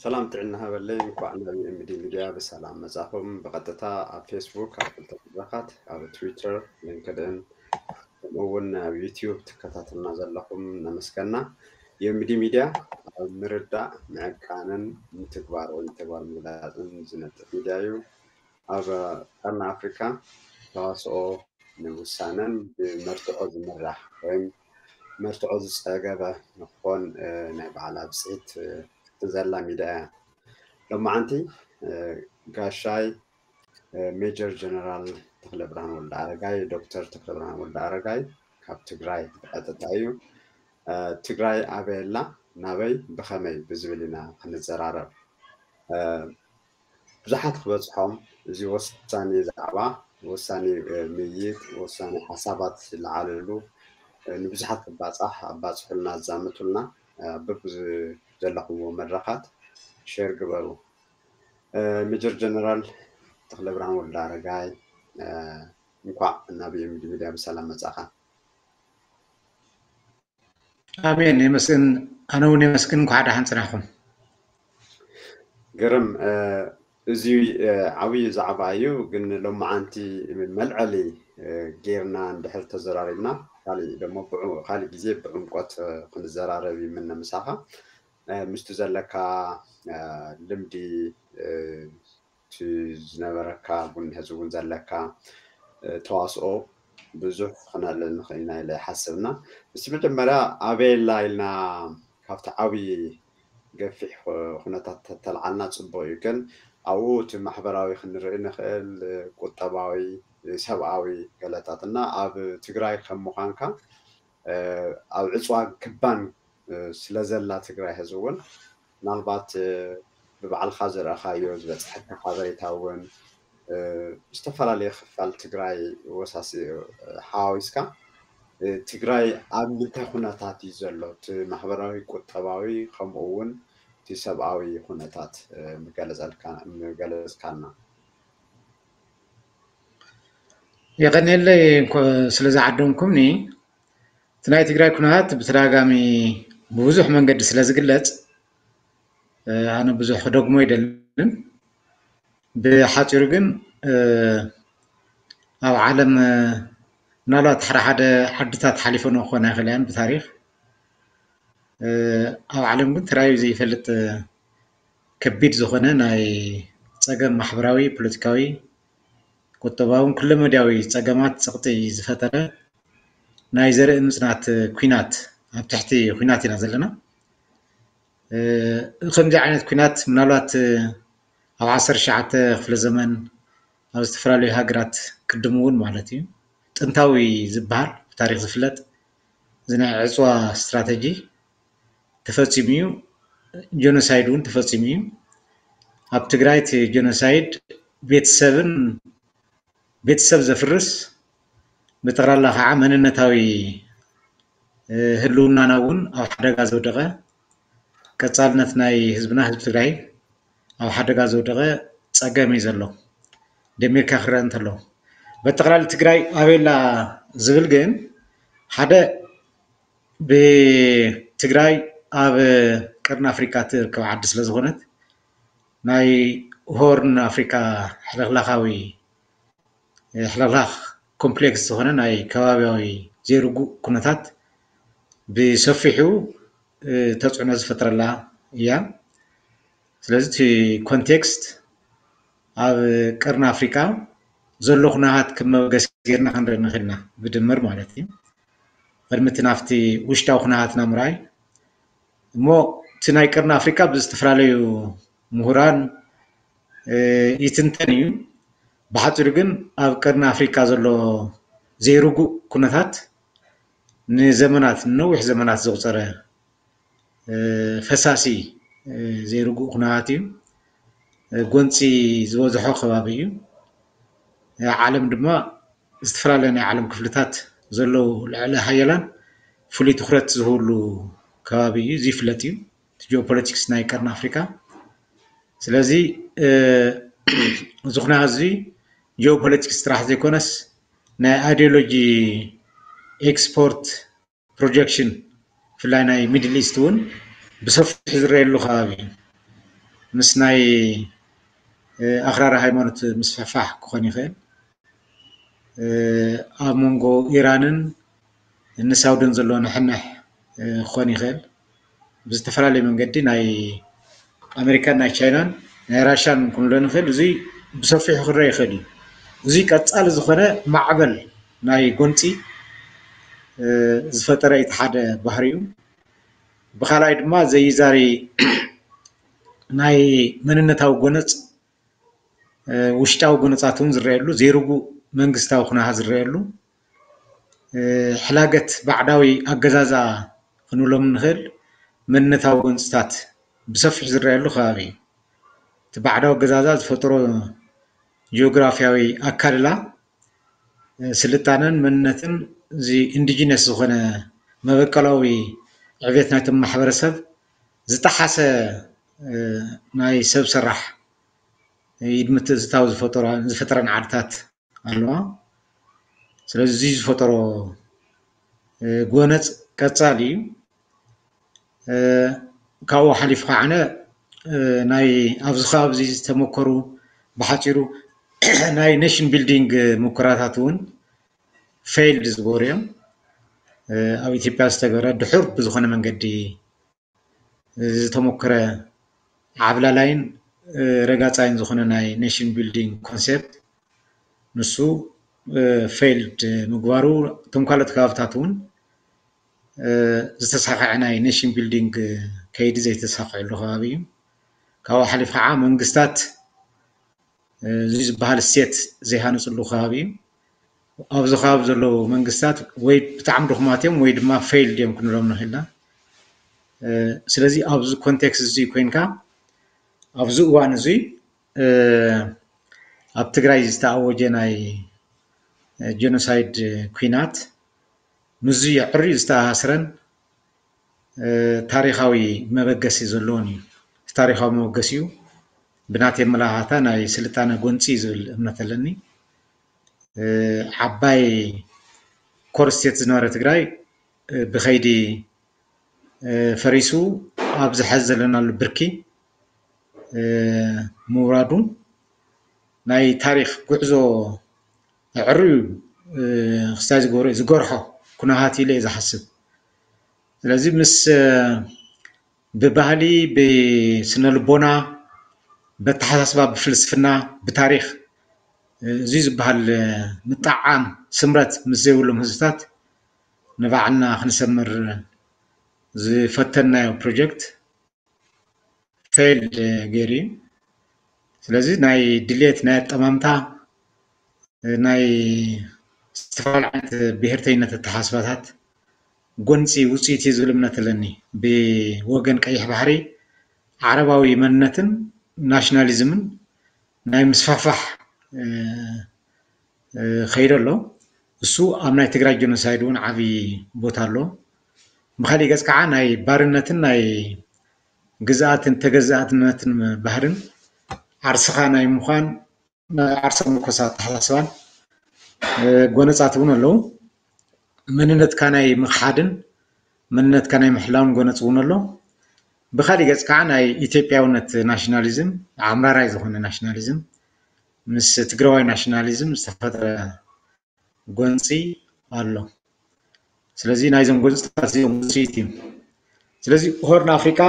ሰላም ጥዕና ሃበለይ፣ እንኳዕ ናብ ኤምዲ ሚድያ ብሰላም መጻኹም። ብቐጥታ ኣብ ፌስቡክ፣ ኣብ ክልተ መድረኻት፣ ኣብ ትዊተር፣ ሊንክድን፣ ከምኡ እውን ኣብ ዩቲዩብ ትከታተልና ዘለኹም ነመስገና። ኤምዲ ሚድያ ኣብ ምርዳእ፣ ምዕቃንን ምትግባር ወይ ተግባር ምግላጽን ዝነጥፍ ሚድያ እዩ። ኣብ ቀርኒ ኣፍሪካ ተዋስኦ ንውሳነን ብመርትዖ ዝምራሕ ወይም መርትዖ ዝፀገበ ንክኾን ናይ ባዕላ ብፅሒት ዘላ ሚድያ እያ። ሎማዓንቲ ጋሻይ ሜጀር ጀነራል ተክለ ብርሃን ወልደ ኣረጋይ፣ ዶክተር ተክለ ብርሃን ወልደ ኣረጋይ ካብ ትግራይ ብቐጥታ እዩ። ትግራይ ኣበይ ኣላ፣ ናበይ፣ ብኸመይ ብዝብል ኢና ክንዘራረብ። ብዙሓት ክበፅሖም እዚ ወሳኒ ዛዕባ፣ ወሳኒ ምይይጥ፣ ወሳኒ ሓሳባት ዝለዓለሉ ንብዙሓት ክባፃሕ ኣባፅሑልና፣ ኣዛምቱልና በብዘለኹምዎ መድረኻት ሼር ግበሩ። ሜጀር ጀነራል ተክለ ብርሃን ወልደ ኣረጋይ፣ እንኳዕ ናብ ኤምዲ ሚድያ ብሰላም መጻኻ። ኣሜን። የመስግን። ኣነ እውን የመስግን። እንኳዕ ደሓን ጽናሕኩም። ግርም። እዚ ዓብዪ ዛዕባ እዩ፣ ግን ሎማዓንቲ መልዐሊ ጌርና እንድሕር ተዘራሪብና፣ ካሊእ ደሞ ካሊእ ግዜ ብዕምቆት ክንዘራረብ ይምነ ምሳኻ። ምስቲ ዘለካ ልምዲ፣ እቲ ዝነበረካ እውን ሕዚ እውን ዘለካ ተዋስኦ ብዙሕ ክነልዕል ንኽእል ኢና ኢለ ይሓስብና። እስቲ መጀመርያ ኣበየላ ኢልና ካብቲ ዓብዪ ገፊሕ ኩነታት ተተልዓልና ፅቡቅ እዩ። ግን ኣብኡ እቲ ማሕበራዊ ክንርኢ ንኽእል፣ ቁጠባዊ፣ ሰብኣዊ ገለታት እና ኣብ ትግራይ ከም ምዃንካ ኣብ ዕፅዋ ክባን ስለዘላ ትግራይ ሕዚ እውን ምናልባት ብባዕልካ ዝረእኻዮ ዝበፅሐካ ሓበሬታ እውን ዝተፈላለየ ክፋል ትግራይ ወሳሲ ሓዋዊስካ ትግራይ ኣብ ምንታይ ኩነታት እዩ ዘሎ፣ እቲ ማሕበራዊ፣ ቁጠባዊ ከምኡ እውን እቲ ሰብኣዊ ኩነታት ምገለፀልካ- ምገለፅካልና። የቐንየለይ እንኮ ስለ ዝዓደምኩምኒ። እቲ ናይ ትግራይ ኩነታት ብተደጋጋሚ ብብዙሕ መንገዲ ስለ ዝግለፅ ኣነ ብዙሕ ክደግሞ ኣይደልን። ብሓፂሩ ግን ኣብ ዓለም ምናልባት ሓደ ሓደ ዓድታት ሓሊፈን ክኾና ይኽእላ እየን ብታሪክ። ኣብ ዓለም ግን ተራእዩ ዘይፈልጥ ከቢድ ዝኾነ ናይ ፀገም ማሕበራዊ፣ ፖለቲካዊ፣ ቁጠባውን ኩለመዳያዊ ፀገማት ፀቕጢ ዝፈጠረ ናይ ዘርኢ ምፅናት ኲናት፣ ኣብ ትሕቲ ኲናት ኢና ዘለና። ከምዚ ዓይነት ኲናት ምናልባት ኣብ ዓሰርተ ትሽዓተ ክፍለ ዘመን ኣብ ዝተፈላለዩ ሃገራት ቅድም እውን ማለት እዩ ጥንታዊ ዝበሃል ብታሪክ ዝፍለጥ እዚ ናይ ዕፅዋ ስትራተጂ ተፈፂሙ እዩ። ጀኖሳይድ እውን ተፈፂሙ እዩ። ኣብ ትግራይ እቲ ጀኖሳይድ ቤተሰብን ቤተሰብ ዘፍርስ ብጠቕላላ ከዓ መንነታዊ ህልውናና እውን ኣብ ሓደጋ ዘውደቐ ቀፃልነት ናይ ህዝብና ህዝቢ ትግራይ ኣብ ሓደጋ ዘውደቐ ፀገም እዩ ዘሎ። ደሚርካ ክረአ እንተሎ በጠቕላሊ ትግራይ ኣበየላ ዝብል ግን ሓደ ብትግራይ ኣብ ቀርኒ ኣፍሪካ ትርከብ ዓዲ ስለ ዝኾነት ናይ ሆርን ኣፍሪካ ሕልኽላኻዊ ሕልኽላኽ ኮምፕሌክስ ዝኾነ ናይ ከባቢያዊ ዘይርጉእ ኩነታት ብሰፊሑ ተፅዕኖ ዝፈጥረላ እያ። ስለዚ እቲ ኮንቴክስት ኣብ ቀርኒ ኣፍሪካ ዘሎ ኩነታት ከም መበገሲ ጌርና ክንርኢ ንኽእል ኢና ብድምር ማለት እዩ። ቅድሚ እቲ ናብቲ ውሽጣዊ ኩነታትና ምርኣይ እሞ እቲ ናይ ቀርኒ ኣፍሪካ ብዝተፈላለዩ ምሁራን ይትንተን እዩ። ብሓፂሩ ግን ኣብ ቀርኒ ኣፍሪካ ዘሎ ዘይርጉእ ኩነታት ንዘመናት ንነዊሕ ዘመናት ዘቑፀረ ፈሳሲ ዘይርጉእ ኩነታት እዩ። ጎንፂ ዝበዝሖ ከባቢ እዩ። ዓለም ድማ ዝተፈላለዩ ናይ ዓለም ክፍልታት ዘለዉ ልዕለ ሃያላን ፍሉይ ትኩረት ዝህብሉ ከባቢ እዩ። እዚ ይፍለጥ እዩ እቲ ጂኦፖለቲክስ ናይ ቀርኒ ኣፍሪካ። ስለዚ እዚ ኩነታት እዚ ጂኦፖለቲክስ ጥራሕ ዘይኮነስ ናይ ኣይዲዮሎጂ ኤክስፖርት ፕሮጀክሽን ብፍላይ ናይ ሚድል ኢስት እውን ብሰፊሑ ዝረየሉ ከባቢ እዩ። ምስ ናይ ኣኽራሪ ሃይማኖት ምስፍሕፋሕ ክኾን ይኽእል። ኣብ መንጎ ኢራንን ንሳውድን ዘሎ ንሕንሕ ክኾን ይኽእል። ብዝተፈላለየ መንገዲ ናይ ኣሜሪካን ናይ ቻይናን ናይ ራሻን ክንብሎ ንኽእል። እዙይ ብሰፊሑ ክረአ ይኽእል እዩ። እዙይ ቀፃሊ ዝኾነ ማዕበል ናይ ጎንፂ ዝፈጠረ እቲ ሓደ ባህሪ እዩ። ብኻልኣይ ድማ ዘይዛሪ ናይ መንነታዊ ጎነፅ ውሽጣዊ ጎነፃት እውን ዝረአየሉ፣ ዘይርጉእ መንግስታዊ ኩነታት ዝረአየሉ፣ ሕላገት ባዕዳዊ ኣገዛዝኣ ክንብሎም ንኽእል መንነታዊ ጎንፅታት ብሰፊሕ ዝረአየሉ ከባቢ እዩ። እቲ ባዕዳዊ ኣገዛዝኣ ዝፈጠሮ ጂኦግራፊያዊ ኣካልላ ስልጣነን መንነትን እዚ ኢንዲጂነስ ዝኾነ መበቀላዊ ዕቤት ናይቶም ማሕበረሰብ ዝጠሓሰ ናይ ሰብ ሰራሕ ኢድ ምትእትታው ዝፈጠረን ዓድታት ኣለዋ። ስለዚ እዚ ዝፈጠሮ ጎነፅ ቀፃሊ እዩ። ካብኡ ሓሊፉ ከዓነ ናይ ኣብዚ ከባቢ ዝተመከሩ ብሓፂሩ ናይ ኔሽን ቢልዲንግ ሙከራታት እውን ፌይልድ ዝበሩ እዮም። ኣብ ኢትዮጵያ ዝተገበረ ድሑር ብዝኾነ መንገዲ ዝተሞከረ ዓብላላይን ረጋፃይን ዝኾነ ናይ ኔሽን ቢልዲንግ ኮንሴፕት ንሱ ፌይልድ ምግባሩ፣ እቶም ካልኦት ከባብታት እውን ዝተሳኸዐ ናይ ኔሽን ቢልዲንግ ከይዲ ዘይተሳኸዐሉ ከባቢ እዩ። ካብኡ ሓሊፍ ከዓ መንግስታት እዚ ዝበሃል እሴት ዘይሃነፅሉ ከባቢ እዩ። ኣብዚ ከባቢ ዘለዉ መንግስታት ወይ ብጣዕሚ ድኹማት እዮም ወይ ድማ ፌይልድ እዮም ክንብሎም ንኽእል ኢና። ስለዚ ኣብዚ ኮንቴክስት እዚ ኮይንካ ኣብዚ እዋን እዚ ኣብ ትግራይ ዝተኣወጀ ናይ ጀኖሳይድ ኲናት ምስዚ ኣዕርዩ ዝተኣሳስረን ታሪኻዊ መበገሲ ዘለዎን እዩ። እቲ ታሪኻዊ መበገሲኡ ብናተይ ኣመለኻኽታ ናይ ስልጣነ ጎንፂ እዩ ዝብል እምነት ኣለኒ። ዓባይ ኮር ስቴት ዝነበረ ትግራይ ብኸይዲ ፈሪሱ ኣብዚ ሐዚ ዘለናሉ ብርኪ ምውራዱ ናይ ታሪኽ ጉዕዞ ኣዕርዩ ክስታይ ዝገብሮ ዝገርሖ ኩነታት ኢለ እየ ዝሓስብ። ስለዚ ምስ ብባህሊ፣ ብስነ ልቦና፣ በተሓሳስባ፣ ብፍልስፍና፣ ብታሪኽ እዚ ዝበሃል ምጥዓም ስምረት ምስ ዘይብሎም ህዝብታት ንባዕልና ክንሰምር ዝፈተንናዮ ፕሮጀክት ፌይልድ ገይሩ እዩ። ስለዚ ናይ ድሌት ናይ ኣጠማምታ ናይ ዝተፈላለዩ ዓይነት ብሄርተኝነት ኣተሓሳስባታት ጎንፂ ውፅኢት እዩ ዝብል እምነት ኣለኒ። ብወገን ቀይሕ ባሕሪ ዓረባዊ መንነትን ናሽናሊዝምን ናይ ምስፋሕፋሕ ከይዱ ኣሎ። እሱ ኣብ ናይ ትግራይ ጀኖሳይድ እውን ዓብዪ ቦታ ኣሎ። ብካሊእ ገፅ ከዓ ናይ ባርነትን ናይ ግዝኣትን ተገዛእትነትን ባህርን ዓርስኻ ናይ ምዃን ናይ ዓርሰ ምርኮሳ ኣተሓሳስባን ጎነፃት እውን ኣለዉ። መንነትካ ናይ ምኽሓድን መንነትካ ናይ ምሕላውን ጎነፅ እውን ኣሎ። ብካሊእ ገፅ ከዓ ናይ ኢትዮጵያውነት ናሽናሊዝም፣ ኣምራራይ ዝኾነ ናሽናሊዝም፣ ምስ ትግራዋይ ናሽናሊዝም ዝተፈጥረ ጎንፂ ኣሎ። ስለዚ ናይዞም ጎንፅታት እዚኦም ውፅኢት እዩ። ስለዚ ሆርን ኣፍሪቃ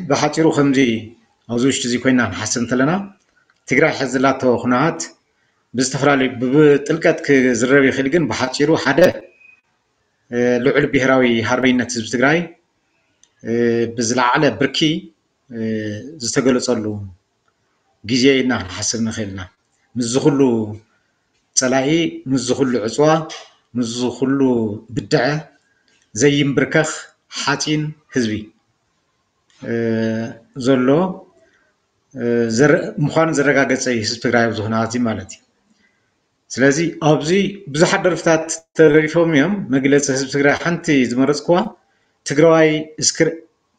ብሓፂሩ ከምዚ ኣብዚ ውሽጢ እዚ ኮይና ክንሓስብ እንተለና ትግራይ ሕዚ ዘላቶ ኩነታት ብዝተፈላለዩ ብጥልቀት ክዝረብ ይኽእል፣ ግን ብሓፂሩ ሓደ ልዑል ብሄራዊ ሃርበይነት ህዝቢ ትግራይ ብዝለዓለ ብርኪ ዝተገለፀሉ ግዜ ኢልና ክንሓስብ ንኽእል ኢና። ምስዚ ኩሉ ፀላኢ፣ ምስዚ ኩሉ ዕፅዋ፣ ምስዚ ኩሉ ብድዐ ዘይንብርከኽ ሓፂን ህዝቢ ዘሎ ምዃኑ ዘረጋገፀ እዩ ህዝቢ ትግራይ ኣብዚ ኩነታት እዚ ማለት እዩ። ስለዚ ኣብዚ ብዙሓት ደርፍታት ተደሪፎም እዮም። መግለፂ ህዝቢ ትግራይ ሓንቲ ዝመረፅኩዋ ትግራዋይ እስክር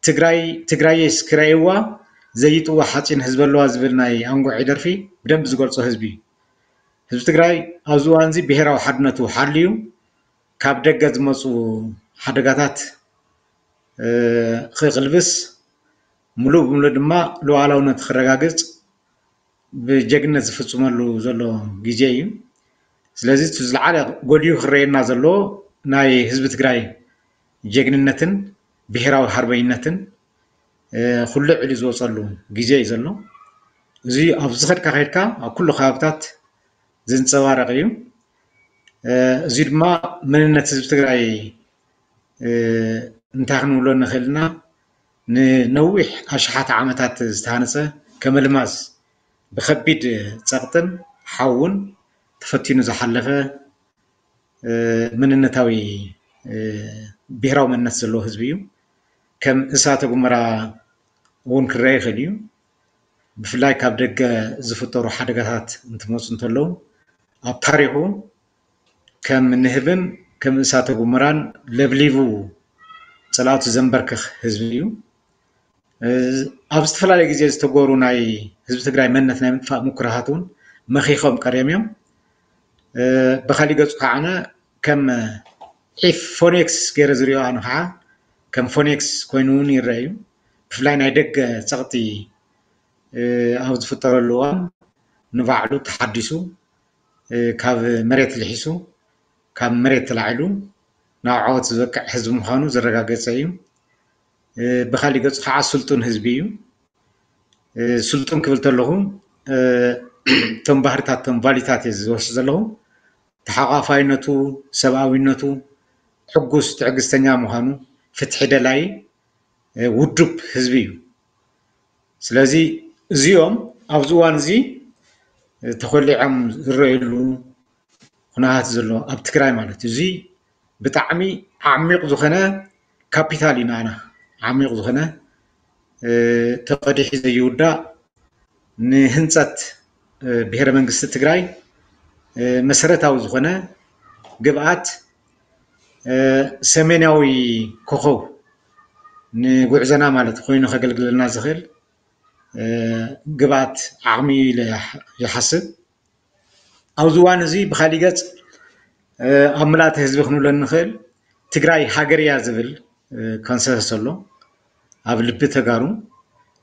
ትግራይ ትግራይ እስክራይዋ ዘይጥዋ ሓፂን ህዝቢ ኣለዋ ዝብል ናይ ኣንጎዒ ደርፊ ብደንብ ዝገልፆ ህዝቢ እዩ። ህዝቢ ትግራይ ኣብዚ እዋን እዚ ብሄራዊ ሓድነቱ ሓልዩ ካብ ደገ ዝመፁ ሓደጋታት ክቕልብስ ሙሉእ ብምሉእ ድማ ሉዓላውነት ክረጋግፅ ብጀግነት ዝፍፅመሉ ዘሎ ግዜ እዩ። ስለዚ እቲ ዝለዓለ ጎሊሁ ክረየና ዘሎ ናይ ህዝቢ ትግራይ ጀግንነትን ብሄራዊ ሃርበኝነትን ኩሉ ዕሊ ዝወፀሉ ግዜ እዩ ዘሎ። እዚ ኣብ ዝኸድካ ከድካ ኣብ ኩሉ ከባብታት ዝንፀባረቕ እዩ። እዚ ድማ መንነት ህዝቢ ትግራይ እንታይ ክንብሎ ንኽእል ኢና? ንነዊሕ ኣሽሓት ዓመታት ዝተሃነፀ ከም ኣልማዝ ብኸቢድ ፀቕጥን ሓውን ተፈቲኑ ዝሓለፈ መንነታዊ ብሄራዊ መንነት ዘለዎ ህዝቢ እዩ። ከም እሳተ ጎመራ እውን ክረአ ይኽእል እዩ። ብፍላይ ካብ ደገ ዝፍጠሩ ሓደጋታት እንትመፁ እንተለዉ ኣብ ታሪኹ ከም ንህብን ከም እሳተ ጎመራን ለብሊቡ ፀላእቱ ዘንበርክኽ ህዝቢ እዩ። ኣብ ዝተፈላለየ ግዜ ዝተገበሩ ናይ ህዝቢ ትግራይ መንነት ናይ ምጥፋእ ሙኩራታት እውን መኺኾም ቀርዮም እዮም። ብካሊእ ገፁ ከዓነ ከም ዒፍ ፎኔክስ ገይረ ዝሪኦ ኣነ ከዓ ከም ፎኔክስ ኮይኑ እውን ይረአ እዩ። ብፍላይ ናይ ደገ ፀቕጢ ኣብ ዝፍጠረሉ እዋን ንባዕሉ ተሓዲሱ ካብ መሬት ልሒሱ ካብ መሬት ተላዒሉ ናብ ዓወት ዝበቅዕ ህዝቢ ምዃኑ ዘረጋገፀ እዩ። ብካሊእ ገፁ ከዓ ስልጡን ህዝቢ እዩ። ስልጡን ክብል ተለኹ እቶም ባህርታት እቶም ቫሊታት እየ ዝወስድ ዘለኹ። ተሓቋፋይነቱ፣ ሰብኣዊነቱ፣ ሕጉስ ትዕግስተኛ ምዃኑ፣ ፍትሒ ደላይ ውዱብ ህዝቢ እዩ። ስለዚ እዚኦም ኣብዚ እዋን እዚ ተኮሊዖም ዝረኣየሉ ኩነታት ዘሎ ኣብ ትግራይ ማለት እዩ። እዚ ብጣዕሚ ዓሚቕ ዝኾነ ካፒታል እዩ ንዓና። ዓሚቕ ዝኾነ ተቐዲሑ ዘይውዳእ ንህንፀት ብሄረ መንግስቲ ትግራይ መሰረታዊ ዝኾነ ግብኣት ሰሜናዊ ኮኸብ ንጉዕዞና ማለት ኮይኑ ከገልግለና ዝኽእል ግብኣት ዓቕሚ ኢለ ይሓስብ። ኣብዚ እዋን እዚ ብካሊእ ገፅ ኣብ ምልኣተ ህዝቢ ክንብሎ እንኽእል ትግራይ ሃገር እያ ዝብል ኮንሰንሰስ ኣሎ ኣብ ልቢ ተጋሩ።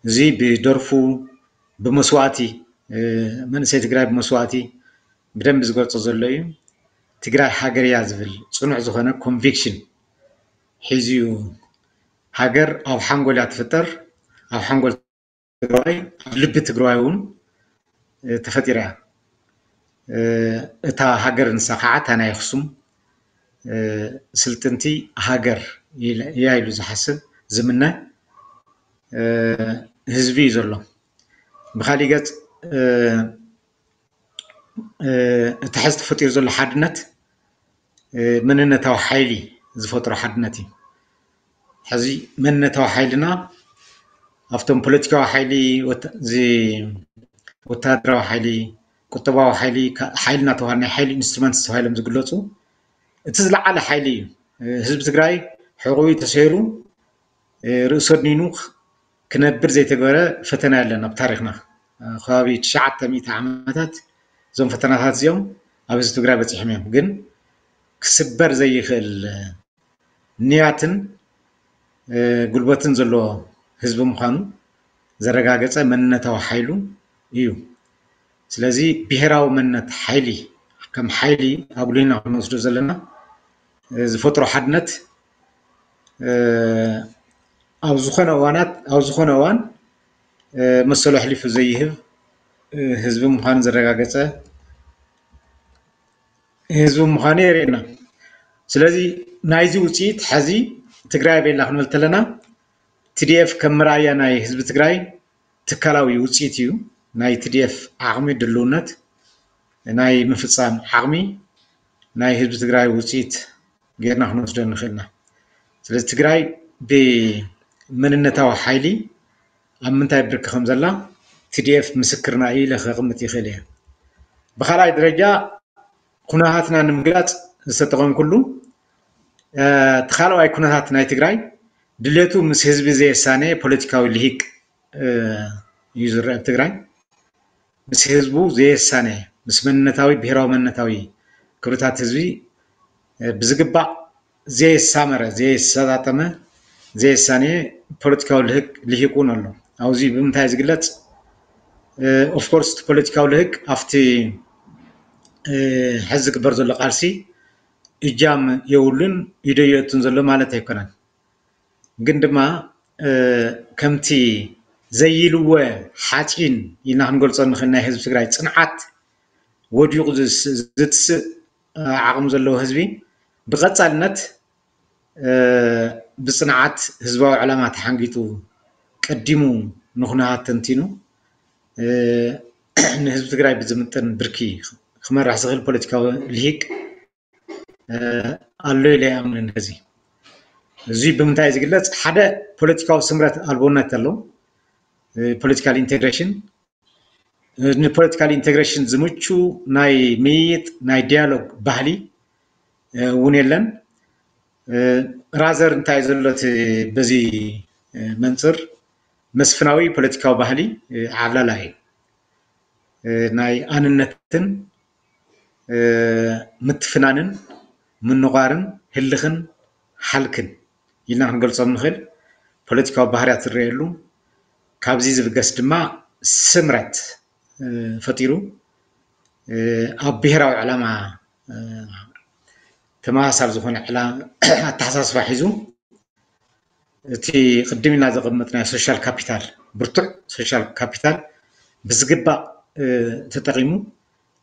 እዚ ብደርፉ ብመስዋእቲ መንእሰይ ትግራይ ብመስዋእቲ ብደንብ ዝገልፆ ዘሎ እዩ። ትግራይ ሃገር እያ ዝብል ፅኑዕ ዝኾነ ኮንቪክሽን ሒዙ እዩ። ሃገር ኣብ ሓንጎል እያ ትፍጠር። ኣብ ሓንጎል ትግራይ ኣብ ልቢ ትግራይ እውን ተፈጢራ እያ። እታ ሃገር ንሳ ከዓ እታ ናይ ኣክሱም ስልጥንቲ ሃገር እያ ኢሉ ዝሓስብ ዝምነ ህዝቢ እዩ ዘሎ። ብካሊእ ገፅ እቲ ሕዚ ተፈጢሩ ዘሎ ሓድነት መንነታዊ ሓይሊ ዝፈጥሮ ሓድነት እዩ። ሕዚ መንነታዊ ሓይልና ኣብቶም ፖለቲካዊ ሓይሊ፣ ወታደራዊ ሓይሊ፣ ቁጠባዊ ሓይሊ፣ ሓይሊ እናተባሃሉ ናይ ሓይሊ ኢንስትሩመንት ተባሂሎም ዝግለፁ እቲ ዝለዓለ ሓይሊ እዩ። ህዝቢ ትግራይ ሕቑኡ ተሰይሩ ርእሱ ኣድኒኑ ክነብር ዘይተገበረ ፈተና የለን ኣብ ታሪክና። ከባቢ ትሽዓተ ሚእቲ ዓመታት እዞም ፈተናታት እዚኦም ኣብ ህዝቢ ትግራይ በፂሖም እዮም። ግን ክስበር ዘይኽእል ንያትን ጉልበትን ዘለዎ ህዝቢ ምዃኑ ዘረጋገፀ መንነታዊ ሓይሉ እዩ። ስለዚ ብሄራዊ መንነት ሓይሊ ከም ሓይሊ ኣጉሊህና ክንወስዶ ዘለና ዝፈጥሮ ሓድነት ኣብ ዝኾነ እዋናት ኣብ ዝኾነ እዋን መሰሉ ኣሕሊፉ ዘይህብ ህዝቢ ምዃኑ ዘረጋገፀ ህዝቢ ምዃኑ የርእየና። ስለዚ ናይዚ ውፅኢት ሕዚ ትግራይ ኣበይ ኣላ ክንብል ተለና ቲዲኤፍ ከም መርኣያ ናይ ህዝቢ ትግራይ ትካላዊ ውፅኢት እዩ። ናይ ቲዲኤፍ ዓቕሚ ድልውነት ናይ ምፍፃም ዓቕሚ ናይ ህዝቢ ትግራይ ውፅኢት ጌርና ክንወስዶ ንኽእልና። ስለዚ ትግራይ ብመንነታዊ ሓይሊ ኣብ ምንታይ ብርኪ ከም ዘላ ቲዲኤፍ ምስክርና እዩ ኢለ ከቕምጥ ይኽእል እየ። ብካልኣይ ደረጃ ኩነታትና ንምግላፅ ዝተጠቐምኩሉ እቲ ካልኣዋይ ኩነታት ናይ ትግራይ ድሌቱ ምስ ህዝቢ ዘየሳነ ፖለቲካዊ ልሂቅ እዩ ዝረአ ኣብ ትግራይ። ምስ ህዝቡ ዘየሳነ ምስ መንነታዊ ብሄራዊ መንነታዊ ክብርታት ህዝቢ ብዝግባእ ዘየሳመረ ዘየሰጣጠመ ዘየሳነየ ፖለቲካዊ ልሂቅ እውን ኣሎ። ኣብዚ ብምንታይ ዝግለፅ? ኦፍኮርስ እቲ ፖለቲካዊ ልህቅ ኣብቲ ሕዚ ዝግበር ዘሎ ቃልሲ እጃም የብሉን፣ ኢዶ የእቱን ዘሎ ማለት ኣይኮነን። ግን ድማ ከምቲ ዘይልወ ሓፂን ኢልና ክንገልፆ ንኽእል ናይ ህዝቢ ትግራይ ፅንዓት ወዲቑ ዝትስእ ዓቕሚ ዘለዎ ህዝቢ ብቐፃልነት ብፅንዓት ህዝባዊ ዕላማ ተሓንጊጡ ቀዲሙ ንኹነታት ተንቲኑ ንህዝቢ ትግራይ ብዝምጥን ብርኪ ክመርሕ ዝኽእል ፖለቲካዊ ልሂቅ ኣሎ ኢለ ይኣምን። ሕዚ እዚ ብምንታይ ዝግለፅ? ሓደ ፖለቲካዊ ስምረት ኣልቦነት ኣሎ። ፖለቲካል ኢንቴግሬሽን ንፖለቲካል ኢንቴግሬሽን ዝምቹ ናይ ምይይጥ ናይ ዲያሎግ ባህሊ እውን የለን። ራዘር እንታይ ዘሎ በዚ መንፅር መስፍናዊ ፖለቲካዊ ባህሊ ዓብላላ እዩ። ናይ ኣንነትን ምትፍናንን ምንቋርን ህልኽን ሓልክን ኢልና ክንገልፆም ንኽእል ፖለቲካዊ ባህርያት ዝረኣየሉ፣ ካብዚ ዝብገስ ድማ ስምረት ፈጢሩ ኣብ ብሄራዊ ዕላማ ተመሳሳሊ ዝኾነ ኣተሓሳስባ ሒዙ እቲ ቅድም ኢልና ዘቐመጥናዮ ሶሻል ካፒታል፣ ብርቱዕ ሶሻል ካፒታል ብዝግባእ ተጠቒሙ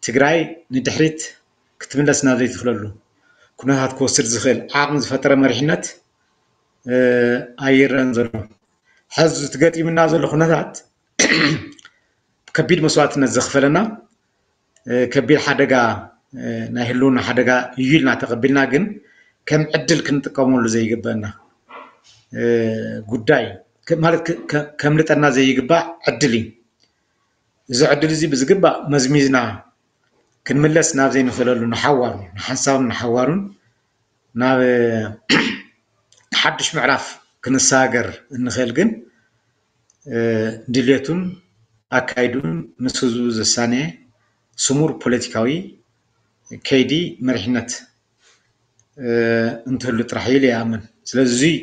ትግራይ ንድሕሪት ክትምለስ ናብ ዘይትኽለሉ ኩነታት ክወስድ ዝኽእል ዓቕሚ ዝፈጠረ መሪሕነት ኣይረን ዘሎ። ሕዚ እቲ ገጢምና ዘሎ ኩነታት ከቢድ መስዋእትነት ዘኽፈለና ከቢድ ሓደጋ ናይ ህልውና ሓደጋ እዩ ኢልና ተቐቢልና፣ ግን ከም ዕድል ክንጥቀመሉ ዘይግበአና ጉዳይ ማለት ከምልጠና ዘይግባእ ዕድል እዩ። እዚ ዕድል እዚ ብዝግባእ መዝሚዝና ክንምለስ ናብ ዘይንኽእለሉ ንሓዋሩ ንሓንሳቡን ንሓዋሩን ናብ ሓድሽ ምዕራፍ ክንሰጋገር እንኽእል ግን ድሌቱን ኣካይዱን ምስ ህዝቡ ዘሳነየ ስሙር ፖለቲካዊ ከይዲ መሪሕነት እንትህሉ ጥራሕ ኢለ ይኣምን። ስለዚ እዙይ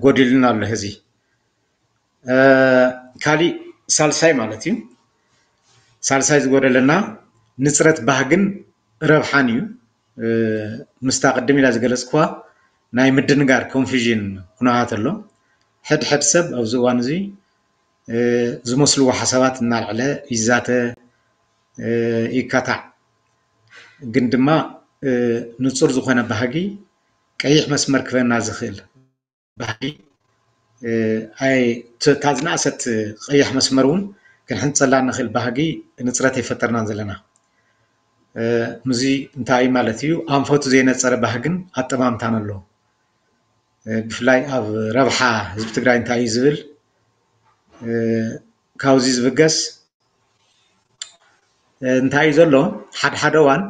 ጎዲሉና ኣሎ። ሕዚ ካሊእ ሳልሳይ ማለት እዩ። ሳልሳይ ዝጎደለና ንፅረት ባህግን ረብሓን እዩ። ምስታ ቅድም ኢላ ዝገለፅኩዋ ናይ ምድንጋር ኮንፊዥን ኩነታት ኣሎ። ሕድሕድ ሰብ ኣብዚ እዋን እዚ ዝመስልዎ ሓሳባት እናልዕለ ይዛተ፣ ይካታዕ። ግን ድማ ንፁር ዝኾነ ባህጊ ቀይሕ መስመር ክበና ዝኽእል ባህጊ ኣይ እታ ዝነኣሰት ቀያሕ መስመር እውን ክንሕንፀላ ንኽእል ባህጊ ንፅረት ኣይፈጠርናን ዘለና። ምዚ እንታይ ማለት እዩ? ኣንፈቱ ዘይነፀረ ባህግን ኣጠማምታን ኣሎ። ብፍላይ ኣብ ረብሓ ህዝቢ ትግራይ እንታይ እዩ ዝብል ካብዚ ዝብገስ እንታይ እዩ ዘሎ? ሓደ ሓደ እዋን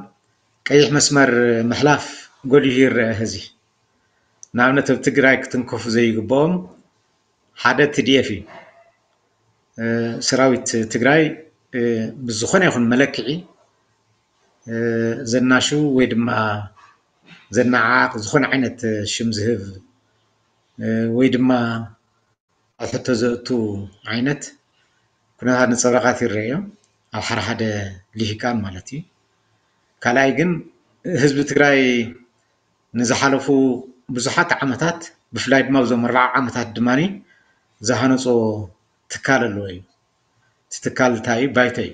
ቀይሕ መስመር ምሕላፍ ጎሊሁ ይረአ። ሕዚ ንኣብነት ኣብ ትግራይ ክትንከፉ ዘይግብኦም ሓደ ቲ ዲ ኤፍ እዩ። ሰራዊት ትግራይ ብዝኾነ ይኹን መለክዒ ዘናሽው ወይ ድማ ዘነዓዓቕ ዝኾነ ዓይነት ሽም ዝህብ ወይ ድማ ኣብ ሕቶ ዘእቱ ዓይነት ኩነታት ነፀብራቓት ይረአዮ ኣብ ሓደ ሓደ ልሂቃን ማለት እዩ። ካልኣይ ግን ህዝቢ ትግራይ ንዝሓለፉ ብዙሓት ዓመታት ብፍላይ ድማ ኣብዞም ኣርባዓ ዓመታት ድማ ዝሃነፆ ትካል ኣለዎ እዩ። እቲ ትካል እንታይ እዩ? ባይቶ እዩ።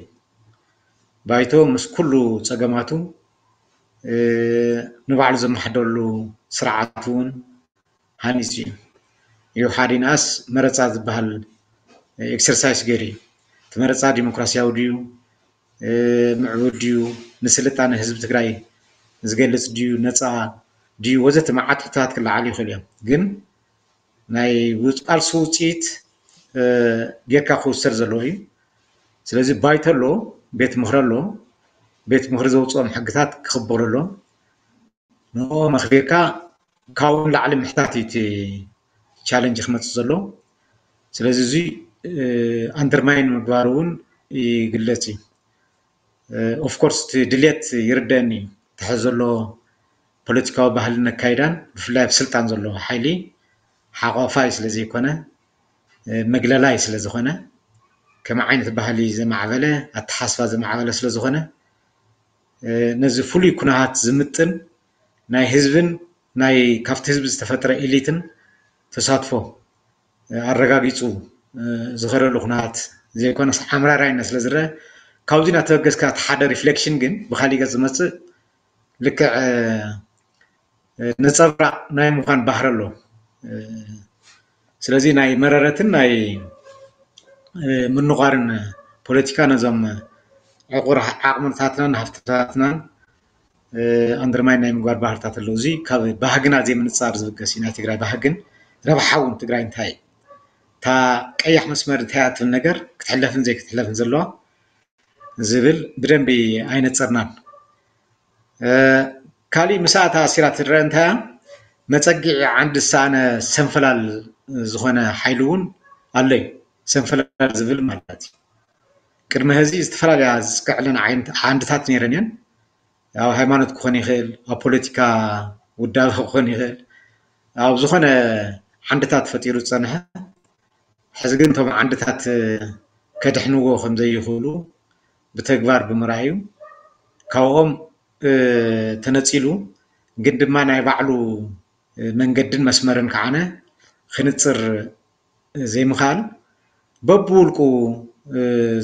ባይቶ ምስ ኩሉ ፀገማቱ ንባዕሉ ዘመሓደረሉ ስርዓት እውን ሃኒፁ እዩ። ይውሓድ ይንኣስ መረፃ ዝበሃል ኤክሰርሳይስ ገይሩ እዩ። እቲ መረፃ ዲሞክራሲያዊ ድዩ? ምዕቡል ድዩ? ንስልጣነ ህዝቢ ትግራይ ዝገልፅ ድዩ? ነፃ ድዩ? ወዘተ መዓት ሕቶታት ክለዓሉ ይኽእሉ እዮም። ግን ናይ ቃልሲ ውፅኢት ጌርካ ክውሰድ ዘለዎ እዩ። ስለዚ ባይቶ ኣሎ፣ ቤት ምኽሪ ኣሎ። ቤት ምኽሪ ዘውፅኦም ሕግታት ክኽበሩ ኣሎ። ንኦም ኣኽቢርካ ካብኡ ንላዕሊ ምሕታት እዩ እቲ ቻለንጅ ክመፅእ ዘሎ። ስለዚ እዙይ ኣንደርማይን ምግባር እውን ይግለፅ እዩ። ኦፍኮርስ እቲ ድሌት ይርደአኒ እዩ። እቲ ሕዚ ዘሎ ፖለቲካዊ ባህልን ኣካይዳን ብፍላይ ኣብ ስልጣን ዘሎ ሓይሊ ሓቋፋይ ስለ ዘይኮነ መግለላይ ስለ ዝኾነ ከም ዓይነት ባህሊ ዘማዕበለ፣ ኣተሓስባ ዘማዕበለ ስለ ዝኾነ፣ ነዚ ፍሉይ ኩነታት ዝምጥን ናይ ህዝብን ናይ ካብቲ ህዝቢ ዝተፈጥረ ኢሊትን ተሳትፎ ኣረጋጊፁ ዝኸደሉ ኩነታት ዘይኮነስ፣ ኣምራራይነት ስለ ዝረአ፣ ካብዚ እናተበገስካ እቲ ሓደ ሪፍሌክሽን ግን ብካሊእ ገፅ ዝመፅእ ልክዕ ነፀብራቕ ናይ ምዃን ባህሪ ኣሎ። ስለዚ ናይ መረረትን ናይ ምንቋርን ፖለቲካ ነዞም ዕቑር ዓቕምታትናን ሃፍትታትናን ኣንደርማይን ናይ ምግባር ባህርታት ኣለዉ። እዚ ካብ ባህግና ዘይምንጻር ዝብገስ እዩ። ናይ ትግራይ ባህግን ረብሓ እውን ትግራይ እንታይ እዩ፣ እታ ቀያሕ መስመር እንታይ እያ ትብል ነገር ክትሕለፍን ዘይክትሕለፍን ዘለዋ ዝብል ብደንቢ ኣይነጸርናን። ካሊእ ምስኣ ተኣሲራ ትረአ እንታይ እያ፣ መጸጊዒ ዓንዲ ዝሰኣነ ሰንፈላል ዝኾነ ሓይሊ እውን ኣሎ እዩ። ሰንፈላል ዝብል ማለት እዩ። ቅድሚ ሕዚ ዝተፈላለያ ዝጽቅዕለን ዓይነት ዓንድታት ነይረን እየን። ኣብ ሃይማኖት ክኾን ይኽእል፣ ኣብ ፖለቲካ ውዳበ ክኾን ይኽእል፣ ኣብ ዝኾነ ዓንድታት ፈጢሩ ዝጸንሐ። ሕዚ ግን እቶም ዓንድታት ከድሕንዎ ከም ዘይኽእሉ ብተግባር ብምርኣዩ፣ ካብኦም ተነጺሉ ግን ድማ ናይ ባዕሉ መንገድን መስመርን ከዓነ ክንጽር ዘይምኽኣል፣ በብውልቁ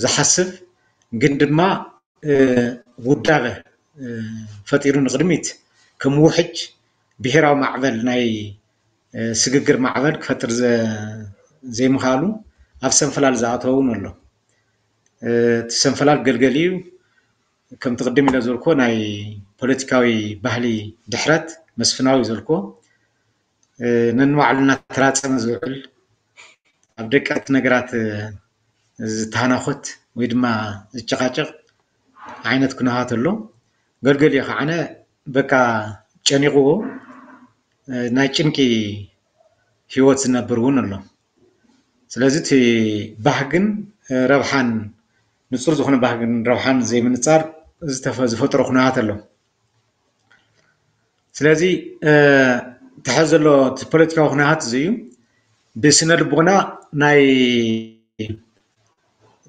ዝሓስብ ግን ድማ ውዳበ ፈጢሩ ንቕድሚት ከም ውሕጅ ብሄራዊ ማዕበል ናይ ስግግር ማዕበል ክፈጥር ዘይምኽኣሉ ኣብ ሰንፈላል ዝኣተወ እውን ኣሎ። እቲ ሰንፈላል ገልገሊኡ ከምቲ ቅድም ኢለ ዝበልኩዎ ናይ ፖለቲካዊ ባህሊ ድሕረት መስፍናዊ ዝበልኩዎ ነንባዕሉ እናተራጸመ ዝውዕል ኣብ ደቀቅቲ ነገራት ዝተሃናኾት ወይ ድማ ዝጨቃጨቅ ዓይነት ኩነታት ኣሎ። ገልገሊኡ ከዓነ በቃ ጨኒቕዎ ናይ ጭንቂ ህይወት ዝነብር እውን ኣሎ። ስለዚ እቲ ባህግን ረብሓን ንጹር ዝኾነ ባህግን ረብሓን ዘይምንጻር ዝተፈ- ዝፈጥሮ ኩነታት ኣሎ። ስለዚ ተሐ ዘሎ እቲ ፖለቲካዊ ኩነታት እዚ እዩ። ብስነ ልቦና ናይ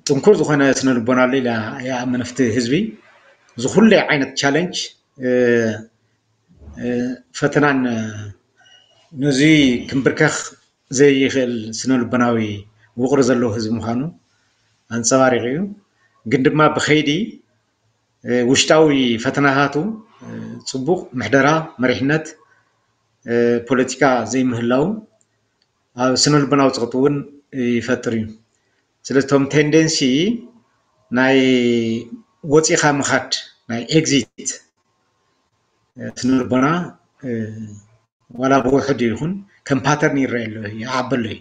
ጥንኩር ዝኾነ ስነ ልቦና ኣሎ ኢለ ይኣምን። ኣብቲ ህዝቢ ዝኩለ ዓይነት ቻለንጅ ፈተናን ነዚ ክምብርከኽ ዘይኽእል ስነ ልቦናዊ ውቕሪ ዘለዎ ህዝቢ ምዃኑ ኣንጸባሪቑ እዩ። ግን ድማ ብኸይዲ ውሽጣዊ ፈተናታቱ ጽቡቕ ምሕደራ፣ መሪሕነት፣ ፖለቲካ ዘይምህላው ኣብ ስነ ልቦናዊ ጸቕጢ እውን ይፈጥር እዩ። ስለዚ እቶም ቴንደንሲ ናይ ወፂኻ ምኻድ ናይ ኤግዚት ስነ ልቦና ዋላ ብውሕድ ይኹን ከም ፓተርን ይረአ ኣሎ ይዓበሎ እዩ።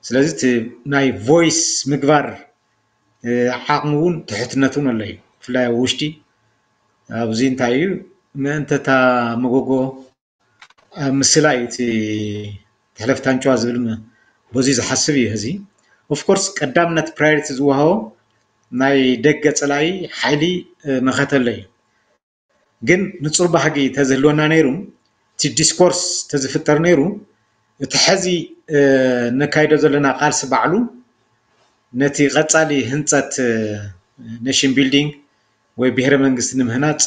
ስለዚ እቲ ናይ ቮይስ ምግባር ዓቕሚ እውን ትሕትነት እውን ኣሎ እዩ። ብፍላይ ኣብ ውሽጢ ኣብዚ እንታይ እዩ ምእንተ እታ መጎጎ ኣብ ምስላ እዩ እቲ ተሕለፍቲ ኣንጭዋ ዝብል በዚ ዝሓስብ እዩ። እዚ ኦፍኮርስ ቀዳምነት ፕራዮሪቲ ዝወሃቦ ናይ ደገ ፀላኢ ሓይሊ መኸተለ እዩ። ግን ንፁር ባህጊ ተዝህልወና ነይሩ እቲ ዲስኮርስ ተዝፍጠር ነይሩ እቲ ሕዚ ነካይዶ ዘለና ቃልሲ ባዕሉ ነቲ ቀፃሊ ህንፀት ኔሽን ቢልዲንግ ወይ ብሄረ መንግስቲ ንምህናፅ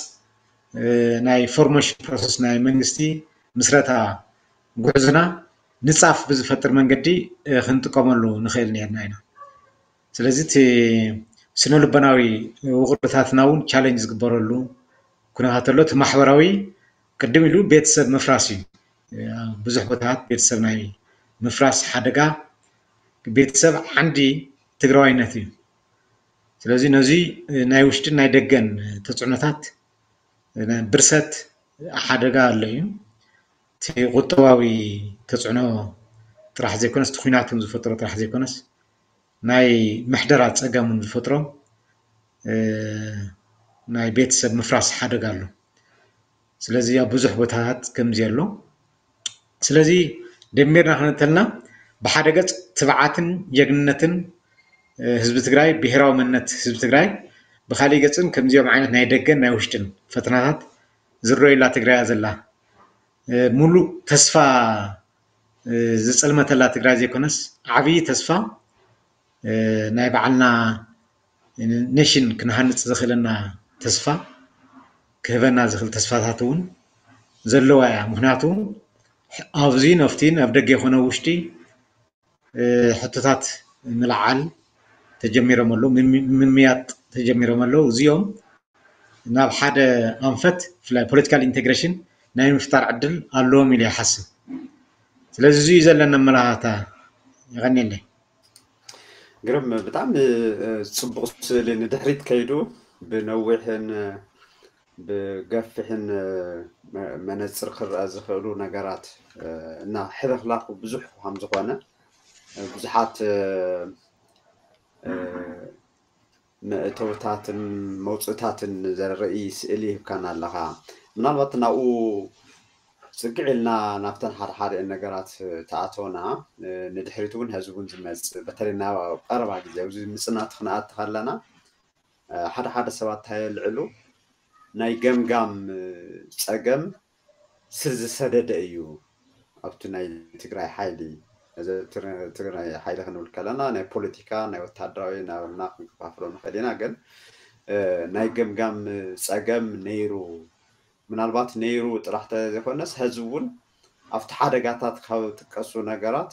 ናይ ፎርሜሽን ፕሮሰስ ናይ መንግስቲ ምስረታ ጉዕዞና ንፃፍ ብዝፈጥር መንገዲ ክንጥቀመሉ ንኽእል ነርና ኢና። ስለዚ እቲ ስነ ልቦናዊ ውቕርታትና እውን ቻለንጅ ዝግበረሉ ኩነታት ኣሎ። እቲ ማሕበራዊ ቅድም ኢሉ ቤተሰብ ምፍራስ እዩ። ብዙሕ ቦታታት ቤተሰብ ናይ ምፍራስ ሓደጋ፣ ቤተሰብ ዓንዲ ትግራዋይነት እዩ። ስለዚ ነዚ ናይ ውሽጥን ናይ ደገን ተፅዕኖታት ብርሰት ሓደጋ ኣሎ እዩ። እቲ ቁጠባዊ ተፅዕኖ ጥራሕ ዘይኮነስ እቲ ኩናት ዝፈጥሮ ጥራሕ ዘይኮነስ ናይ ምሕደራ ፀገም እውን ዝፈጥሮ ናይ ቤተሰብ ምፍራስ ሓደጋ ኣሎ። ስለዚ ኣብ ብዙሕ ቦታታት ከምዚ ኣሎ። ስለዚ ደሚርና ክንተልና ብሓደ ገፅ ትብዓትን ጀግንነትን ህዝቢ ትግራይ፣ ብሄራዊ መንነት ህዝቢ ትግራይ፣ ብካሊእ ገፅን ከምዚኦም ዓይነት ናይ ደገን ናይ ውሽጥን ፈተናታት ዝረዩላ ትግራይ እያ ዘላ። ሙሉእ ተስፋ ዝፀልመተላ ትግራይ ዘይኮነስ ዓብዪ ተስፋ ናይ ባዕልና ኔሽን ክንሃንፅ ዘኽእለና ተስፋ ክህበና ዝኽእል ተስፋታት እውን ዘለዋ እያ። ምክንያቱ ኣብዚ ነፍቲን ኣብ ደገ ይኮነ ውሽጢ ሕቶታት ምልዓል ተጀሚሮም ኣለዉ፣ ምምያጥ ተጀሚሮም ኣለዉ። እዚኦም ናብ ሓደ ኣንፈት ብፍላይ ፖለቲካል ኢንቴግሬሽን ናይ ምፍጣር ዕድል ኣለዎም ኢለ ይሓስብ። ስለዚ እዚ እዩ ዘለና ኣመላኻታ። የቐንየለይ። ግርም፣ ብጣዕሚ ጽቡቕ ስእሊ ንድሕሪት ከይዱ ብነዊሕን ብገፊሕን መነፅር ክረአ ዝኽእሉ ነገራት እና ሕልኽላኹ ብዙሕ ከም ዝኾነ ብዙሓት መእተውታትን መውፅእታትን ዘርኢ ስእሊ ይህብካና ኣለኻ። ምናልባት ናብኡ ፅግዕ ኢልና ናብተን ሓደ ሓደ ነገራት ተኣተውና ንድሕሪት እውን ህዝቢ እውን ዝመፅእ በተለይ ናብ ቀረባ ግዜ ኣብዚ ምፅናት ክንኣቲ ከለና ሓደ ሓደ ሰባት እንታይ የልዕሉ ናይ ገምጋም ፀገም ስር ዝሰደደ እዩ ኣብቲ ናይ ትግራይ ሓይሊ። እዚ ትግራይ ሓይሊ ክንብል ከለና ናይ ፖለቲካ ናይ ወታደራዊ ናበልና ክንከፋፍሎ ንኽእል ኢና። ግን ናይ ገምጋም ፀገም ነይሩ ምናልባት ነይሩ ጥራሕ ተዘይኮነስ ሕዚ እውን ኣብቲ ሓደጋታት ካብ ጥቀሱ ነገራት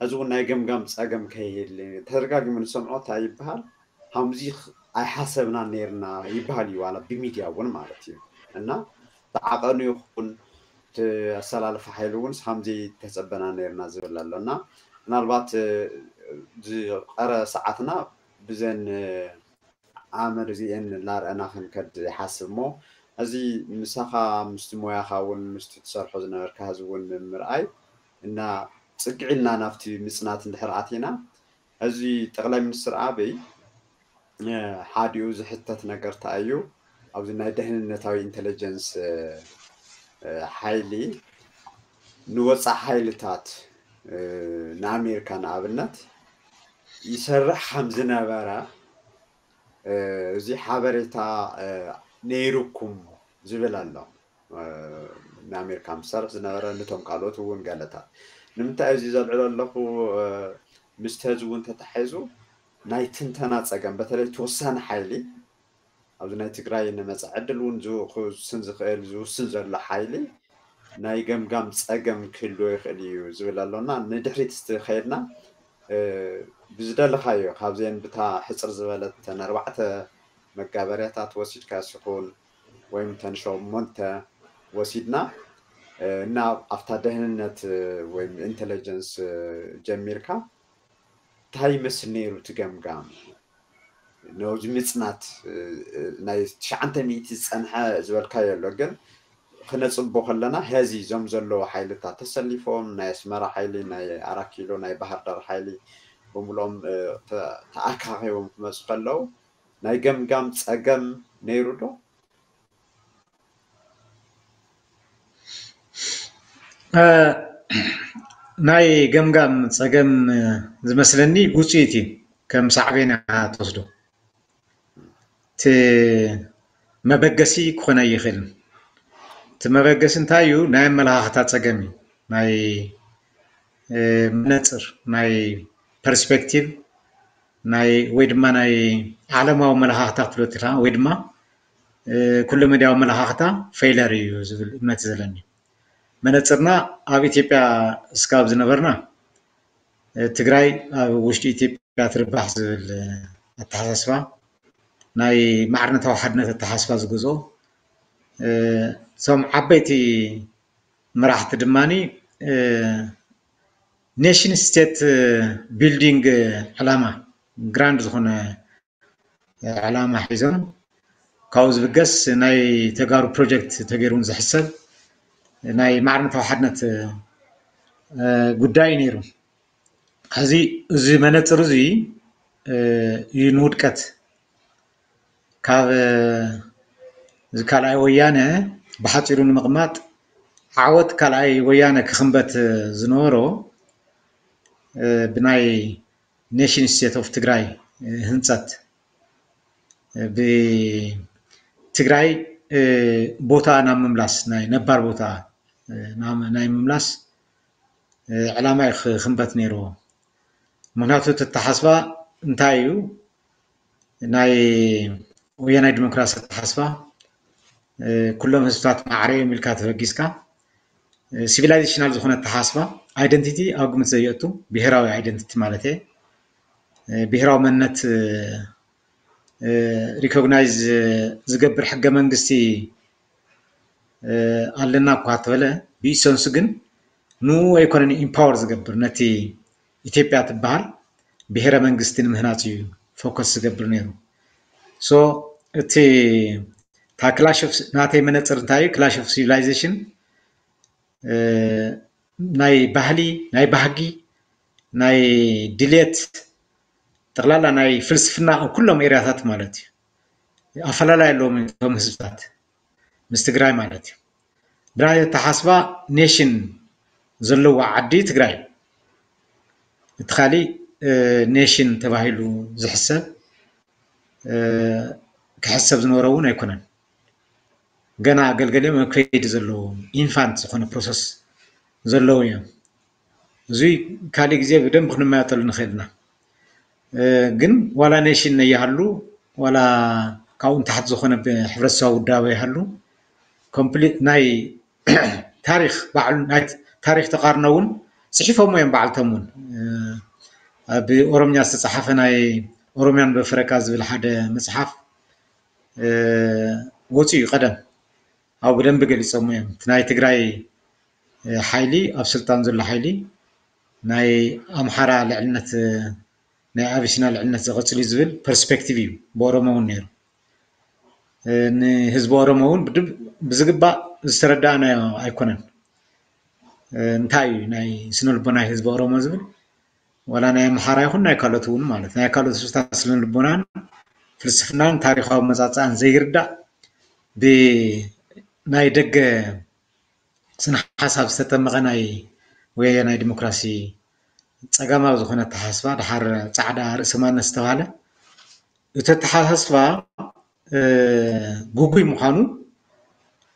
ሕዚ እውን ናይ ገምጋም ፀገም ከይህል ተደጋጊሙ ንሰምዖ እንታይ ይበሃል ሃምዚ ኣይሓሰብና ነይርና ይበሃል እዩ ዋላ ብሚድያ እውን ማለት እዩ እና ተዓቐኑ ይኹን ኣሰላልፋ ሓይሊ እውን ሃምዚ ተፀበና ነይርና ዝብል ኣሎ እና ምናልባት ዝቐረ ሰዓትና ብዘን ኣመር እዚኤን እናረኣና ክንከድ ይሓስብ እሞ እዚ ምሳኻ ምስቲ ሞያኻ እውን ምስቲ ትሰርሖ ዝነበርካ ህዝቢ እውን ምምርኣይ እና ፅግዒልና ናብቲ ምፅናት እንድሕር ኣቲና እዚ ጠቕላይ ሚኒስትር ኣበይ ሓዲኡ ዝሕተት ነገር እንታይ እዩ ኣብዚ ናይ ደህንነታዊ ኢንቴሊጀንስ ሓይሊ ንወፃእ ሓይልታት ንኣሜሪካ ንኣብነት ይሰርሕ ከም ዝነበረ እዚ ሓበሬታ ነይሩኩም ዝብል ኣሎ ንኣሜሪካ ምሰርሕ ዝነበረ ንቶም ካልኦት እውን ገለታት ንምንታይ እዚ ዘልዕሎ ኣለኹ ምስ ተዚ እውን ተታሒዙ ናይ ትንተና ፀገም በተለይ ተወሳኒ ሓይሊ ኣብዚ ናይ ትግራይ ንመፃ ዕድል እውን ዝውስን ዝኽእል ዝውስን ዘሎ ሓይሊ ናይ ገምጋም ፀገም ክህልዎ ይኽእል እዩ ዝብል ኣሎና ንድሕሪት ስ ከይድና ብዝደለኻዮ ካብዚአን ብታ ሕፅር ዝበለት ተን ኣርባዕተ መጋበርያታት ወሲድካ ሲኹን ወይም ተን ሸሞንተ ወሲድና እና ኣብታ ደህንነት ወይም ኢንቴሊጀንስ ጀሚርካ እንታይ ይመስል ነይሩ እቲ ገምጋም ነዚ ምፅናት ናይ ትሽዓንተ ሚእቲ ዝፀንሐ ዝበልካዮ ኣሎ ግን ክነፅቦ ከለና ሀዚ እዞም ዘለዉ ሓይልታት ተሰሊፎም ናይ ኣስመራ ሓይሊ ናይ ኣራት ኪሎ ናይ ባህር ዳር ሓይሊ ብምሎም ተኣካኪቦም ክመፁ ከለዉ ናይ ገምጋም ፀገም ነይሩ ዶ ናይ ገምጋም ፀገም ዝመስለኒ ውፅኢት እዩ ከም ሳዕቤን ትወስዶ እቲ መበገሲ ክኾነ ይኽእል እቲ መበገሲ እንታይ እዩ ናይ ኣመለኻኽታ ፀገም እዩ ናይ መነፅር ናይ ፐርስፔክቲቭ ናይ ወይ ድማ ናይ ዓለማዊ መለኻኽታ ክትብሎ ትኽእል ወይ ድማ ኩለ መድያዊ መለኻኽታ ፌይለር እዩ ዝብል እምነት ዘለኒ መነፅርና ኣብ ኢትዮጵያ እስካብ ዝነበርና ትግራይ ኣብ ውሽጢ ኢትዮጵያ ትርባሕ ዝብል ኣተሓሳስባ ናይ ማዕርነታዊ ሓድነት ኣተሓሳስባ ዝገዝኦ እቶም ዓበይቲ መራሕቲ ድማ ኔሽን ስቴት ቢልዲንግ ዕላማ ግራንድ ዝኾነ ዕላማ ሒዞም ካብኡ ዝብገስ ናይ ተጋሩ ፕሮጀክት ተገይሩን ዝሕሰብ ናይ ማዕርነታዊ ሓድነት ጉዳይ ነይሩ። ሕዚ እዚ መነፅር እዚ እዩ ንውድቀት ካብ እዚ ካልኣይ ወያነ ብሓፂሩ ንምቕማጥ ዓወት ካልኣይ ወያነ ክኽንበት ዝነበሮ ብናይ ኔሽን ስቴት ኦፍ ትግራይ ህንፀት ብትግራይ ቦታ ናብ ምምላስ ናይ ነባር ቦታ ናይ ምምላስ ዕላማ እዩ ክኽንበት ነይርዎ። ምክንያቱ እቲ ኣተሓስባ እንታይ እዩ? ናይ ወያናይ ዲሞክራሲ ኣተሓስባ ኩሎም ህዝብታት ማዕረ እዮም ኢልካ ተበጊስካ፣ ሲቪላይዜሽናል ዝኾነ ኣተሓስባ፣ ኣይደንቲቲ ኣብ ግምት ዘየእቱ፣ ብሄራዊ ኣይደንቲቲ ማለት እየ። ብሄራዊ መንነት ሪኮግናይዝ ዝገብር ሕገ መንግስቲ ኣለና እኳ ተበለ፣ ብኢሰንሱ ግን ንኡ ኣይኮነን ኢምፓወር ዝገብር፣ ነቲ ኢትዮጵያ ትበሃል ብሄረ መንግስቲ ንምህናፅ እዩ ፎከስ ዝገብር ነይሩ። ሶ እቲ እታ ክላሽ ናተይ መነፅር እንታይ እዩ? ክላሽ ኦፍ ሲቪላይዜሽን ናይ ባህሊ፣ ናይ ባህጊ፣ ናይ ድሌት፣ ጠቕላላ ናይ ፍልስፍና ኣብ ኩሎም ኤርያታት ማለት እዩ። ኣፈላላይ ኣለዎም እቶም ህዝብታት ምስ ትግራይ ማለት እዩ። ብናይ ኣተሓስባ ኔሽን ዘለዎ ዓዲ ትግራይ፣ እቲ ካሊእ ኔሽን ተባሂሉ ዝሕሰብ ክሕሰብ ዝነበሮ እውን ኣይኮነን። ገና ገልገሊኦም ኣብ ከይዲ ዘለዉ ኢንፋንት ዝኾነ ፕሮሰስ ዘለዉ እዮም። እዙይ ካሊእ ግዜ ብደንብ ክንመያጠሉ ንኽእል ኢና። ግን ዋላ ኔሽን ነይሃሉ ዋላ ካብኡ ንታሕቲ ዝኾነ ሕብረተሰባዊ ውዳበ ይሃሉ፣ ኮምፕሊት ናይ ታሪኽ ባዕሉ ናይ ታሪኽ ተቃርኖ እውን ፅሒፎም እዮም ባዕልቶም እውን። ኣብ ኦሮምኛ ዝተፃሓፈ ናይ ኦሮምያን በፈረቃ ዝብል ሓደ መፅሓፍ ወፂኡ እዩ ቀደም፣ ኣብ ብደንቢ ገሊፆም እዮም። እቲ ናይ ትግራይ ሓይሊ፣ ኣብ ስልጣን ዘሎ ሓይሊ ናይ ኣምሓራ ልዕልነት፣ ናይ ኣቢሲና ልዕልነት ዘቐፅል እዩ ዝብል ፐርስፔክቲቭ እዩ ብኦሮሞ እውን ነይሩ። ንህዝቢ ኦሮሞ እውን ብዝግባእ ዝተረዳእናዮ ኣይኮነን። እንታይ እዩ ናይ ስነ ልቦና ህዝቢ ኦሮሞ ዝብል? ዋላ ናይ ኣምሓራ ይኹን ናይ ካልኦት እውን ማለት ናይ ካልኦት ህዝብታት ስነ ልቦናን ፍልስፍናን ታሪኻዊ መጻጽኣን ዘይርዳእ፣ ብናይ ደገ ስነ ሓሳብ ዝተጠመቐ ናይ ወያናይ ዲሞክራሲ ጸጋማዊ ዝኾነ ኣተሓሳስባ፣ ደሓር ጻዕዳ ርእሰ ማንነት ዝተባህለ እቲ ኣተሓሳስባ ግጉይ ምዃኑ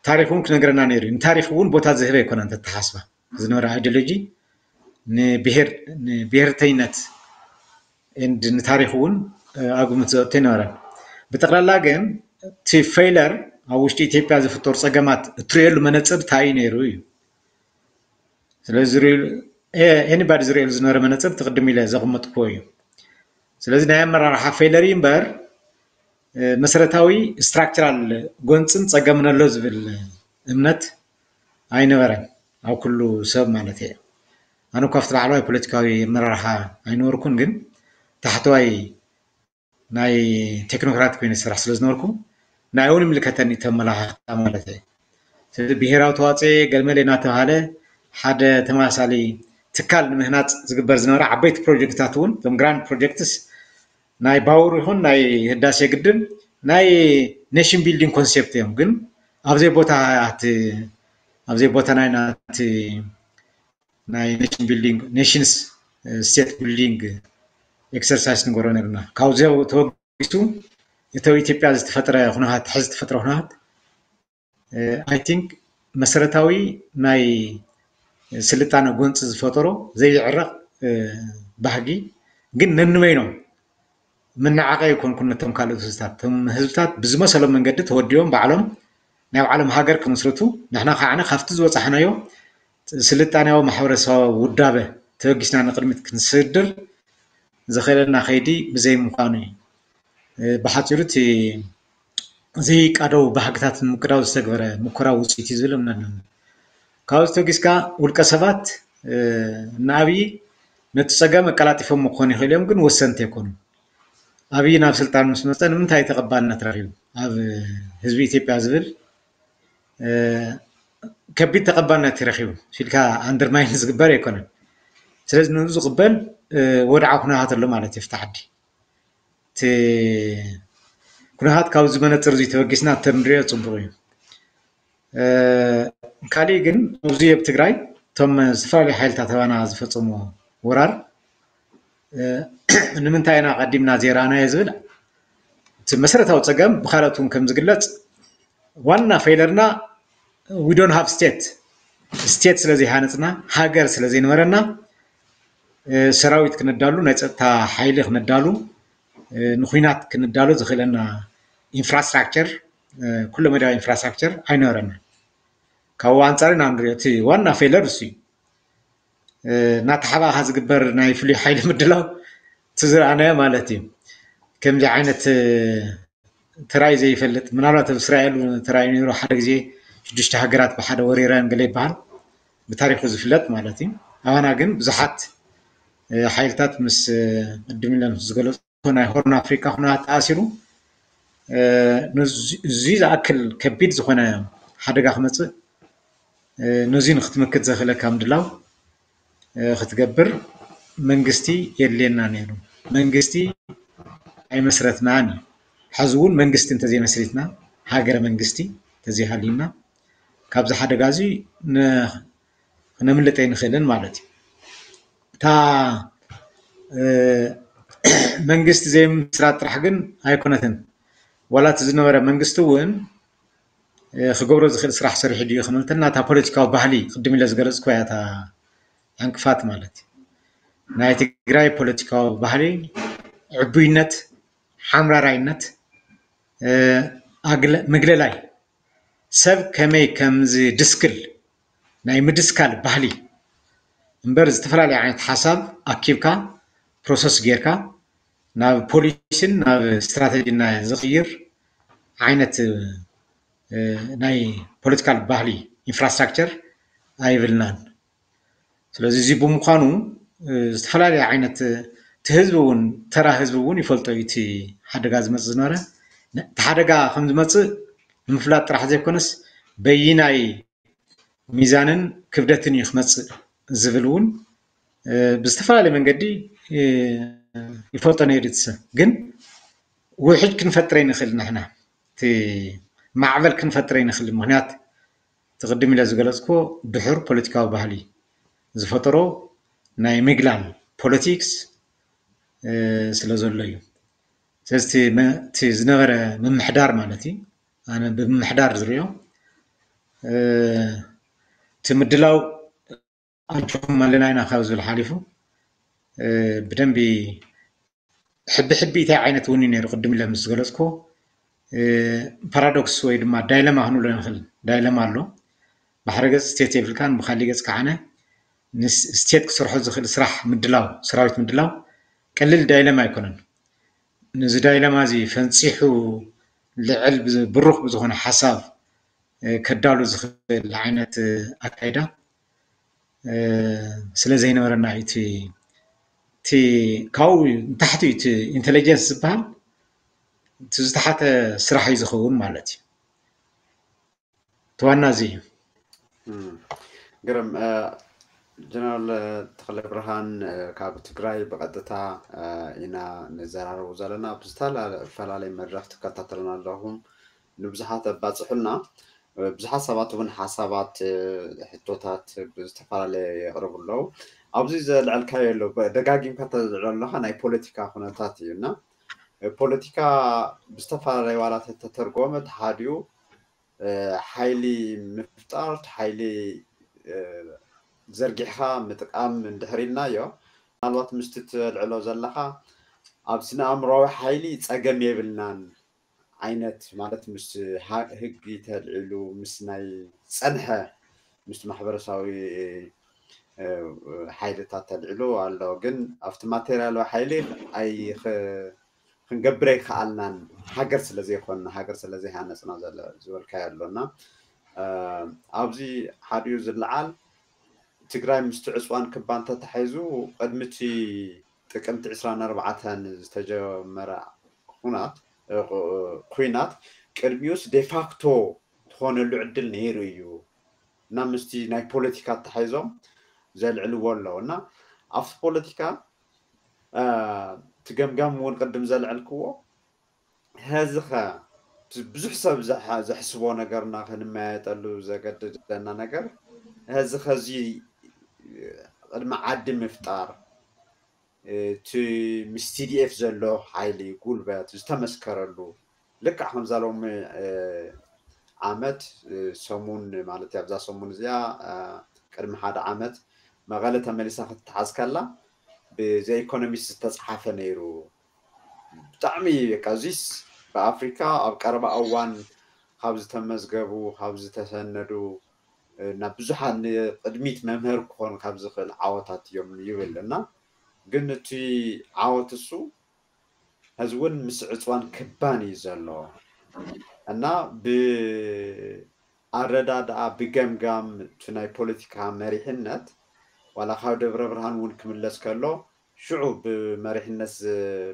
ታሪኽ እውን ክነግረና ነይሩ እዩ። ንታሪኽ እውን ቦታ ዝህበ ኣይኮነን። እቲ ኣተሓሳስባ ዝነበረ ኣይዲዮሎጂ ንብሄር ንብሄርተይነት ንታሪኽ እውን ኣብ ግምት ዘእቱ ኣይነበረን። ብጠቕላላ ግን እቲ ፌይለር ኣብ ውሽጢ ኢትዮጵያ ዝፍጠሩ ፀገማት እትርእየሉ መነፅር እንታይ እዩ ነይሩ እዩ። ስለዚ ኤኒባዲ ዝርእየሉ ዝነበረ መነፅር እቲ ቅድም ኢለ ዘቐመጥኩዎ እዩ። ስለዚ ናይ ኣመራርሓ ፌይለር እዩ እምበር መሰረታዊ ስትራክቸራል ጎንፅን ፀገምን ኣሎ ዝብል እምነት ኣይነበረን ኣብ ኩሉ ሰብ ማለት እየ። ኣነ እኳ ኣብቲ ላዕለዋይ ፖለቲካዊ ኣመራርሓ ኣይነበርኩን፣ ግን ታሕተዋይ ናይ ቴክኖክራት ኮይነ ዝሰርሕ ስለ ዝነበርኩ ንዕኡ እውን ይምልከተኒ እቲ ኣመላኻኽታ ማለት እየ። ስለዚ ብሄራዊ ተዋፅኦ ገለመለ እናተባሃለ ሓደ ተመሳሳሊ ትካል ንምህናፅ ዝግበር ዝነበረ ዓበይቲ ፕሮጀክትታት እውን እቶም ግራንድ ፕሮጀክትስ ናይ ባቡር ይኹን ናይ ህዳሴ ግድብ ናይ ኔሽን ቢልዲንግ ኮንሴፕት እዮም። ግን ኣብዘይ ቦታ ኣብዘይ ቦታ ናይ ናቲ ናይ ኔሽን ቢልዲንግ ኔሽንስ ስቴት ቢልዲንግ ኤክሰርሳይስ ንገብሮ ነርና። ካብዚ ተበጊሱ እቲ ኣብ ኢትዮጵያ ዝተፈጥረ ኩነታት ሕዚ ዝተፈጥረ ኩነታት ኣይ ቲንክ መሰረታዊ ናይ ስልጣነ ጎንፂ ዝፈጠሮ ዘይዕረቕ ባህጊ ግን ነንበይኖም መነዓቐ ኣይኮንኩን ነቶም ካልኦት ህዝብታት። እቶም ህዝብታት ብዝመሰሎም መንገዲ ተወዲቦም ባዕሎም ናይ ባዕሎም ሃገር ክምስርቱ፣ ንሕና ከዓ ካብቲ ዝበፃሕናዮ ስልጣኔያዊ ማሕበረሰባዊ ውዳበ ተበጊስና ንቅድሚት ክንስድር ዘኽእለና ከይዲ ብዘይምዃኑ እዩ። ብሓፂሩ እቲ ዘይቃደው ባህግታት ንምቅዳው ዝተግበረ ሙከራ ውፅኢት እዩ ዝብል እምነት ኣለኒ። ካብዚ ተበጊስካ ውልቀ ሰባት ንኣብይ ነቲ ፀገም ኣቀላጢፎም ክኾኑ ይኽእሉ እዮም፣ ግን ወሰንቲ ኣይኮኑን። ኣብይ ናብ ስልጣን ምስ መፀ ንምንታይ ተቐባልነት ረኺቡ ኣብ ህዝቢ ኢትዮጵያ ዝብል ከቢድ ተቐባልነት ረኺቡ ኢልካ ኣንደርማይን ዝግበር ኣይኮነን። ስለዚ ንኡ ዝቕበል ወድዓ ኩነታት ኣሎ ማለት እዩ። ፍቲ ዓዲ እቲ ኩነታት ካብዚ መነፅር እዚ ተበጊስና እንተንሪኦ ፅቡቕ እዩ። ካሊእ ግን ኣብዚ ኣብ ትግራይ እቶም ዝተፈላለዩ ሓይልታት ኣባና ዝፈፀሙ ወራር ንምንታይ ኢና ቀዲምና ዘይረኣናዮ ዝብል እቲ መሰረታዊ ፀገም ብካልኦት እውን ከም ዝግለፅ ዋና ፌለርና we don't have state state ስለ ዘይሃነፅና ሃገር ስለ ዘይነበረና ሰራዊት ክነዳሉ ናይ ፀጥታ ሓይሊ ክነዳሉ ንኩናት ክንዳሎ ዘኽእለና ኢንፍራስትራክቸር፣ ኩለ መዳያዊ ኢንፍራስትራክቸር ኣይነበረና። ካብኡ ኣንፃር ኢና ንሪኦ፣ እቲ ዋና ፌለር እሱ እዩ። እናተሓባእኻ ዝግበር ናይ ፍሉይ ሓይሊ ምድላው እቲ ዝረኣናዮ ማለት እዩ። ከምዚ ዓይነት ተራይ ዘይፈልጥ፣ ምናልባት ኣብ እስራኤል እውን ተራይ ነይሩ። ሓደ ግዜ ሽዱሽተ ሃገራት ብሓደ ወሪረን ገለ ይበሃል፣ ብታሪኹ ዝፍለጥ ማለት እዩ። ኣባና ግን ብዙሓት ሓይልታት ምስ ቅድም ኢለ ዝገለፁ ናይ ሆርን ኣፍሪካ ኩነታት ተኣሲሩ፣ እዚ ዝኣክል ከቢድ ዝኾነ ሓደጋ ክመፅእ፣ ነዚ ንክትምክት ዘኽእለካ ምድላው ክትገብር መንግስቲ የድልየና ነይሩ። መንግስቲ ኣይመስረትናን እዩ። ሕዚ እውን መንግስቲ እንተዘይመስሪትና፣ ሃገረ መንግስቲ እንተዘይሃልዩና፣ ካብዚ ሓደጋ እዚ ክነምልጥ ኣይንኽእልን ማለት እዩ። እታ መንግስቲ ዘይምስራት ጥራሕ ግን ኣይኮነትን። ዋላ እቲ ዝነበረ መንግስቲ እውን ክገብሮ ዝኽእል ስራሕ ሰሪሑ ድዩ ክንብል እንተልና፣ እታ ፖለቲካዊ ባህሊ ቅድም ኢለ ዝገለፅኩ እያ እታ ዕንቅፋት ማለት እዩ። ናይ ትግራይ ፖለቲካዊ ባህሊ ዕቡይነት፣ ሓምራራይነት፣ ምግለላይ፣ ሰብ ከመይ ከም ዝድስክል ናይ ምድስካል ባህሊ እምበር፣ ዝተፈላለየ ዓይነት ሓሳብ ኣኪብካ ፕሮሰስ ጌርካ ናብ ፖሊሲን ናብ ስትራተጂን ዝቕይር ዓይነት ናይ ፖለቲካል ባህሊ ኢንፍራስትራክቸር ኣይብልናን። ስለዚ እዚ ብምዃኑ ዝተፈላለየ ዓይነት እቲ ህዝቢ እውን፣ ተራ ህዝቢ እውን ይፈልጦ እዩ እቲ ሓደጋ ዝመፅእ ዝነበረ። እቲ ሓደጋ ከም ዝመፅእ ንምፍላጥ ጥራሕ ዘይኮነስ በይናይ ሚዛንን ክብደትን እዩ ክመፅእ ዝብል እውን ብዝተፈላለየ መንገዲ ይፈልጦ ነይሩ እቲ ሰብ። ግን ውሕጅ ክንፈጥር ኣይንኽእል ንሕና፣ እቲ ማዕበል ክንፈጥር ኣይንኽእል። ምኽንያት እቲ ቅድም ኢለ ዝገለፅኩ ድሑር ፖለቲካዊ ባህሊ ዝፈጠሮ ናይ ምግላል ፖለቲክስ ስለ ዘሎ እዩ። ስለዚ እቲ ዝነበረ ምምሕዳር ማለት እዩ፣ ኣነ ብምምሕዳር ዝሪኦ፣ እቲ ምድላው ኣጆኹም ኣለና ኢና ካብ ዝብል ሓሊፉ ብደንቢ ሕቢ ሕቢ እንታይ ዓይነት እውን እዩ ነይሩ። ቅድም ኢለ ምስ ዝገለፅኩ ፓራዶክስ ወይ ድማ ዳይለማ ክንብሎ ንኽእል። ዳይለማ ኣሎ። ብሓደ ገፅ ስቴት የብልካን፣ ብካሊእ ገፅ ከዓነ ስቴት ክሰርሖ ዝኽእል ስራሕ ምድላው፣ ሰራዊት ምድላው ቀሊል ዳይለማ ኣይኮነን። ነዚ ዳይለማ እዚ ፈንፂሑ ልዕል ብሩኽ ብዝኾነ ሓሳብ ከዳሉ ዝኽእል ዓይነት ኣካይዳ ስለ ዘይነበረና እዩ። እቲ ካብኡ ንታሕቲ እዩ እቲ ኢንቴሊጀንስ ዝበሃል፣ እቲ ዝተሓተ ስራሕ እዩ ዝኸውን ማለት እዩ። እቲ ዋና እዚ እዩ። ግርም። ጀነራል ተኽለ ብርሃን ካብ ትግራይ ብቐጥታ ኢና ንዘራረቡ ዘለና። ብዝተፈላለየ መድረኽ ትከታተሉና ኣለኹም፣ ንብዙሓት ኣባፅሑልና። ብዙሓት ሰባት እውን ሓሳባት፣ ሕቶታት ብዝተፈላለየ የቕርቡ ኣለዉ። ኣብዚ ዘልዐልካዮ ኣሎ፣ ደጋጊምካ ተዝልዕሎ ኣለኻ ናይ ፖለቲካ ኩነታት እዩ እና ፖለቲካ ብዝተፈላለየ ዋላ ተተተርጎመ፣ ተሓዲኡ ሓይሊ ምፍጣር፣ ሓይሊ ዘርጊሕካ ምጥቃም እንድሕር ኢልናዮ፣ ምናልባት ምስቲ ትልዕሎ ዘለኻ ኣብ ስነ ኣእምሮዊ ሓይሊ ፀገም የብልናን ዓይነት፣ ማለት ምስ ህጊ ተልዒሉ፣ ምስ ናይ ፀንሐ፣ ምስ ማሕበረሰባዊ ሓይልታት ተልዒሉ ኣሎ። ግን ኣብቲ ማቴርያላዊ ሓይሊ ኣይ ክንገብር ኣይከኣልናን፣ ሃገር ስለ ዘይኮንና፣ ሃገር ስለ ዘይሃነፅና ዝበልካዮ ኣሎ እና ኣብዚ ሓዲኡ ዝለዓል ትግራይ ምስቲ ዕፅዋን ክባን ተታሒዙ ቅድሚ እቲ ጥቅምቲ ዕስራን ኣርባዕተን ዝተጀመረ ኩናት፣ ኩናት ቅድሚኡስ ዴፋክቶ ትኾነሉ ዕድል ነይሩ እዩ እና ምስቲ ናይ ፖለቲካ ኣተሓሒዞም ዘልዕልዎ ኣለዉ እና ኣብቲ ፖለቲካ እቲ ገምጋም እውን ቅድም ዘልዐልክዎ፣ ሀዚ ኸ ብዙሕ ሰብ ዘሕስቦ ነገርና ክንመያየጠሉ ዘገድደና ነገር፣ ሀዚ ኸዚ ቅድሚ ዓዲ ምፍጣር፣ እቲ ምስ ቲ ዲ ኤፍ ዘሎ ሓይሊ ጉልበት ዝተመስከረሉ፣ ልክዕ ከምዛ ሎሚ ዓመት ሰሙን ማለት ኣብዛ ሰሙን እዚኣ ቅድሚ ሓደ ዓመት መቐለ ተመሊሳ ክትተሓዝ ከላ ብዘ ኢኮኖሚስት ዝተፅሓፈ ነይሩ። ብጣዕሚ በቃ እዚስ ብኣፍሪካ ኣብ ቀረባ እዋን ካብ ዝተመዝገቡ ካብ ዝተሰነዱ ናብ ብዙሓት ንቅድሚት መምህር ክኾን ካብ ዝኽእል ዓወታት እዮም ይብል እና ግን እቲ ዓወት እሱ ሕዚ እውን ምስ ዕፅዋን ክባን እዩ ዘሎ እና ብኣረዳድኣ ብገምጋም እቲ ናይ ፖለቲካ መሪሕነት ዋላ ካብ ደብረ ብርሃን እውን ክምለስ ከሎ ሽዑ ብመሪሕነት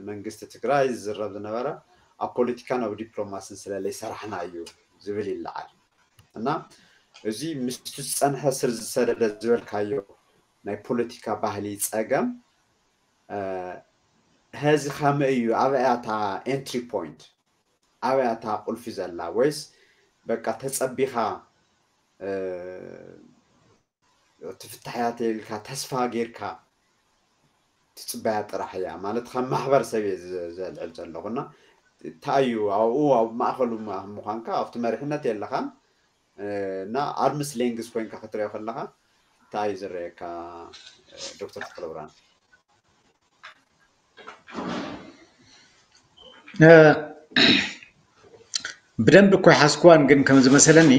መንግስቲ ትግራይ ዝዝረብ ዝነበረ ኣብ ፖለቲካን ኣብ ዲፕሎማስን ስለለይ ሰራሕና እዩ ዝብል ይለዓል እና እዚ ምስቲ ዝፀንሐ ስር ዝሰደደ ዝበልካዮ ናይ ፖለቲካ ባህሊ ፀገም ሀዚ ከመይ እዩ ኣበያታ ኤንትሪ ፖይንት ኣበያታ ቁልፊ ዘላ ወይስ በቃ ተፀቢኻ ትፍታሕያ ተልካ ተስፋ ጌርካ ትፅበያ ጥራሕ እያ ማለት ከም ማሕበረሰብ እየ ዘልዕል ዘለኹ እና እንታይ እዩ ኣብኡ ኣብ ማእኸሉ ምዃንካ ኣብቲ መሪሕነት የለኻን እና ኣርምስ ሌንግስ ኮይንካ ክትሪኦ ከለካ እንታይ እዩ ዝረየካ ዶክተር ተክለብርሃን ብደንብ እኮ ይሓዝኩዋን ግን ከም ዝመሰለኒ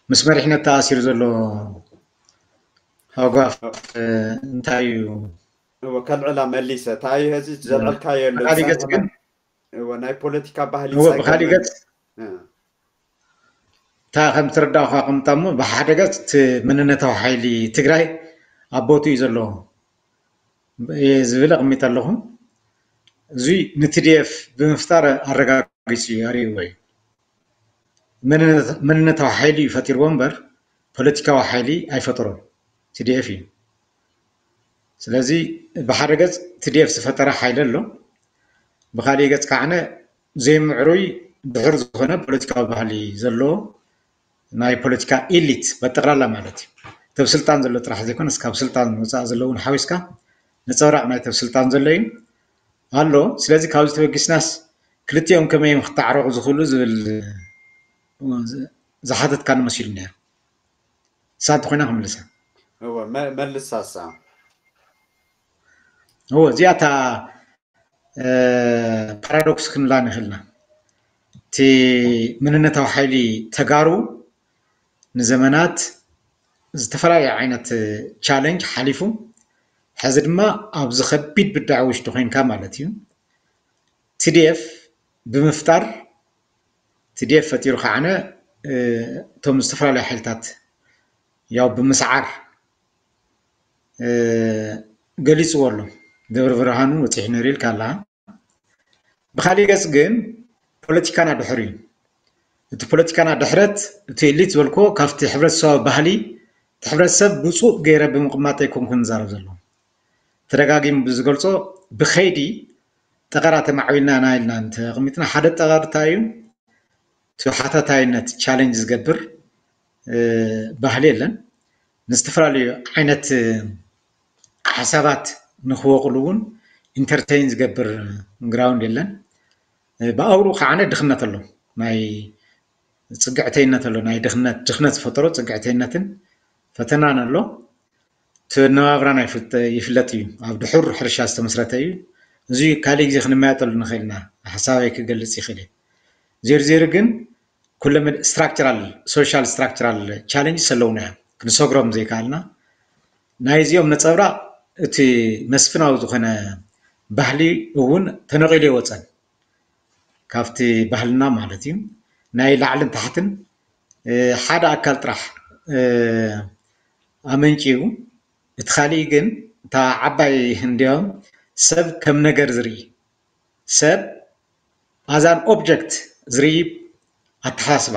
ምስ መሪሕነት ተኣሲሩ ዘሎ ሃጓፍ እንታይ እዩ ከልዕላ መሊሰ እንታይ እዩ ዚ ዘልዐልካ የሎ ብካሊእ ገፅ ግን ናይ ፖለቲካ ባህሊ ብካሊእ ገፅ እታ ከም ትረዳእኳ ከምጣሞ ብሓደ ገፅ እቲ መንነታዊ ሓይሊ ትግራይ ኣብ ቦትኡ እዩ ዘለዎ ዝብል ኣቕሚጠ ኣለኹ። እዚ ንቲዲኤፍ ብምፍጣር ኣረጋጊፁ እዩ ኣርእይዎ እዩ። መንነታዊ ሓይሊ እዩ ፈጢርዎ እምበር ፖለቲካዊ ሓይሊ ኣይፈጠሮን፣ ቲዲኤፍ እዩ። ስለዚ ብሓደ ገፅ ቲዲኤፍ ዝፈጠረ ሓይሊ ኣሎ፣ ብካሊእ ገፅ ከዓነ ዘይምዕሩይ ድሑር ዝኾነ ፖለቲካዊ ባህሊ ዘለዎ ናይ ፖለቲካ ኢሊት በጠቕላላ ማለት እዩ። ተብ ስልጣን ዘሎ ጥራሕ ዘይኮነስ ካብ ስልጣን ወፃእ ዘለውን ሓዊስካ ነፀብራቕ ናይ ተብ ስልጣን ዘሎ እዩ ኣሎ። ስለዚ ካብዚ ተበጊስናስ ክልቲኦም ከመይ እዮም ክተዓረቑ ዝኽእሉ ዝብል ዝሓተትካኒ መሲሉ ነይሩ። ሳንቲ ኮይና ክምልሳ መልሳሳ እዎ እዚኣታ ፓራዶክስ ክንብላ ንኽእልና እቲ መንነታዊ ሓይሊ ተጋሩ ንዘመናት ዝተፈላለዩ ዓይነት ቻለንጅ ሓሊፉ ሕዚ ድማ ኣብዚ ከቢድ ብዳዕ ውሽጢ ኮይንካ ማለት እዩ ቲዲኤፍ ብምፍጣር ቲዲኤፍ ፈጢሩ ከዓነ እቶም ዝተፈላለዩ ሓይልታት ያው ብምስዓር ገሊፅዎ ኣሎ። ደብረ ብርሃኑ በፂሑ ነይሩ ኢልካ ኣለኻ። ብካሊእ ገፅ ግን ፖለቲካና ድሕር እዩ። እቲ ፖለቲካና ድሕረት እቲ ኤሊት ዝበልኮ ካብቲ ሕብረተሰባዊ ባህሊ እቲ ሕብረተሰብ ብፁእ ገይረ ብምቕማጥ ኣይኮንኩን ዝዛረብ ዘሎ። ተደጋጊሙ ብዝገልፆ ብኸይዲ ጠቐራ ተማዕቢልና ኢና ኢልና እንተቐሚጥና ሓደ ጠቐር እንታይ እዩ? እቲ ሓታታይነት ቻለንጅ ዝገብር ባህሊ የለን። ንዝተፈላለዩ ዓይነት ሓሳባት ንክወቕሉ እውን ኢንተርቴይን ዝገብር ግራውንድ የለን። ብኣውሩ ከዓነ ድኽነት ኣሎ፣ ናይ ፅግዕተይነት ኣሎ፣ ናይ ድኽነት ድኽነት ዝፈጠሮ ፅግዕተይነትን ፈተናን ኣሎ። እቲ ኣነባብራና ይፍለጥ እዩ። ኣብ ድሑር ሕርሻ ዝተመስረተ እዩ። እዚ ካልእ ግዜ ክንመያጠሉ ንኽእል ኢና። ሓሳበይ ክገልፅ ይኽእል እየ። ዜሩ ዜሩ ግን ኩለ ስትራክቸራል ሶሻል ስትራክቸራል ቻለንጅስ ኣለውና እዮም ክንሰግሮም ዘይከኣልና ናይዚኦም ነፀብራቕ እቲ መስፍናዊ ዝኾነ ባህሊ እውን ተነቒሉ ይወፀን ካብቲ ባህልና ማለት እዩ ናይ ላዕልን ታሕትን ሓደ ኣካል ጥራሕ ኣመንጭዩ እቲ ካሊእ ግን እታ ዓባይ እንዲኦም ሰብ ከም ነገር ዝርኢ ሰብ ኣዛን ኦብጀክት ዝርኢ ኣተሓሳስባ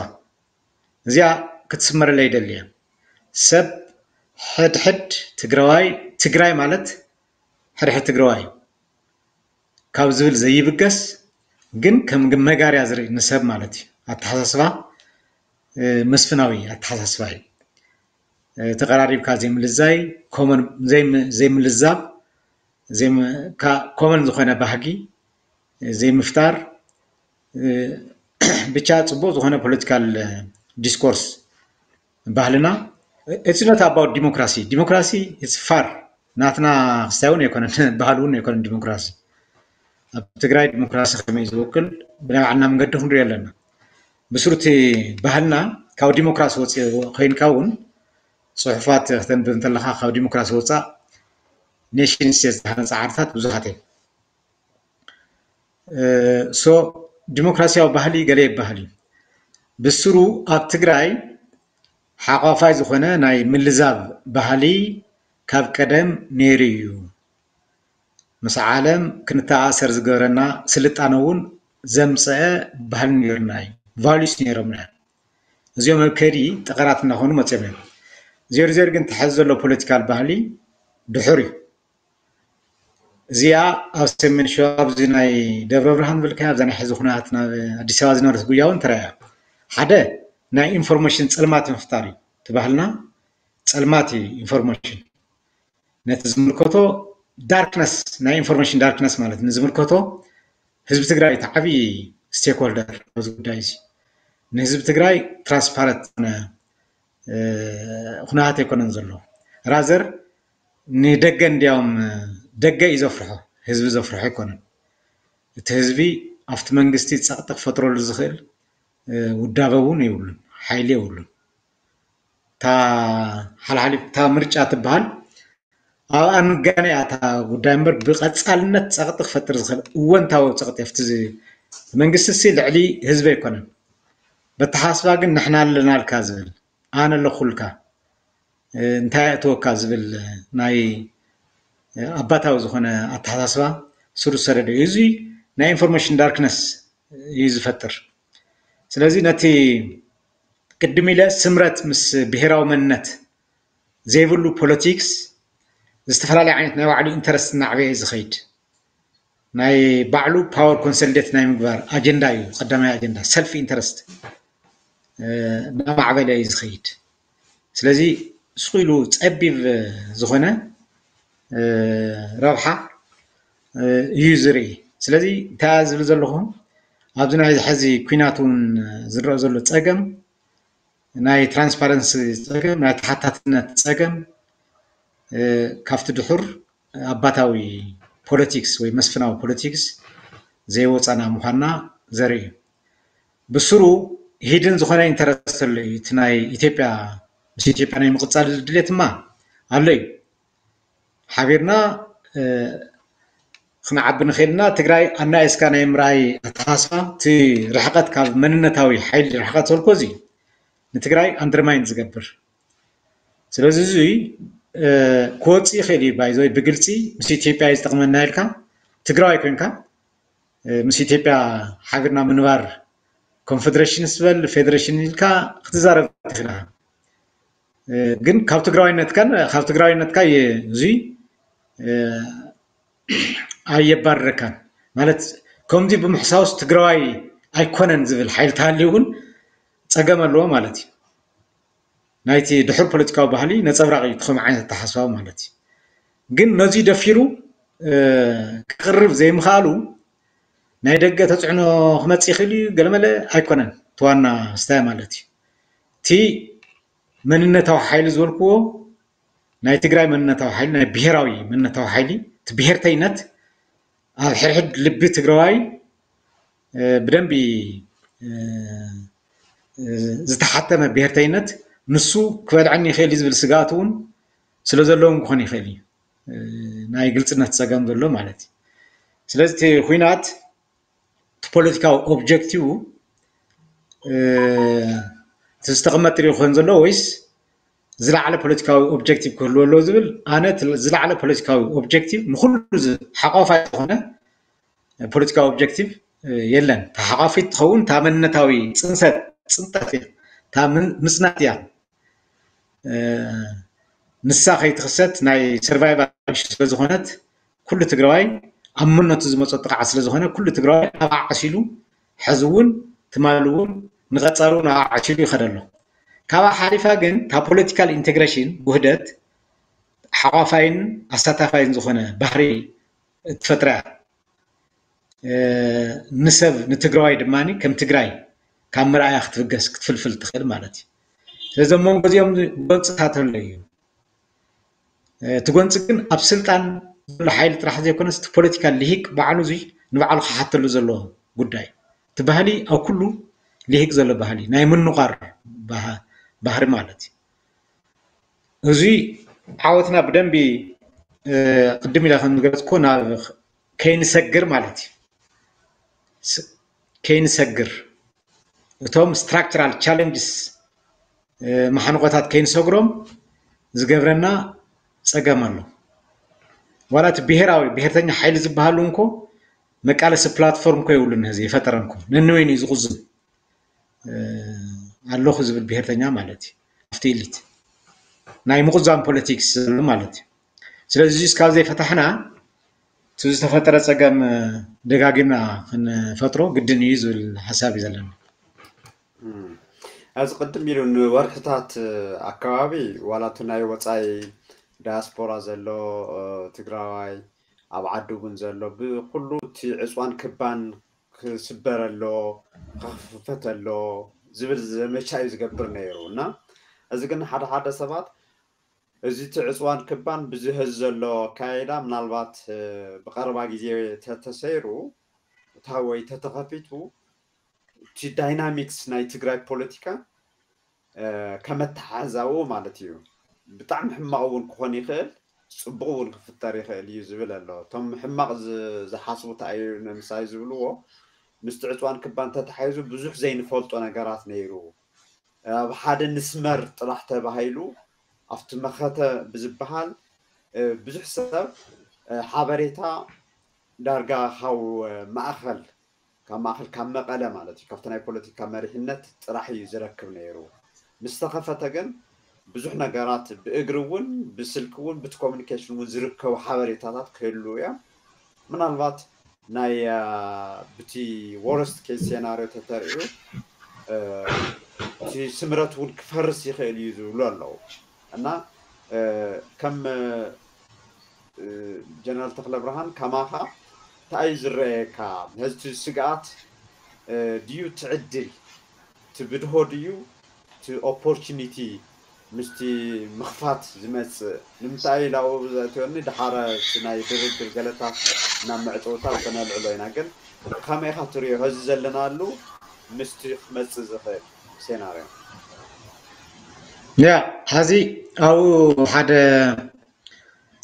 እዚኣ ክትስመረለይ ይደሊ እየ። ሰብ ሕድሕድ ትግራዋይ ትግራይ ማለት ሕድሕድ ትግራዋይ እዩ ካብ ዝብል ዘይብገስ ግን ከም መጋርያ ዝርኢ ንሰብ ማለት እዩ። ኣተሓሳስባ መስፍናዊ ኣተሓሳስባ እዩ። ተቐራሪብካ ዘይምልዛይ ዘይምልዛብ ኮመን ዝኾነ ባህጊ ዘይምፍጣር ብቻ ፅቡቅ ዝኾነ ፖለቲካል ዲስኮርስ ባህልና it's not about democracy democracy it's far ናትና ክስታይ እውን ኣይኮነን ባህል እውን ኣይኮነን ዲሞክራሲ ኣብ ትግራይ ዲሞክራሲ ከመይ ዝውክል ብናይ ባዕልና መንገዲ ክንሪኦ ኣለና። ብስሩ እቲ ባህልና ካብ ዲሞክራሲ ወፂኡ ኮይንካ እውን ፅሑፋት ክተንብብ እንተለካ ካብ ዲሞክራሲ ወፃእ ኔሽን ስቴት ዝሃነፃ ዓድታት ብዙሓት እዮም። ሶ ዲሞክራሲያዊ ባህሊ ገለ ይበሃል እዩ። ብስሩ ኣብ ትግራይ ሓቋፋይ ዝኾነ ናይ ምልዛብ ባህሊ ካብ ቀደም ነይሩ እዩ። ምስ ዓለም ክንተኣሰር ዝገበረና ስልጣነ እውን ዘምፀአ ባህሊ ነይሩና እዩ። ቫሉስ ነይሮምና እዮም። እዚኦም ኣብ ከይዲ ጠቐራት እናኾኑ መፅኦም እዮም። ዜርዜር ግን ተሐዚ ዘሎ ፖለቲካል ባህሊ ድሑር እዩ። እዚኣ ኣብ ሰሜን ሸዋ ኣብዚ ናይ ደብረ ብርሃን ብልካ ኣብዛ ናይ ሕዚ ኩናት ናብ ኣዲስ ኣበባ ዝነበረት ጉያ እውን ተረኣያ። ሓደ ናይ ኢንፎርሜሽን ፀልማት ምፍጣር እዩ። እቲ ባህልና ፀልማት እዩ ኢንፎርሜሽን። ነቲ ዝምልከቶ ዳርክነስ ናይ ኢንፎርሜሽን ዳርክነስ ማለት ንዝምልከቶ ህዝቢ ትግራይ እቲ ዓብዪ ስቴክሆልደር ኣብዚ ጉዳይ እዚ ንህዝቢ ትግራይ ትራንስፓረንት ዝኾነ ኩነታት ኣይኮነን ዘሎ። ራዘር ንደገ እንዲያውም ደገ እዩ ዘፍርሖ፣ ህዝቢ ዘፍርሖ ኣይኮነን። እቲ ህዝቢ ኣብቲ መንግስቲ ፀቕጢ ክፈጥረሉ ዝኽእል ውዳበ እውን የብሉን፣ ሓይሊ የብሉን። እታ ሓልሓሊፍ እታ ምርጫ ትበሃል ኣብኣ ንጋነ እያ እታ ጉዳይ እምበር ብቐፃልነት ፀቕጢ ክፈጥር ዝኽእል እወንታዊ ፀቕጢ ኣብቲ መንግስቲ ሲ ልዕሊ ህዝቢ ኣይኮነን። በተሓስባ ግን ንሕና ኣለናልካ ዝብል ኣነ ኣለኹልካ እንታይ ኣእትወካ ዝብል ናይ ኣባታዊ ዝኾነ ኣተሓሳስባ ስሩ ዝሰደደ እዩ። እዚ ናይ ኢንፎርሜሽን ዳርክነስ እዩ ዝፈጥር። ስለዚ ነቲ ቅድም ኢለ ስምረት ምስ ብሄራዊ መንነት ዘይብሉ ፖለቲክስ ዝተፈላለየ ዓይነት ናይ ባዕሉ ኢንተረስት እናዕበየ እዩ ዝኸይድ። ናይ ባዕሉ ፓወር ኮንሶሊዴት ናይ ምግባር ኣጀንዳ እዩ። ቀዳማይ ኣጀንዳ ሰልፍ ኢንተረስት እናማዕበለ እዩ ዝኸይድ። ስለዚ ስቕ ኢሉ ፀቢብ ዝኾነ ረብሓ እዩ ዝርኢ። ስለዚ እንታይ ዝብል ዘለኹ ኣብዚ ናይ ሕዚ ኩናት እውን ዝረአ ዘሎ ፀገም ናይ ትራንስፓረንሲ ፀገም ናይ ተሓታትነት ፀገም ካብቲ ድሑር ኣባታዊ ፖለቲክስ ወይ መስፍናዊ ፖለቲክስ ዘይወፃና ምዃንና ዘርኢ እዩ። ብስሩ ሂድን ዝኾነ ኢንተረስት ኣሎ እዩ። እቲ ናይ ኢትዮጵያ ምስ ኢትዮጵያ ናይ ምቕፃል ድሌት ድማ ኣሎ እዩ። ሓቢርና ክንዓቢ ንኽእል ኢና። ትግራይ ኣናኢስካ ናይ ምርኣይ ኣተሓሳስባ እቲ ርሕቀት ካብ መንነታዊ ሓይሊ ርሕቀት ዘልኮ እዚ ንትግራይ ኣንደርማይን ዝገብር ስለዚ እዚ ክወፅእ ይኽእል እዩ። ባይዘወይ ብግልፂ ምስ ኢትዮጵያ እዩ ዝጠቕመና ኢልካ ትግራዋይ ኮይንካ ምስ ኢትዮጵያ ሓቢርና ምንባር ኮንፌደሬሽን ስበል ፌደሬሽን ኢልካ ክትዛረብ ትኽእል። ግን ካብ ትግራዋይነትካን ካብ ትግራዋይነትካ እዚ ኣየባርረካን ማለት ከምዚ ብምሕሳውስ ትግራዋይ ኣይኮነን ዝብል ሓይሊ ተሃልዩ እውን ፀገም ኣለዎ ማለት እዩ። ናይቲ ድሑር ፖለቲካዊ ባህሊ ነፀብራቕ እዩ ትኸም ዓይነት ኣተሓስባዊ ማለት እዩ። ግን ነዚ ደፊሩ ክቕርብ ዘይምኽኣሉ ናይ ደገ ተፅዕኖ ክመፅእ ይኽእል እዩ ገለመለ ኣይኮነን። እቲ ዋና ስታይ ማለት እዩ እቲ መንነታዊ ሓይሊ ዝበልክዎ ናይ ትግራይ መንነታዊ ሓይሊ ናይ ብሄራዊ መንነታዊ ሓይሊ እቲ ብሄርተይነት ኣብ ሕድሕድ ልቢ ትግራዋይ ብደንቢ ዝተሓተመ ብሄርተይነት ንሱ ክበልዐኒ ይኽእል እዩ ዝብል ስግኣት እውን ስለ ዘለዎም ክኾን ይኽእል እዩ። ናይ ግልፅነት ፀገም ዘሎ ማለት እዩ። ስለዚ እቲ ኩናት እቲ ፖለቲካዊ ኦብጀክቲቭ እቲ ዝተቐመጥ ሪኦ ክኾን ዘሎ ወይስ ዝለዓለ ፖለቲካዊ ኦብጀክቲቭ ክህልዎ ኣለዎ ዝብል ኣነ ዝለዓለ ፖለቲካዊ ኦብጀክቲቭ ንኩሉ ሓቋፋይ ዝኾነ ፖለቲካዊ ኦብጀክቲቭ የለን። ተሓቋፊት ትኸውን እታ መንነታዊ ፅንሰት ፅንጠት እያ እታ ምፅናት እያ። ንሳ ከይትኽሰት ናይ ሰርቫይቫል ስለዝኾነት ኩሉ ትግራዋይ ኣብ መንነቱ ዝመፆ ጥቕዓት ስለዝኾነ ኩሉ ትግራዋይ ኣብ ዓሲሉ ሕዚ እውን ትማሊ እውን ንቐፃሉ ናብ ዓሲሉ ይኸደሎ። ካብኣ ሓሊፋ ግን እታ ፖለቲካል ኢንቴግሬሽን ውህደት ሓቋፋይን ኣሳታፋይን ዝኾነ ባህሪ እትፈጥራ እያ። ንሰብ ንትግራዋይ ድማ ከም ትግራይ ካብ መርኣያ ክትብገስ ክትፍልፍል ትኽእል ማለት እዩ። ስለዚ ኣብ መንጎ እዚኦም ጎንፅታት ኣሎ እዩ። እቲ ጎንፂ ግን ኣብ ስልጣን ዘሎ ሓይሊ ጥራሕ ዘይኮነስ እቲ ፖለቲካል ልሂቅ ባዕሉ እዚ ንባዕሉ ክሓተሉ ዘለዎ ጉዳይ። እቲ ባህሊ ኣብ ኩሉ ልሂቅ ዘሎ ባህሊ ናይ ምንቋር ባህ- ባህሪ ማለት እዩ። እዚ ዓወትና ብደንቢ እ፣ ቅድም ኢለ ከም ዝገለፅኩ ናብ ከይንሰግር ማለት እዩ። ስ- ከይንሰግር እቶም structural challenges ማሕንቆታት ከይንሰግሮም ዝገብረና ፀገም ኣሎ። ዋላ እቲ ብሄራዊ ብሄርተኛ ሓይሊ ዝበሃሉ እንኮ መቃለሲ ፕላትፎርም ኮ የብሉን። ህዚ የፈጠረን ኮ ነንወይኑ እዩ ዝቕዝም ኣለኹ ዝብል ብሄርተኛ ማለት እዩ። ኣብቲ ኢሊት ናይ ምቕዛም ፖለቲክስ ዘሎ ማለት እዩ። ስለዚ እስካብ ዘይፈታሕና እቲ ዝተፈጠረ ፀገም ደጋጊምና ክንፈጥሮ ግድን እዩ ዝብል ሓሳብ እዩ ዘለና። እዚ ቅድም ኢሉ ንወርሕታት ኣካባቢ ዋላ እቲ ናይ ወፃኢ ዳያስፖራ ዘሎ ትግራዋይ ኣብ ዓዲ እውን ዘሎ ብኩሉ እቲ ዕፅዋን ክባን ክስበር ኣሎ፣ ክኽፈት ኣሎ ዝብል ዘመቻ እዩ ዝገብር ነይሩ። እና እዚ ግን ሓደ ሓደ ሰባት እዚ እቲ ዕፅዋን ክባን ብዚ ሀዚ ዘሎ ኣካይዳ ምናልባት ብቀረባ ግዜ ተተሰይሩ እታ ወይ ተተኸፊቱ እቲ ዳይናሚክስ ናይ ትግራይ ፖለቲካ ከመተሓዛኡ ማለት እዩ። ብጣዕሚ ሕማቕ እውን ክኾን ይኽእል፣ ፅቡቕ እውን ክፍጠር ይኽእል እዩ ዝብል ኣሎ። እቶም ሕማቕ ዝሓስቡ እንታይ እዩ ንምሳይ ዝብልዎ ምስቲ ዕፅዋን ክባን ተተሓይዙ ብዙሕ ዘይንፈልጦ ነገራት ነይሩ። ኣብ ሓደ ንስመር ጥራሕ ተባሂሉ ኣብቲ መኸተ ብዝበሃል ብዙሕ ሰብ ሓበሬታ ዳርጋ ካብ ማእኸል ካብ ማእኸል ካብ መቐለ ማለት እዩ ካብቲ ናይ ፖለቲካ መሪሕነት ጥራሕ እዩ ዝረክብ ነይሩ። ምስ ተኸፈተ ግን ብዙሕ ነገራት ብእግሪ እውን ብስልኪ እውን ብቲ ኮሚኒኬሽን እውን ዝርከቡ ሓበሬታታት ክህሉ እዮም። ምናልባት ናይ ብቲ ወረስት ኬስ ሴናሪዮ ተተርእዩ እቲ ስምረት እውን ክፈርስ ይኽእል እዩ ዝብሉ ኣለዉ። እና ከም ጀነራል ተክለ ብርሃን ከማኻ እንታይ እዩ ዝረኣየካ? ነዚ ስግኣት ድዩ ትዕድል ትብድሆ ድዩ እቲ ኦፖርቹኒቲ ምስቲ ምኽፋት ዝመፅእ ንምንታይ ኢላው ዘእትወኒ ድሓረ ናይ ድርድር ገለታት ናብ መዕፀውታ ክነልዕሎ ኢና ግን ከመይ ኢኻ ትሪኦ ሀዚ ዘለናሉ ምስቲ ክመፅእ ዝኽእል ሴናርዮ? ያ ሀዚ ኣብኡ ሓደ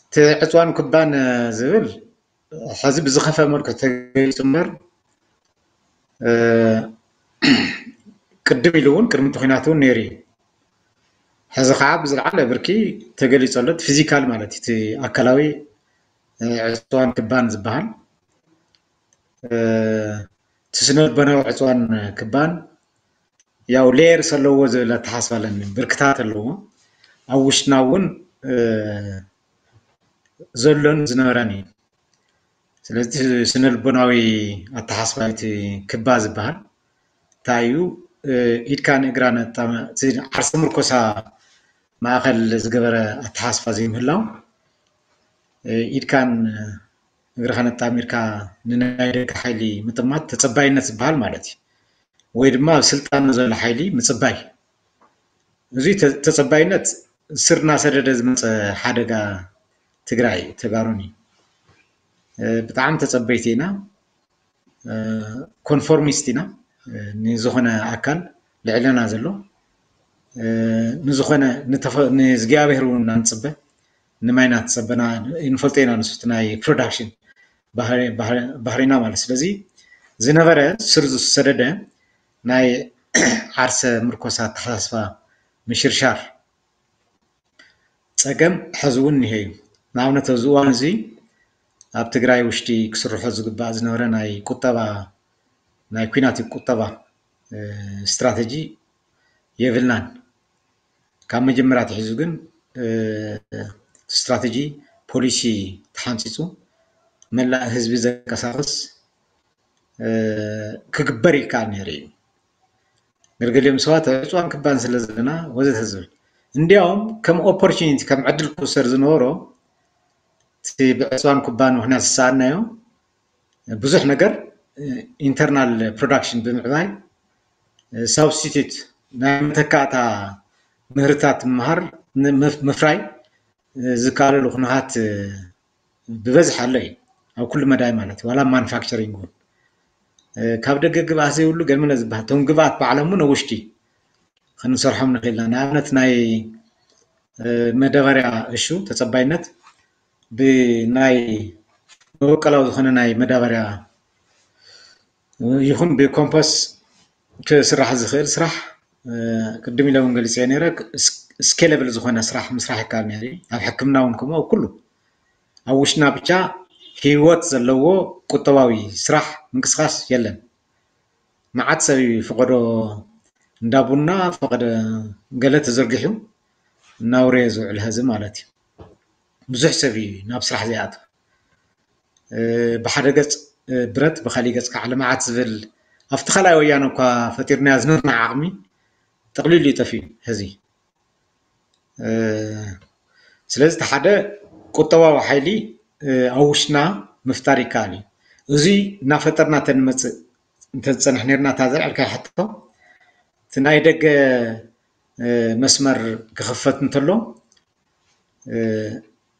እቲ ዕፅዋን ክባን ዝብል ሐዚ ብዝኸፈ መልክዕ ተገሊፁ እምበር ቅድም ኢሉ እውን ቅድሚ እቲ ኩናት እውን ነይሩ እዩ። ሐዚ ከዓ ብዝለዓለ ብርኪ ተገሊፁ ኣሎ። እቲ ፊዚካል ማለት እዩ፣ እቲ ኣካላዊ ዕፅዋን ክባን ዝበሃል እቲ ስነልቦናዊ ዕፅዋን ክባን ያው ሌየርስ ኣለዎ ዝብል ኣተሓስባ ኣለኒ። ብርክታት ኣለዎ። ኣብ ውሽጥና እውን ዘሎን ዝነበረን እዩ። ስለዚ ስነልቦናዊ ኣተሓስባ እቲ ክባ ዝበሃል እንታይ እዩ? ኢድካ ንእግራ ነጣመ ዓርሰ ምርኮሳ ማእኸል ዝገበረ ኣተሓስባ ዘይምህላው ኢድካን እግርኻ ነጣሚርካ ንናይ ደገ ሓይሊ ምጥማት ተፀባይነት ዝበሃል ማለት እዩ። ወይ ድማ ኣብ ስልጣን ዘሎ ሓይሊ ምፅባይ። እዚ ተፀባይነት ስር እናሰደደ ዝመፀ ሓደጋ ትግራይ ተጋሩን እዩ። ብጣዕሚ ተፀበይቲ ኢና። ኮንፎርሚስት ኢና። ንዝኾነ ኣካል ልዕለና ዘሎ ንዝኾነ ንእግዚኣብሔር እውን እናንፅበ ንማይ እናተፀበና ንፈልጦ ኢና። ንሱ ናይ ፕሮዳክሽን ባህሪና ማለት። ስለዚ ዝነበረ ስር ዝሰደደ ናይ ዓርሰ ምርኮሳ ኣተሓሳስባ ምሽርሻር ፀገም ሐዚ እውን እኒሀ እዩ። ንኣብነት ኣብዚ እዋን እዚ ኣብ ትግራይ ውሽጢ ክስርሖ ዝግባእ ዝነበረ ናይ ቁጠባ ናይ ኩናት ቁጠባ ስትራተጂ የብልናን። ካብ መጀመርያ ኣትሒዙ ግን ስትራተጂ ፖሊሲ ተሓንፂፁ መላእ ህዝቢ ዘንቀሳቕስ ክግበር ይከኣል ነይሩ እዩ። ገለገሊኦም ሰባት ዕፅዋን ክባን ስለ ዘለና ወዘተ ዝብል እንዲያውም ከም ኦፖርቹኒቲ ከም ዕድል ክውሰድ ዝነበሮ እቲ ብዕፅዋን ክባን ምክንያት ዝሰኣናዮ ብዙሕ ነገር ኢንተርናል ፕሮዳክሽን ብምዕባይ ሳብስቲቱት ናይ መተካእታ ምህርታት ምምሃር ምፍራይ ዝከኣለሉ ኩነታት ብበዝሒ ኣሎ እዩ። ኣብ ኩሉ መዳይ ማለት እዩ፣ ዋላ ማኑፋክቸሪንግ እውን። ካብ ደገ ግብኣት ዘይብሉ ገለ ዝበሃል፣ እቶም ግብኣት ባዕሎም እውን ኣብ ውሽጢ ክንሰርሖም ንኽእል ኢና። ንኣብነት ናይ መዳበርያ እሹ ተፀባይነት ብናይ መበቀላዊ ዝኾነ ናይ መዳበርያ ይኹን ብኮምፖስ ክስራሕ ዝኽእል ስራሕ ቅድም ኢለ እውን ገሊፀ ነይረ። ስኬለብል ዝኾነ ስራሕ ምስራሕ ይከኣል ነይሩ። ኣብ ሕክምና እውን ከምኡ ኣብ ኩሉ ኣብ ውሽጥና ብቻ ህይወት ዘለዎ ቁጠባዊ ስራሕ ምንቅስቃስ የለን። መዓት ሰብ እዩ ፈቐዶ እንዳ ቡና ፈቐደ ገለ ተዘርጊሑ እናውረየ ዝውዕል ህዝቢ ማለት እዩ። ብዙሕ ሰብ እዩ ናብ ስራሕ ዘይኣትው። ብሓደ ገፅ ብረት ብካሊእ ገፅ ከዓ ልምዓት ዝብል ኣብቲ ካልኣይ ወያነ እኳ ፈጢርናዮ ዝነበርና ዓቕሚ ጠቕሊሉ እዩ ጠፊኡ ሕዚ። ስለዚ እቲ ሓደ ቁጠባዊ ሓይሊ ኣብ ውሽጥና ምፍጣር ይከኣል እዩ። እዚ እናፈጠርና ተንመፅእ እንተዝፀንሕ ነርና እታ ዘልዐልካዮ ሕቶ እቲ ናይ ደገ መስመር ክኽፈት እንተሎ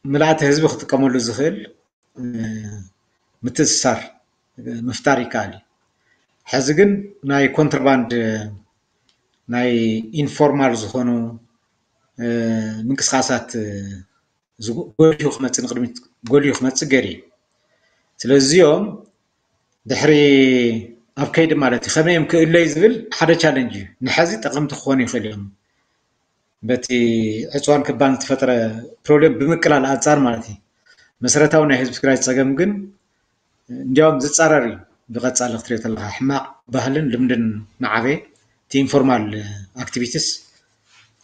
ምልኣተ ህዝቢ ክጥቀመሉ ዝኽእል ምትእስሳር ምፍጣር ይከኣል እዩ። ሕዚ ግን ናይ ኮንትራባንድ ናይ ኢንፎርማል ዝኾኑ ምንቅስቃሳት ጎሊሁ ክመፅእ ንቅድሚት ጎሊሁ ክመፅእ ገይሩ እዩ። ስለዚ እዚኦም ድሕሪ ኣብ ከይዲ ማለት እዩ ከመይ እዮም ክእለዩ ዝብል ሓደ ቻለንጅ እዩ። ንሐዚ ጠቐምቲ ክኾኑ ይኽእሉ እዮም። በቲ ዕፅዋን ክባን ዝተፈጠረ ፕሮብሌም ብምቅላል ኣንፃር ማለት እዩ። መሰረታዊ ናይ ህዝቢ ትግራይ ፀገም ግን እንዲያውም ዝፃረር እዩ። ብቐፃሊ ክትሪኦ ተለካ ሕማቕ ባህልን ልምድን ናዓበየ እቲ ኢንፎርማል ኣክቲቪቲስ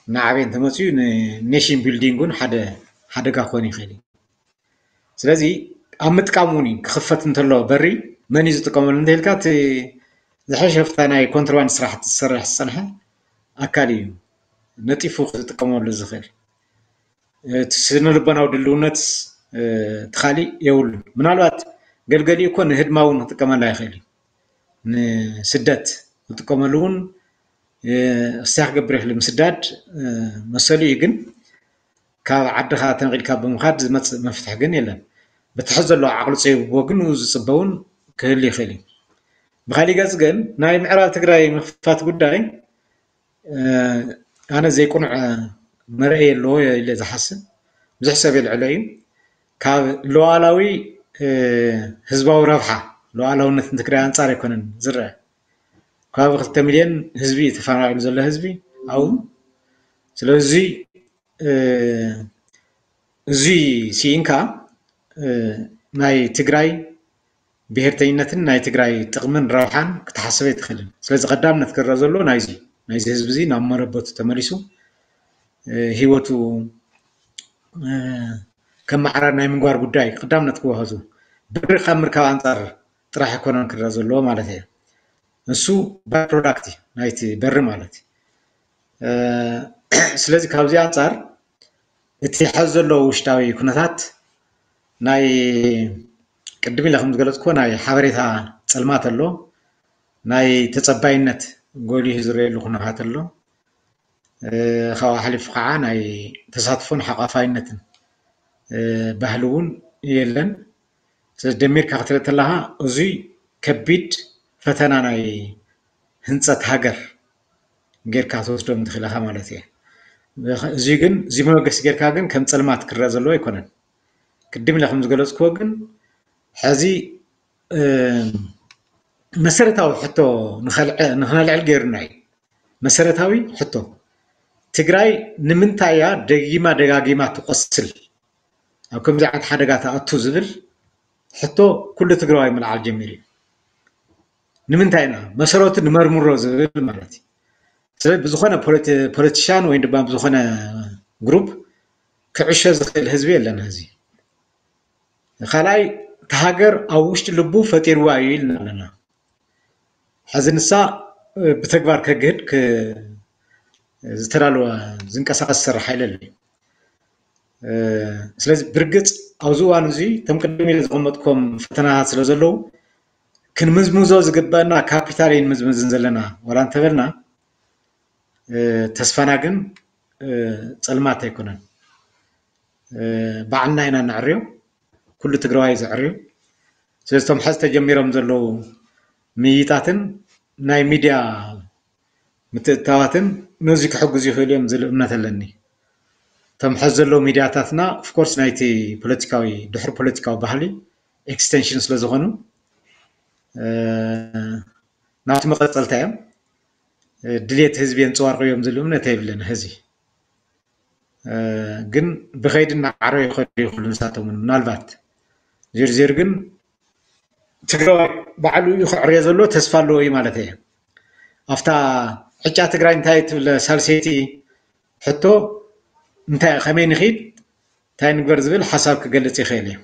ናዓበየ እንተመፅኡ ንኔሽን ቢልዲንግ እውን ሓደ ሓደጋ ክኾን ይኽእል እዩ። ስለዚ ኣብ ምጥቃም እውን እዩ ክኽፈት እንተሎ በሪ መን እዩ ዝጥቀመሉ እንተኢልካ እቲ ዝሐሸ ፍታ ናይ ኮንትሮባንድ ስራሕቲ ዝሰርሕ ዝፀንሐ ኣካል እዩ ነጢፉ ክጥቀመሉ ዝኽእል። እቲ ስነ ልቦናዊ ድልውነት እቲ ካሊእ የብሉን። ምናልባት ገልገሊኡ እኮ ንህድማ እውን ክጥቀመላ ይኽእል እዩ። ንስደት ክጥቀመሉ እውን እስያ ክገብር ይኽእል። ምስዳድ መሰሉ እዩ፣ ግን ካብ ዓድኻ ተንቂልካ ብምኻድ ዝመፅእ መፍትሒ ግን የለን። በቲ ሕዚ ዘለዎ ዓቕሊ ፀቢብዎ ግን ዝፅበውን ክህሉ ይኽእል እዩ። ብካሊእ ገፅ ግን ናይ ምዕራብ ትግራይ ምኽፋት ጉዳይ ኣነ ዘይቁኑዕ መርአይ ኣለዎ ኢለ ዝሓስብ ብዙሕ ሰብ የልዕሎ እዩ። ካብ ሉዓላዊ ህዝባዊ ረብሓ ሉዓላውነት ንትግራይ ኣንፃር ኣይኮነን ዝረአ። ከባቢ ክልተ ሚልዮን ህዝቢ እዩ ተፈናቒሉ ዘሎ ህዝቢ ኣብኡ። ስለዚ እዚ ስኢንካ ናይ ትግራይ ብሄርተኝነትን ናይ ትግራይ ጥቕምን ረብሓን ክትሓስብ ኣይትኽእልን። ስለዚ ቀዳምነት ክረአ ዘለዎ ናይዚ ናይዚ ህዝቢ እዚ ናብ መረበቱ ተመሊሱ ህይወቱ ከመዓራር ናይ ምንጓር ጉዳይ ቀዳምነት ክወሃዙ በሪ ካብ ምርካብ ኣንፃር ጥራሕ ኣይኮነን ክረአ ዘለዎ ማለት እየ። ንሱ ባይ ፕሮዳክት እዩ ናይቲ በሪ ማለት እዩ። ስለዚ ካብዚ ኣንፃር እቲ ሐዚ ዘሎ ውሽጣዊ ኩነታት ናይ ቅድም ኢለ ከም ዝገለፅኩዎ ናይ ሓበሬታ ፀልማት ኣሎ፣ ናይ ተፀባይነት ጎሊሁ ዝረአየሉ ኩነታት ኣሎ። ካብኡ ሓሊፉ ከዓ ናይ ተሳትፎን ሓቋፋይነትን ባህሊ እውን የለን። ስለዚ ደሚርካ ክትርኢ ተለካ እዙይ ከቢድ ፈተና ናይ ህንፀት ሃገር ጌርካ ትወስዶ እንትኽእል ኢኻ ማለት እየ። እዚ ግን እዚ መበገሲ ጌርካ ግን ከም ፀልማት ክረአ ዘለዎ ኣይኮነን። ቅድም ኢለ ከም ዝገለፅክዎ ግን ሕዚ መሰረታዊ ሕቶ ንኸነልዕል ገይሩና እዩ። መሰረታዊ ሕቶ ትግራይ ንምንታይ እያ ደጊማ ደጋጊማ ትቆስል ኣብ ከምዚ ዓይነት ሓደጋ ትኣቱ ዝብል ሕቶ ኩሉ ትግራዋይ ምልዓል ጀሚሩ እዩ። ንምንታይ ኢና መሰረቱ ንመርምሮ ዝብል ማለት እዩ። ስለዚ ብዝኾነ ፖለቲሻን ወይ ድማ ብዝኾነ ግሩፕ ክዕሾ ዝኽእል ህዝቢ የለን። ህዚ ካልኣይ እቲ ሃገር ኣብ ውሽጢ ልቡ ፈጢርዋ እዩ ኢልና ኣለና። ሕዚ ንሳ ብተግባር ከግህድ ዝተዳለወ ዝንቀሳቀስ ዝሰርሕ ሓይሊ ኣሎ። ስለዚ ብርግፅ ኣብዚ እዋን እዚ እቶም ቅድም ኢለ ዘቐመጥኩም ፈተናታት ስለ ዘለዉ ክንምዝምዞ ዝግበአና ካፒታል እዩ ንምዝምዝን ዘለና። ዋላ እንተበልና ተስፋና ግን ፀልማት ኣይኮነን። ባዕልና ኢና ነዕርዮ፣ ኩሉ ትግራዋይ ዘዕርዮ። ስለዚ እቶም ሐዚ ተጀሚሮም ዘለዉ ምይይጣትን ናይ ሚድያ ምትእትታዋትን ነዚ ክሕግዙ ይኽእሉ እዮም ዝብል እምነት ኣለኒ። እቶም ሐዚ ዘለዉ ሚድያታትና ኦፍኮርስ ናይቲ ፖለቲካዊ ድሕሪ ፖለቲካዊ ባህሊ ኤክስቴንሽን ስለ ዝኾኑ ናብቲ መቐፀልታ እዮም። ድሌት ህዝቢ የንፀባርቑ እዮም ዝብል እምነት የብለን። ህዚ ግን ብኸይዲ እናዓረዩ ይኸዱ ይኽእሉ ንሳቶም እውን ምናልባት ዝርዝር ግን ትግራዋይ ባዕሉ እዩ ክዕርዮ ዘሎ ተስፋ ኣለዎ እዩ ማለት እየ። ኣብታ ዕጫ ትግራይ እንታይ ትብል ሳልሰይቲ ሕቶ እንታይ ከመይ ንኺድ እንታይ ንግበር ዝብል ሓሳብ ክገልፅ ይኽእል እዩ።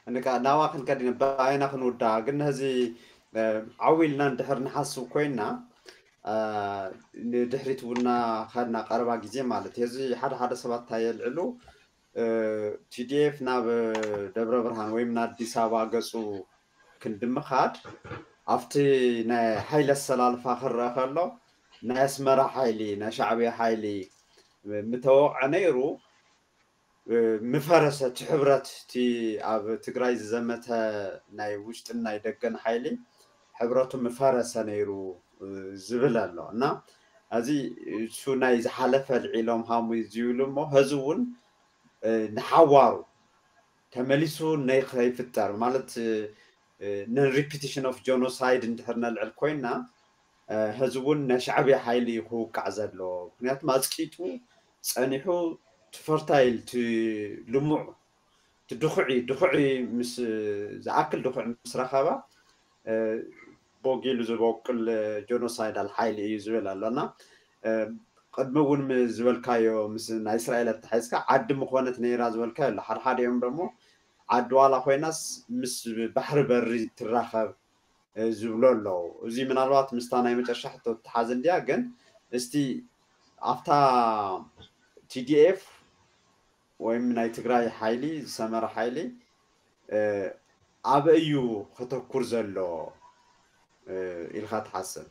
እንካ ናዋ ክንከድ ኢና ብኣይና ክንውዳ ግን ነዚ ዓው ኢልና እንድሕር ንሓስብ ኮይና ንድሕሪት ውና ከድና ቀረባ ግዜ ማለት እዩ። እዚ ሓደ ሓደ ሰባት እንታይ የልዕሉ ቲዲኤፍ ናብ ደብረ ብርሃን ወይም ንኣዲስ ኣበባ ገፁ ክንዲ ምኻድ ኣብቲ ናይ ሓይሊ ኣሰላልፋ ክረአ ከሎ ናይ ኣስመራ ሓይሊ ናይ ሻዕብያ ሓይሊ ምተወቕዐ ነይሩ ምፈረሰ እቲ ሕብረት እቲ ኣብ ትግራይ ዝዘመተ ናይ ውሽጥን ናይ ደገን ሓይሊ ሕብረቱ ምፈረሰ ነይሩ ዝብል ኣሎ እና እዚ እሱ ናይ ዝሓለፈ ልዒሎም ሃሙ ዝብሉ እሞ ህዚ እውን ንሓዋሩ ተመሊሱ ነይከይፍጠር ማለት non repetition of genocide እንድሕር ነልዕል ኮይና ህዚ እውን ናይ ሻዕብያ ሓይሊ እዩ ክውቃዕ ዘሎ። ምክንያቱም ኣፅቂጡ ፀኒሑ ትፈርታይል ልሙዕ ድኹዒ ድኹዒ ምስ ዝኣክል ድኹዒ ምስ ረኸባ ቦጊሉ ዝበቁል ጀኖሳይዳል ሓይሊ እዩ ዝብል ኣሎ እና ቅድሚ እውን ዝበልካዮ ምስ ናይ እስራኤል ኣተሓይዝካ ዓዲ ምኾነት ነይራ ዝበልካዮ ኣሎ። ሓድሓዲኦም ደግሞ ዓዲ ዋላ ኮይናስ ምስ ባሕሪ በሪ ትራኸብ ዝብሎ ኣለዉ። እዚ ምናልባት ምስታ ናይ መጨረሻ ሕቶ ትሓዝ እንድያ፣ ግን እስቲ ኣብታ ቲዲኤፍ ወይም ናይ ትግራይ ሓይሊ ዝሰመረ ሓይሊ ኣበይ እዩ ከተኩር ዘሎ ኢልካ ትሓስብ?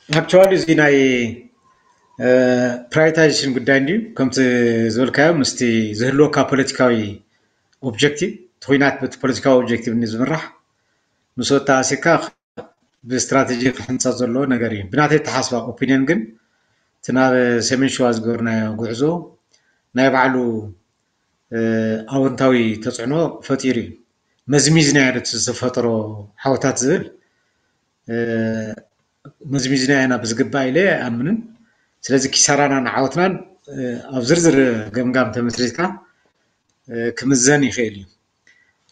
ኣክቹዋሊ እዚ ናይ ፕራይታይዜሽን ጉዳይ እንድዩ ከምቲ ዝበልካዮ ምስቲ ዝህልወካ ፖለቲካዊ ኦብጀክቲቭ እቲ ኩናት በቲ ፖለቲካዊ ኦብጀክቲቭ እንድዩ ዝምራሕ ምስ ወጣ ኣሲካ ብስትራቴጂ ክሕንፀ ዘለዎ ነገር እዩ። ብናተይ ተሓስባ ኦፒኒየን ግን እቲ ናብ ሰሜን ሸዋ ዝገበርናዮ ጉዕዞ ናይ ባዕሉ ኣወንታዊ ተፅዕኖ ፈጢሩ እዩ። መዝሚዝናዮ ዶ ዝፈጠሮ ዓወታት ዝብል መዝሚዝናዮ ኢና ብዝግባእ ኢለ ኣይኣምንን። ስለዚ ኪሳራናን ዓወትናን ኣብ ዝርዝር ገምጋም ተመስሪትካ ክምዘን ይኽእል እዩ።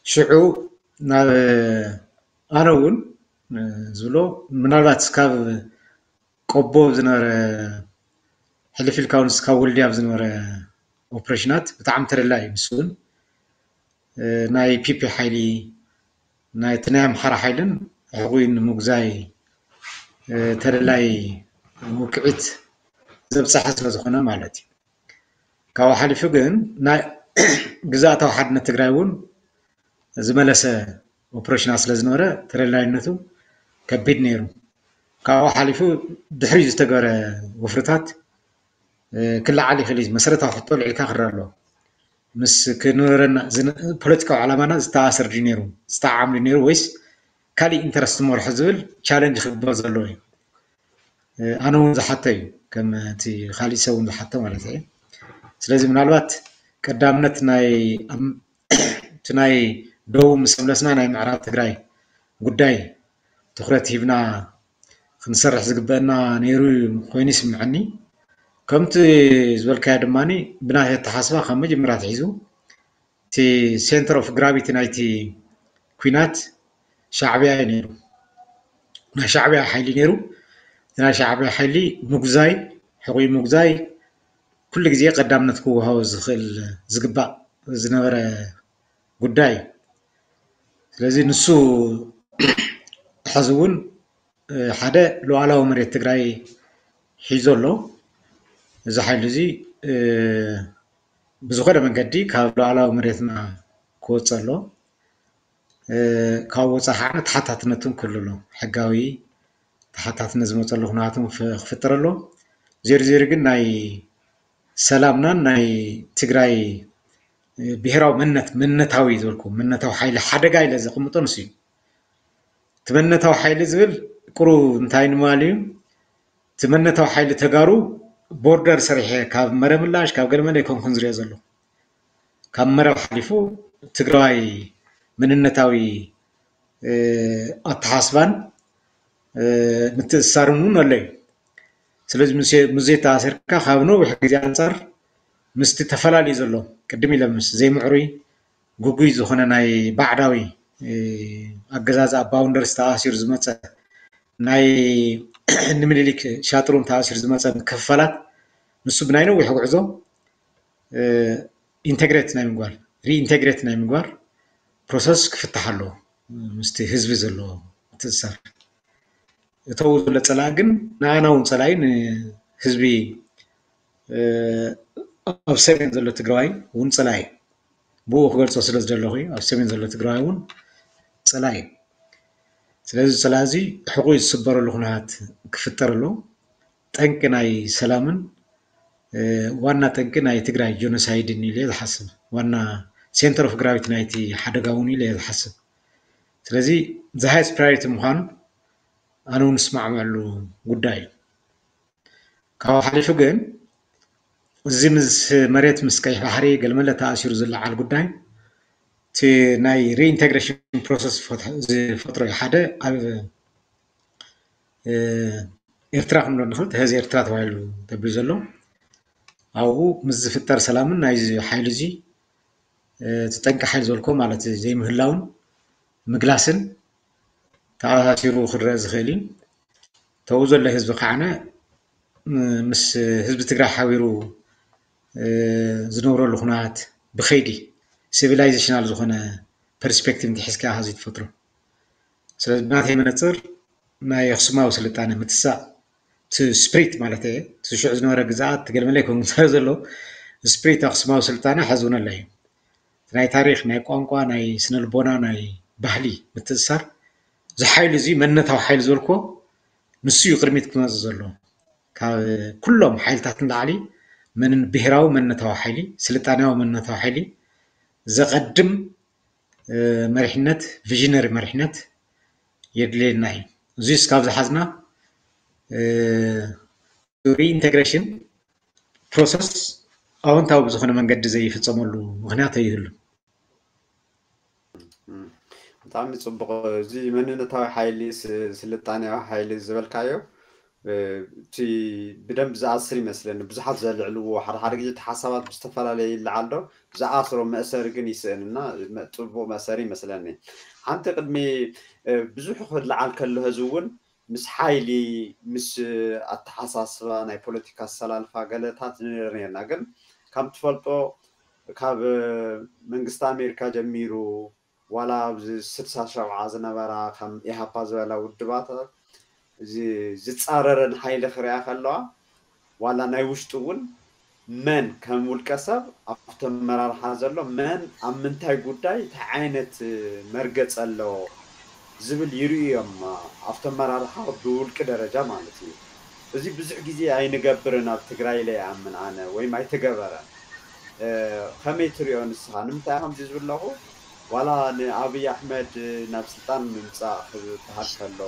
ሽዑ ናብ ኣነ እውን ዝብሎ ምናልባት ካብ ቆቦ ዝነበረ ሕልፍ ኢልካ እውን እስካብ ወልድያ ዝነበረ ኦፕሬሽናት ብጣዕሚ ተደላይ እዩ። ንሱ እውን ናይ ፒፒ ሓይሊ ናይቲ ናይ ኣምሓራ ሓይልን ሕቑይ ንምጉዛይ ተደላይ ውቅዒት ዘብፀሐ ስለ ዝኾነ ማለት እዩ። ካብኡ ሓሊፉ ግን ናይ ግዝኣታዊ ሓድነት ትግራይ እውን ዝመለሰ ኦፕሬሽናት ስለ ዝነበረ ተደላይነቱ ከቢድ ነይሩ። ካብኡ ሓሊፉ ድሕሪ ዝተገበረ ወፍርታት ክለዓል ይኽእል እዩ። መሰረታዊ ሕቶ ልዒልካ ክረአ ኣለዎ። ምስ ክነበረና ፖለቲካዊ ዓላማና ዝተኣሰር ድዩ ነይሩ ዝተዓም ድዩ ነይሩ ወይስ ካሊእ ኢንተረስት መርሖ ዝብል ቻለንጅ ክግበር ዘለዎ እዩ። ኣነ እውን ዝሓቶ እዩ ከም እቲ ካሊእ ሰብ እውን ዝሓቶ ማለት እዩ። ስለዚ ምናልባት ቀዳምነት ናይ እቲ ናይ ደቡብ ምስ መለስና ናይ ምዕራብ ትግራይ ጉዳይ ትኩረት ሂብና ክንሰርሕ ዝግበአና ነይሩ ኮይኑ ይስምዐኒ። ከምቲ ዝበልካዮ ድማ ብናይ ኣተሓስባ ካብ መጀመርያ ትሒዙ እቲ ሴንተር ኦፍ ግራቪቲ ናይቲ ኩናት ሻዕብያ እዩ ነይሩ። ናይ ሻዕብያ ሓይሊ ነይሩ። እቲ ናይ ሻዕብያ ሓይሊ ምጉዛይ ሕቑይ ምጉዛይ ኩሉ ግዜ ቀዳምነት ክወሃቦ ዝኽእል ዝግባእ ዝነበረ ጉዳይ እዩ። ስለዚ ንሱ ሕዚ እውን ሓደ ሉዓላዊ መሬት ትግራይ ሒዞ ኣሎ። እዚ ሓይሊ እዚ ብዝኾነ መንገዲ ካብ ሉዓላዊ መሬትና ክወፅእ ኣሎ። ካብ ወፃኢ ከዓ ተሓታትነቱን ክህሉ ኣሎ። ሕጋዊ ተሓታትነት ዝመፀሉ ኩነታትን ክፍጠር ኣሎ። ዜሩ ዜሩ ግን ናይ ሰላምናን ናይ ትግራይ ብሄራዊ መንነት፣ መንነታዊ ዝበልኩ መንነታዊ ሓይሊ ሓደጋ ኢለ ዘቐምጦ ንሱ እዩ። እቲ መንነታዊ ሓይሊ ዝብል ቁሩብ እንታይ ንምባል እዩ? እቲ መንነታዊ ሓይሊ ተጋሩ ቦርደር ሰሪሐ ካብ መረብ ምላሽ ካብ ገለመለ ኣይኮንኩን ዝሪኦ ዘሎ። ካብ መረብ ሓሊፉ ትግራዋይ መንነታዊ ኣተሓስባን ምትእስሳርን እውን ኣሎ እዩ። ስለዚ ምስ ዘይተኣሰርካ ካብ ነዊሕ ግዜ ኣንፃር ምስቲ ተፈላለዩ ዘሎ ቅድም ኢለ ምስ ዘይምዕሩይ ግጉይ ዝኾነ ናይ ባዕዳዊ ኣገዛዝ ኣብ ባውንደርስ ተኣሲሩ ዝመፀ ናይ ንምኒልክ ሻጥሩን ተኣሲሩ ዝመፀ ምክፍፋላት ንሱ ብናይ ነዊሕ ጉዕዞ ኢንተግሬት ናይ ምግባር ሪኢንተግሬት ናይ ምግባር ፕሮሰስ ክፍታሕ ኣለዎ። ምስቲ ህዝቢ ዘሎ ምትእስሳር እተው ዘሎ ፀላኢ ግን ንኣና እውን ፀላኢ ንህዝቢ ኣብ ሰሜን ዘሎ ትግራዋይ እውን ፀላኢ ብኡ ክገልፆ ስለ ዝደለኹ ኣብ ሰሜን ዘሎ ትግራዋይ እውን ፀላኢ እዩ። ስለዚ ፀላኢ እዚ ሕቑ ዝስበረሉ ኩነታት ክፍጠር ኣሎ። ጠንቂ ናይ ሰላምን ዋና ጠንቂ ናይ ትግራይ ጆኖሳይድን ኢለ ዝሓስብ ዋና ሴንተር ኦፍ ግራቪቲ ናይቲ ሓደጋ እውን ኢለ ዝሓስብ። ስለዚ the highest priority ምዃኑ ኣነ እውን እስማዕመዐሉ ጉዳይ እዩ። ካብኡ ሓሊፉ ግን እዚ ምስ መሬት ምስ ቀይሕ ባሕሪ ገለመለ ተኣሲሩ ዝለዓል ጉዳይ እቲ ናይ ሪኢንቴግሬሽን ፕሮሰስ ዝፈጥሮ ሓደ ኣብ ኤርትራ ክንብሎ ንኽእል፣ ሕዚ ኤርትራ ተባሂሉ ተቢሉ ዘሎ ኣብኡ ምስ ዝፍጠር ሰላምን ናይዚ ሓይሊ እዚ እቲ ጠንቂ ሓይሊ ዝበልኮ ማለት ዘይምህላውን ምግላስን ተኣሳሲሩ ክረአ ዝኽእል እዩ። ተው ዘሎ ህዝቢ ከዓነ ምስ ህዝቢ ትግራይ ሓቢሩ ዝነብረሉ ኩነታት ብኸይዲ ሲቪላይዜሽናል ዝኾነ ፐርስፔክቲቭ እንተሒዝካ ኢኻ እዚ ትፈጥሮ። ስለዚ ብናተይ መነፅር ናይ ኣኽሱማዊ ስልጣነ ምትሳእ እቲ ስፕሪት ማለት እየ እቲ ሽዑ ዝነበረ ግዛኣት ትገልመለይ ከም ዘሎ ስፕሪት ኣኽሱማዊ ስልጣነ ሕዚ እውን ኣሎ እዩ። ናይ ታሪክ ናይ ቋንቋ ናይ ስነልቦና ናይ ባህሊ ምትእሳር እዚ ሓይሊ እዚ መንነታዊ ሓይሊ ዝበልኮ ንሱ እዩ ቅድሚት ክመፅእ ዘሎ። ካብ ኩሎም ሓይልታት ንላዕሊ መንን ብሄራዊ መንነታዊ ሓይሊ ስልጣኔያዊ መንነታዊ ሓይሊ ዘቐድም መሪሕነት ቪዥነሪ መሪሕነት የድልየና እዩ። እዚ እስካብ ዝሓዝና ሪኢንቴግሬሽን ፕሮሰስ ኣወንታዊ ብዝኾነ መንገዲ ዘይፍፀመሉ ምክንያት ኣይህሉን። ብጣዕሚ ፅቡቕ። እዚ መንነታዊ ሓይሊ ስልጣኔያዊ ሓይሊ ዝበልካዮ እቲ ብደንብ ዝኣስር ይመስለኒ። ብዙሓት ዘልዕልዎ ሓደ ሓደ ግዜ እቲ ሓሳባት ብዝተፈላለየ ይለዓል ዶ ዝኣስሮ መእሰሪ ግን ይስእን እና ፅቡቕ መእሰሪ ይመስለኒ። ሓንቲ ቅድሚ ብዙሕ ክለዓል ከሎ ህዚ እውን ምስ ሓይሊ ምስ ኣተሓሳስባ ናይ ፖለቲካ ኣሰላልፋ ገለታት ንርኢ ነርና። ግን ከም ትፈልጦ ካብ መንግስቲ ኣሜሪካ ጀሚሩ ዋላ ኣብዚ ስድሳ ሸብዓ ዝነበራ ከም ኢሃፓ ዝበላ ውድባት ዝፃረረን ሓይሊ ክሪኣ ከለዋ ዋላ ናይ ውሽጡ እውን መን ከም ውልቀ ሰብ ኣብቲ ኣመራርሓ ዘሎ መን ኣብ ምንታይ ጉዳይ እንታይ ዓይነት መርገፂ ኣለዎ ዝብል ይርእዮም ኣብቲ ኣመራርሓ ብውልቂ ደረጃ ማለት እዩ። እዚ ብዙሕ ግዜ ኣይንገብርን ኣብ ትግራይ ኢለ ይኣምን ኣነ ወይም ኣይተገበረን። ከመይ ትሪኦ ንስኻ? ንምንታይ ከምዚ ዝብለኹ ዋላ ንኣብይ ኣሕመድ ናብ ስልጣን ምምፃእ ክበሃል ከሎ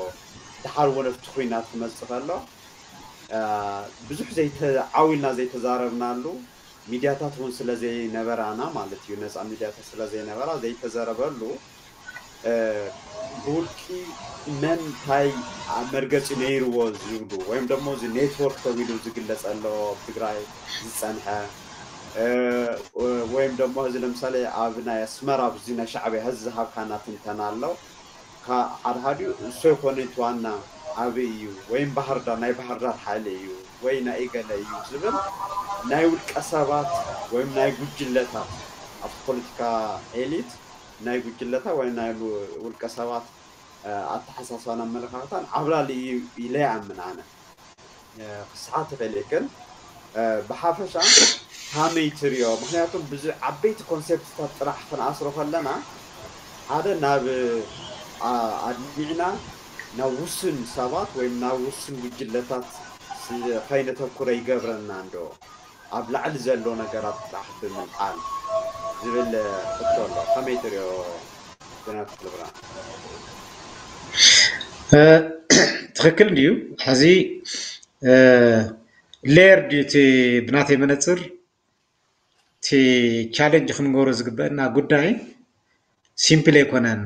ድሓር እውን ኣብቲ ኩናት ክመፅእ ከሎ ብዙሕ ዓው ኢልና ዘይተዛረብናሉ ሚድያታት እውን ስለ ዘይነበራና ማለት እዩ፣ ነፃ ሚድያታት ስለ ዘይነበራ ዘይተዘረበሉ ብውልቂ መን እንታይ መርገፂ ነይርዎ ዝብሉ ወይም ደሞ እዚ ኔትወርክ ተቢሉ ዝግለፅ ኣሎ ኣብ ትግራይ ዝፀንሐ ወይም ደሞ እዚ ለምሳሌ ኣብ ናይ ኣስመራ ኣብዚ ናይ ሻዕብያ ህዚ ዝሃብካና ትንተና ኣሎ። ሓድሓዲኡ እሱ ኣይኮነን እቲ ዋና ዓብዪ እዩ ወይም ባህርዳር ናይ ባህርዳር ሓይሊ እዩ ወይ ናይ እገለ እዩ ዝብል ናይ ውልቀ ሰባት ወይም ናይ ጉጅለታት ኣብቲ ፖለቲካ ኤሊት ናይ ጉጅለታት ወይ ናይ ውልቀ ሰባት ኣተሓሳስባን ኣመለኻኽታን ዓብላሊ እዩ ኢለ ይኣምን ኣነ። ክስሓት ይኽእል እዩ ግን ብሓፈሻ ከመይ ትሪኦ? ምክንያቱ ብዙ ዓበይቲ ኮንሴፕትታት ጥራሕ ክንኣስሮ ከለና ሓደ ናብ ኣድሚዕና ናብ ውሱን ሰባት ወይ ናብ ውሱን ጉጅለታት ከይነተኩረ ይገብረና እንዶ ኣብ ላዕሊ ዘሎ ነገራት ጥራሕ ብምልዓል ዝብል ሕቶ ኣሎ። ከመይ ትሪኦ ጀነራል ተኽለብርሃን? ትኽክል እንድዩ። ሕዚ ሌየር ድዩ እቲ ብናተይ መነፅር እቲ ቻለንጅ ክንገብሮ ዝግበአና ጉዳይ ሲምፕል ኣይኮነን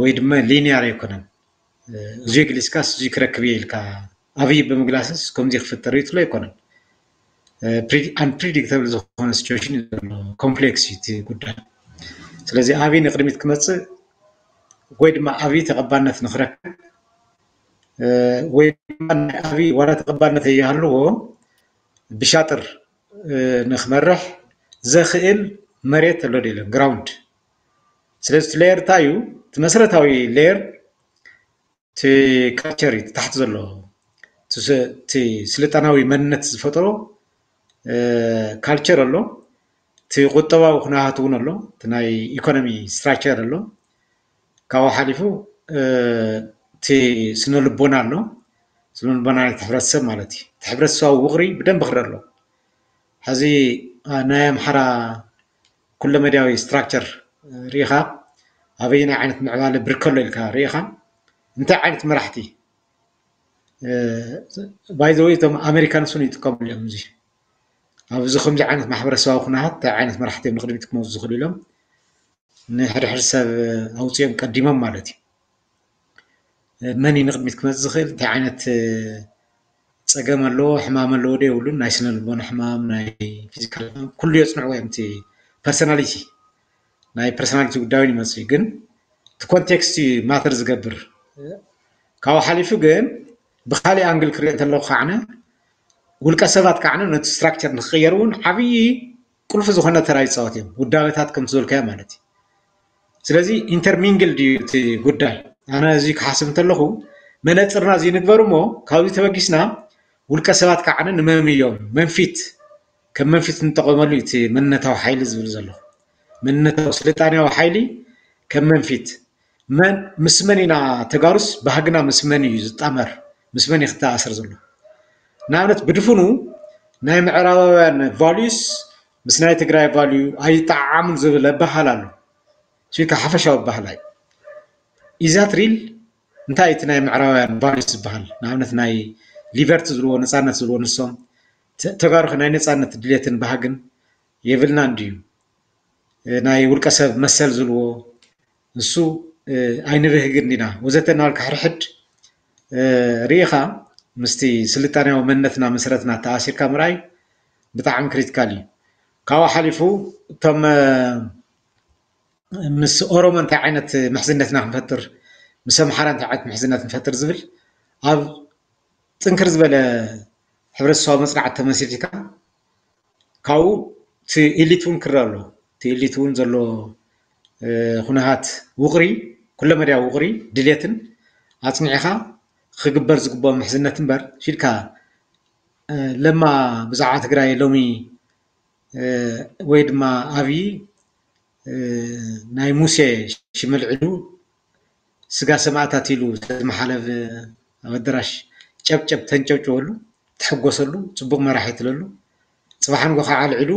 ወይ ድማ ሊኒያር ኣይኮነን። እዙይ ግሊስካስ እዙይ ክረክብ እየ ኢልካ ኣብይ ብምግላስስ ከምዚ ክፍጠር እዩ ትብሎ ኣይኮነን። ኣንፕሪዲክተብል ዝኾነ ሲቹዌሽን እዩ ዘሎ፣ ኮምፕሌክስ እዩ እቲ ጉዳይ። ስለዚ ኣብይ ንቅድሚት ክመፅእ ወይ ድማ ኣብይ ተቐባልነት ንክረክብ ወይ ድማ ናይ ኣብይ ዋላ ተቐባልነት እየሃልዎ ብሻጥር ንክመርሕ ዘኽእል መሬት ኣሎ ዶ የለን፣ ግራውንድ። ስለዚ እቲ ሌየር እንታይ እዩ? እቲ መሰረታዊ ሌየር እቲ ካልቸር እዩ፣ ታሕቲ ዘሎ እቲ ስልጣናዊ መንነት ዝፈጠሮ ካልቸር ኣሎ፣ እቲ ቁጠባዊ ኩነታት እውን ኣሎ፣ እቲ ናይ ኢኮኖሚ ስትራክቸር ኣሎ። ካብኡ ሓሊፉ እቲ ስነ ልቦና ኣሎ፣ ስነ ልቦና ናይቲ ሕብረተሰብ ማለት እዩ። እቲ ሕብረተሰባዊ ውቕሪ ብደንብ ክረአ ኣሎ። ሕዚ ናይ ኣምሓራ ኩለመዳያዊ ስትራክቸር ርኢኻ ኣበየናይ ዓይነት ምዕባለ ብርከሎ ኢልካ ርኢኻ እንታይ ዓይነት መራሕቲ ባይዘወይ እቶም ኣሜሪካንስ እውን ይጥቀምሉ እዮም። እዚ ኣብዚ ከምዚ ዓይነት ማሕበረሰባዊ ኩነታት እንታይ ዓይነት መራሕቲ እዮም ንቅድሚት ክመፁ ዝኽእሉ ኢሎም ንሕድሕድ ሰብ ኣውፅኦም ቀዲሞም ማለት እዩ። መን እዩ ንቅድሚት ክመፅእ ዝኽእል፣ እንታይ ዓይነት ፀገም ኣለዎ፣ ሕማም ኣለዎ ዶ የብሉን፣ ናይ ስነ ልቦና ሕማም፣ ናይ ፊዚካል ሕማም ኩሉ የፅንዕዎ እዮም። እቲ ፐርሰናሊቲ ናይ ፐርሰናሊቲ ጉዳይ እውን ይመፅእ እዩ። ግን እቲ ኮንቴክስት እዩ ማተር ዝገብር። ካብኡ ሓሊፉ ግን ብካሊእ ኣንግል ክሪኦ እንተለኩ ከዓነ ውልቀ ሰባት ከዓነ ነቲ ስትራክቸር ንክቅየር እውን ዓብዪ ቁልፊ ዝኾነ ተራ ይፃወት እዮም፣ ውዳበታት ከምቲ ዝበልካዮ ማለት እዩ። ስለዚ ኢንተርሚንግል ድዩ እቲ ጉዳይ? ኣነ እዚ ክሓስብ እንተለኹ መነፅርና እዚ ንግበር እሞ ካብዚ ተበጊስና ውልቀ ሰባት ከዓነ ንመም እዮም መንፊት ከም መንፊት ንጠቐመሉ እቲ መንነታዊ ሓይሊ ዝብል ዘለኹ መንነታዊ ስልጣኔያዊ ሓይሊ ከም መንፊት መን ምስ መን ኢና ተጋሩስ ባህግና ምስ መን እዩ ዝጣመር ምስ መን እዩ ክተኣሰር ዘሎ ንኣብነት ብድፍኑ ናይ ምዕራባውያን ቫሉስ ምስ ናይ ትግራይ ቫሉ ኣይጠዓዓሙን ዝብል ኣበሃል ኣሎ እሱ ከዓ ሓፈሻዊ ኣበሃል እዩ ኢዛት ሪል እንታይ እቲ ናይ ምዕራባውያን ቫሉስ ዝበሃል ንኣብነት ናይ ሊበርቲ ዝብልዎ ነፃነት ዝብልዎ ንሶም ተጋሩኸ ናይ ነፃነት ድሌትን ባህግን የብልናን ድዩ ናይ ውልቀ ሰብ መሰል ዝብልዎ ንሱ ኣይንብህግን ዲና ወዘተ እናበልካ ሕድሕድ ርኢኻ ምስቲ ስልጣኔያዊ መንነትና መሰረትና ተኣሲርካ ምርኣይ ብጣዕሚ ክሪቲካል እዩ ካብኡ ሓሊፉ እቶም ምስ ኦሮሞ እንታይ ዓይነት ምሕዝነትና ክንፈጥር ምስ ኣምሓራ እንታይ ዓይነት ምሕዝነት ንፈጥር ዝብል ኣብ ጥንክር ዝበለ ሕብረተሰባዊ መፅናዕቲ ተመሲርካ ካብኡ እቲ ኢሊት እውን ክረአ ኣሎ እቲ ኢሊት እውን ዘሎ ኩነታት ውቕሪ ኩለመዳያዊ ውቕሪ ድሌትን ኣፅኒዕኻ ክግበር ዝግብኦ ምሕዝነት እምበር ፊልካ ለማ ብዛዕባ ትግራይ ሎሚ ወይ ድማ ኣብዪ ናይ ሙሴ ሽም ኣልዒሉ ስጋ ሰማእታት ኢሉ ስለዝመሓለፍ ኣብ ኣደራሽ ጨብጨብ ተንጨብጭበሉ ትሕጎሰሉ ፅቡቕ መራሒ ትለሉ ፅባሕ ንጎ ከዓ ኣልዒሉ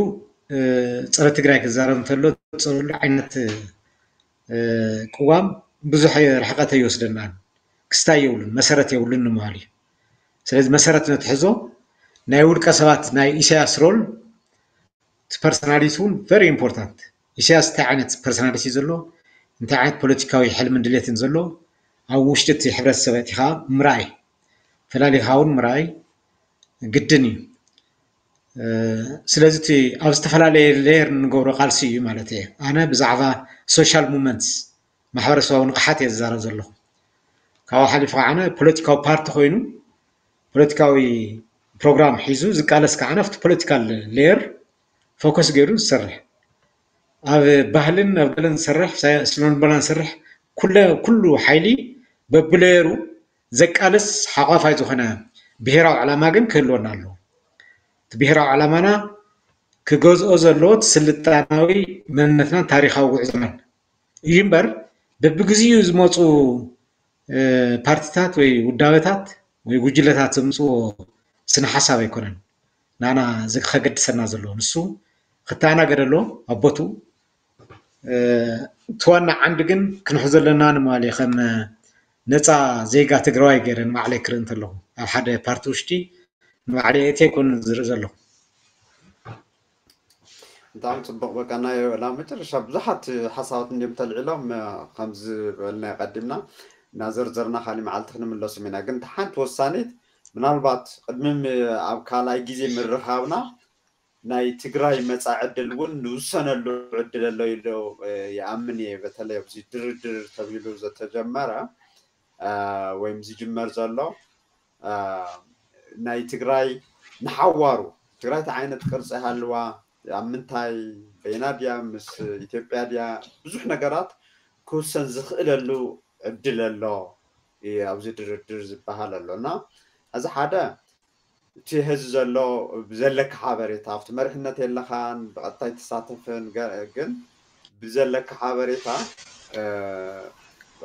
ፀረ ትግራይ ክዛረብ እንተሎ ፀረሉ ዓይነት ቅዋም ብዙሕ ርሕቀት ኣይወስደናን ክስታይ የብሉን መሰረት የብሉን ንምባል እዩ ስለዚ መሰረት ነትሕዞ ናይ ውልቀ ሰባት ናይ ኢሳያስ ሮል እቲ ፐርሰናሊቲ እውን ቨሪ ኢምፖርታንት ኢሳያስ እንታይ ዓይነት ፐርሰናሊቲ ዘሎ እንታይ ዓይነት ፖለቲካዊ ሕልምን ድሌትን ዘሎ ኣብ ውሽጢ እቲ ሕብረተሰብ ኣእቲኻ ምርኣይ ፈላሊኻ እውን ምርኣይ ግድን እዩ ስለዚ እቲ ኣብ ዝተፈላለየ ሌየር እንገብሮ ቃልሲ እዩ ማለት እየ ኣነ ብዛዕባ ሶሻል ሙመንትስ ማሕበረሰባዊ ንቕሓት እየ ዝዛረብ ዘለኹ ካብኡ ሓሊፉ ከዓነ ፖለቲካዊ ፓርቲ ኮይኑ ፖለቲካዊ ፕሮግራም ሒዙ ዝቃለስ ከዓነ ኣብቲ ፖለቲካል ሌየር ፎከስ ገይሩ ዝሰርሕ ኣብ ባህልን ኣብ ገለን ዝሰርሕ ስነልቦና ዝሰርሕ ኩሉ ሓይሊ በብሌየሩ ዘቃልስ ሓቋፋይ ዝኾነ ብሄራዊ ዕላማ ግን ክህልወና ኣለዎ እቲ ብሄራዊ ዕላማና ክገዝኦ ዘለዎ እቲ ስልጣናዊ መንነትናን ታሪካዊ ጉዕዞናን እዩ እምበር በብግዚኡ ዝመፁ ፓርቲታት ወይ ውዳበታት ወይ ጉጅለታት ዘምፅዎ ስነ ሓሳብ ኣይኮነን ናና ከገድሰና ዘለዎ ንሱ ክተኣናገድ ኣለዎ ኣብ ቦትኡ። እቲ ዋና ዓንዲ ግን ክንሕዞ ዘለና ንማሊ ከም ነፃ ዜጋ ትግራዋይ ገይረ ንባዕለይ ክርኢ እንተለኹ ኣብ ሓደ ፓርቲ ውሽጢ ንባዕለይ እቲ ኣይኮን ዝርኢ ዘለኹ። ብጣዕሚ ፅቡቅ። በቃ ናይ ናብ መጨረሻ ብዙሓት ሓሳባት እንዲም ተልዒሎም ከምዚ በልና ቀዲምና እናዘርዘርና ካሊእ መዓልቲ ክንምለሱም ኢና። ግን ሓንቲ ወሳኒት ምናልባት ቅድሚ ኣብ ካልኣይ ግዜ ምርኻብና ናይ ትግራይ መፃኢ ዕድል እውን ንውሰነሉ ዕድል ኣሎ ኢሉ ይኣምን እየ። በተለይ ኣብዚ ድርድር ተቢሉ ዘተጀመረ ወይም ዝጅመር ዘሎ ናይ ትግራይ ንሓዋሩ ትግራይ እንታይ ዓይነት ቅርፂ ሃልዋ ኣብ ምንታይ በይና ድያ ምስ ኢትዮጵያ ድያ ብዙሕ ነገራት ክውሰን ዝኽእለሉ ዕድል ኣሎ ኣብዚ ድርድር ዝበሃል ኣሎ እና እዚ ሓደ እቲ ህዚ ዘሎ ብዘለካ ሓበሬታ ኣብቲ መሪሕነት የለኻን ብቐጥታ ኣይትሳተፍን ግን ብዘለካ ሓበሬታ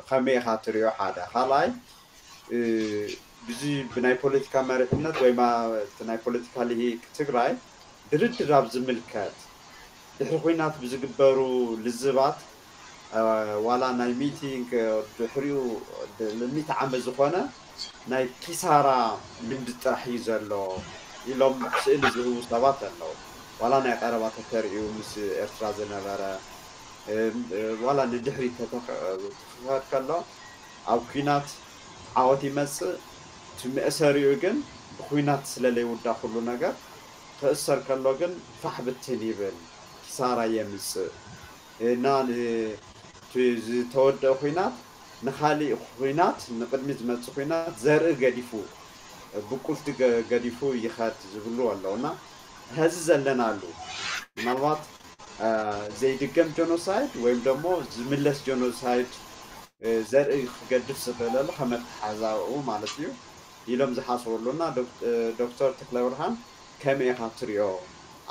ከመይ ኢኻ ትሪኦ ሓደ ካልኣይ ብዚ ብናይ ፖለቲካ መሪሕነት ወይ እቲ ናይ ፖለቲካ ልሂቅ ትግራይ ድርድር ኣብ ዝምልከት ድሕሪ ኩናት ብዝግበሩ ልዝባት ዋላ ናይ ሚእቲ ድሕሪኡ ሚእቲ ዓመት ዝኾነ ናይ ኪሳራ ልምዲ ጥራሕ እዩ ዘሎ ኢሎም ስእሊ ዝህቡ ሰባት ኣለዉ። ዋላ ናይ ቀረባ ተተርእዩ ምስ ኤርትራ ዝነበረ ዋላ ንድሕሪት ተተኽኸድ ከሎ ኣብ ኩናት ዓወት ይመፅእ እቲ መእሰሪኡ ግን ብኩናት ስለለይውዳ ኩሉ ነገር ክእሰር ከሎ ግን ፋሕ ብትን ይብል ኪሳራ የምፅእ እና ዝተወደአ ኩናት ንካሊእ ኩናት ንቅድሚ ዝመፅእ ኩናት ዘርኢ ገዲፉ ብቁልቲ ገዲፉ ይኸድ ዝብሉ ኣለዉ እና ሀዚ ዘለናሉ ምናልባት ዘይድገም ጀኖሳይድ ወይም ደሞ ዝምለስ ጀኖሳይድ ዘርኢ ክገድፍ ዝኽእለሉ ከመተሓዛኡ ማለት እዩ ኢሎም ዝሓስበሉ እና ዶክተር ተክለብርሃን ከመይ ኢኻ ትሪኦ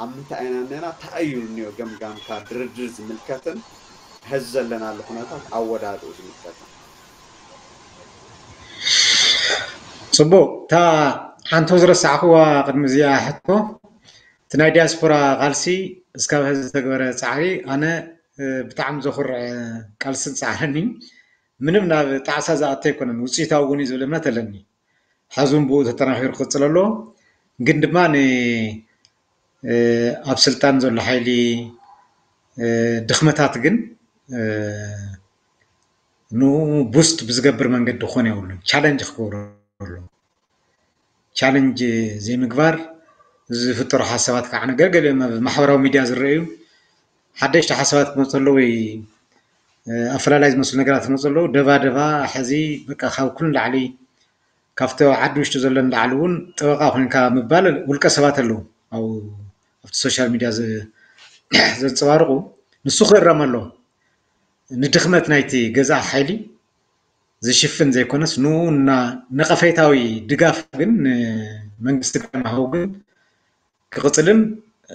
ኣብ ምንታይ ኢና እኒና እንታይ እዩ እኒኦ ገምጋምካ ድርድር ዝምልከትን ሀዚ ዘለናሉ ኩነታት ኣወዳድኡ ዝምልከትን ፅቡቅ እታ ሓንቶ ዝረሳዕክዋ ቅድሚ እዚኣ ሕቶ እቲ ናይ ዲያስፖራ ቃልሲ እስካብ ሀዚ ዝተግበረ ፃዕሪ ኣነ ብጣዕሚ ዘኩርዕ ቃልስን ፃዕርን እዩ ምንም ናብ ጣዕሳ ዝኣተ ኣይኮነን ውፅኢታዊ እውን እዩ ዝብል እምነት ኣለኒ ሐዚ እውን ብኡ ተጠናኺሩ ክቅፅል ኣለዎ ግን ድማ ኣብ ስልጣን ዘሎ ሓይሊ ድኽመታት ግን ንኡ ቡስት ብዝገብር መንገዲ ክኾን የብሉን ቻለንጅ ክገብሩ ኣለዎ ቻለንጅ ዘይምግባር ዝፍጠሩ ሓሳባት ከዓ ገለገለ ኣብ ማሕበራዊ ሚድያ ዝረአዩ ሓደሽቲ ሓሳባት ክመፁ ኣለዉ ወይ ኣፈላላይ ዝመስሉ ነገራት ክመፁ ኣለዉ ደባ ደባ ሕዚ በቃ ካብ ኩሉ ላዕሊ ካብቲ ዓዲ ውሽጢ ዘሎ ንላዕሊ እውን ጠበቃ ኮይንካ ምባል ውልቀ ሰባት ኣለዉ ኣብቲ ሶሻል ሚድያ ዘንፀባርቁ ንሱ ክእረም ኣለዎ ንድኽመት ናይቲ ገዛእ ሓይሊ ዝሽፍን ዘይኮነስ ንኡ ነቐፌታዊ ድጋፍ ግን ንመንግስቲ ግዳማዊ ግን ክቕፅልን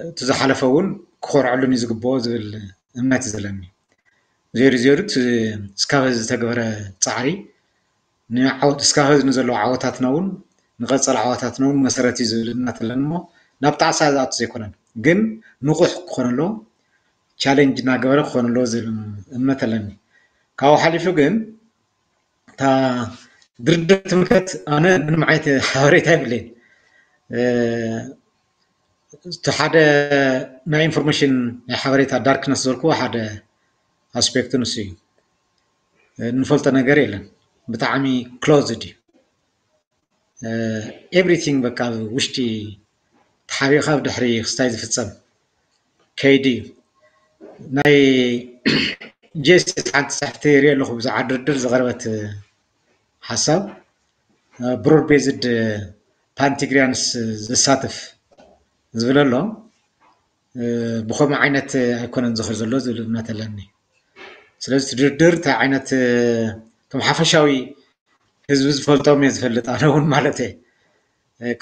እቲ ዝሓለፈ እውን ክኾርዐሉን እዩ ዝግብኦ ዝብል እምነት እዩ ዘለኒ። ዜሩ ዜሩ እስካብ ሕዚ ዝተገበረ ፃዕሪ እስካብ ሕዚ ንዘለዉ ዓወታትና እውን ንቐፀል ዓወታትና እውን መሰረት እዩ ዝብል እምነት ኣለኒ እሞ ናብ ጣዕሳ ዝኣቱ ዘይኮነን ግን ንቑሕ ክኾን ኣለዎ ቻሌንጅ እናገበረ ክኾን ኣለዎ ዝብል እምነት ኣለኒ። ካብኡ ሓሊፉ ግን እታ ድርድር ትምልከት ኣነ ምንም ዓይነት ሓበሬታ የብለይን። እቲ ሓደ ናይ ኢንፎርሜሽን ናይ ሓበሬታ ዳርክነስ ዝበልክዎ ሓደ ኣስፔክት ንሱ እዩ። እንፈልጦ ነገር የለን። ብጣዕሚ ክሎዝድ እዩ። ኤቭሪቲንግ በቃ ውሽጢ ተሓቢእካ ብድሕሪ ክስታይ ዝፍፀም ከይዲ እዩ። ናይ ጀስቲስ ሓንቲ ፅሕፍቲ ይርኢ ኣለኹ ብዛዕባ ድርድር ዝቐረበት ሓሳብ ብሮድ ቤዝድ ፓንቲግሪያንስ ዘሳትፍ ዝብል ኣሎ። ብኸምኡ ዓይነት ኣይኮነን ዝኽር ዘሎ ዝብል እምነት ኣለኒ። ስለዚ እቲ ድርድር እንታይ ዓይነት እቶም ሓፈሻዊ ህዝቢ ዝፈልጦም እየ ዝፈልጥ ኣነ እውን ማለት እየ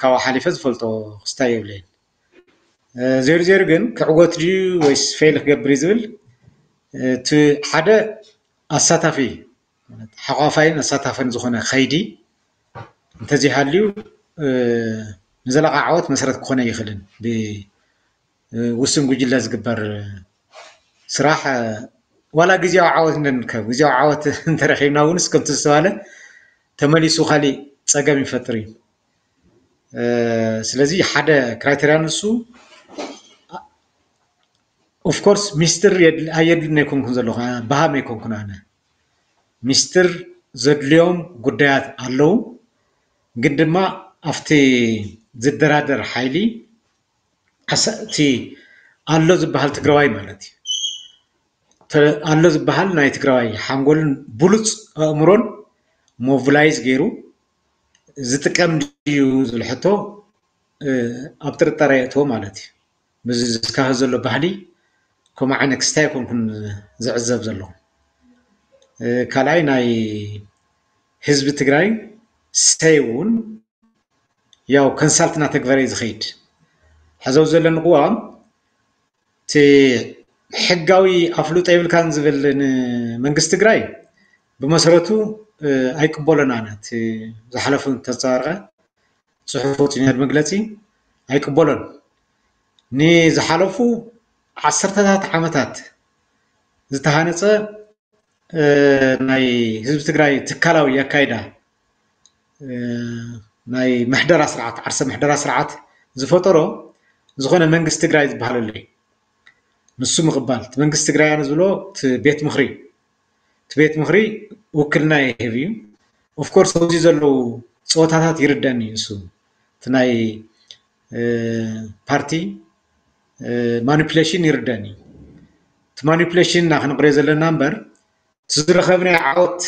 ካብኡ ሓሊፈ ዝፈልጦ ክስታይ የብለይን። ዜሩ ዜሩ ግን ክዕወት ድዩ ወይስ ፌል ክገብር እዩ ዝብል እቲ ሓደ ኣሳታፊ ሓቋፋይን ኣሳታፍን ዝኾነ ከይዲ እንተዘይሃልዩ ንዘለቓ ዓወት መሰረት ክኾነ ይኽእልን ውስን ጉጅለ ዝግበር ስራሕ ዋላ ግዜያዊ ዓወት እንተንከብ ግዜያዊ ዓወት እንተረኺብና እውን እስከ ዝተባለ ተመሊሱ ካሊእ ፀገም ይፈጥር እዩ። ስለዚ ሓደ ክራይቴርያ ንሱ ኦፍኮርስ ሚስጥር ኣየድልን ኣይኮንኩን ዘለኹ በሃም ኣይኮንኩን ኣነ ሚስጥር ዘድልዮም ጉዳያት ኣለዉ። ግን ድማ ኣብቲ ዝደራደር ሓይሊ እቲ ኣሎ ዝበሃል ትግራዋይ ማለት እዩ ኣሎ ዝበሃል ናይ ትግራዋይ ሓንጎልን ብሉፅ ኣእምሮን ሞቪላይዝ ገይሩ ዝጥቀም ድዩ ዝብል ሕቶ ኣብ ጥርጣረ የእትዎ ማለት እዩ። ምስዚ ዝስካኸ ዘሎ ባህሊ ከምኡ ዓይነት ክስታይ ኣይኮንኩን ዝዕዘብ ዘለኹ። ካልኣይ ናይ ህዝቢ ትግራይ ሰይ እውን ያው ኮንሳልት እናተግበረ እዩ ዝኸይድ። ሕዚ ኣብዚ ዘለኒ ቅዋም እቲ ሕጋዊ ኣፍልጦ የብልካን ዝብል ንመንግስቲ ትግራይ ብመሰረቱ ኣይቅበሎን ኣነ። እቲ ዝሓለፉ ተንፀባረቐ ፅሑፍ ወፂኡ ነይሩ መግለፂ ኣይቅበሎን። ንዝሓለፉ ዓሰርተታት ዓመታት ዝተሃነፀ ናይ ህዝቢ ትግራይ ትካላዊ ኣካይዳ ናይ ምሕደራ ስርዓት ዓርሰ ምሕደራ ስርዓት ዝፈጠሮ ዝኾነ መንግስቲ ትግራይ ዝበሃል ኣሎ እዩ። ንሱ ምቕባል እቲ መንግስቲ ትግራይ ኣነ ዝብሎ እቲ ቤት ምኽሪ እቲ ቤት ምኽሪ ውክልና ይህብ እዩ። ኦፍኮርስ ኣብዚ ዘለዉ ፀወታታት ይርደኒ እዩ። ንሱ እቲ ናይ ፓርቲ ማኒፕሌሽን ይርደኒ እዩ። እቲ ማኒፕሌሽን እና ክንቕርዮ ዘለና እምበር እቲ ዝረኸብናዮ ዓወት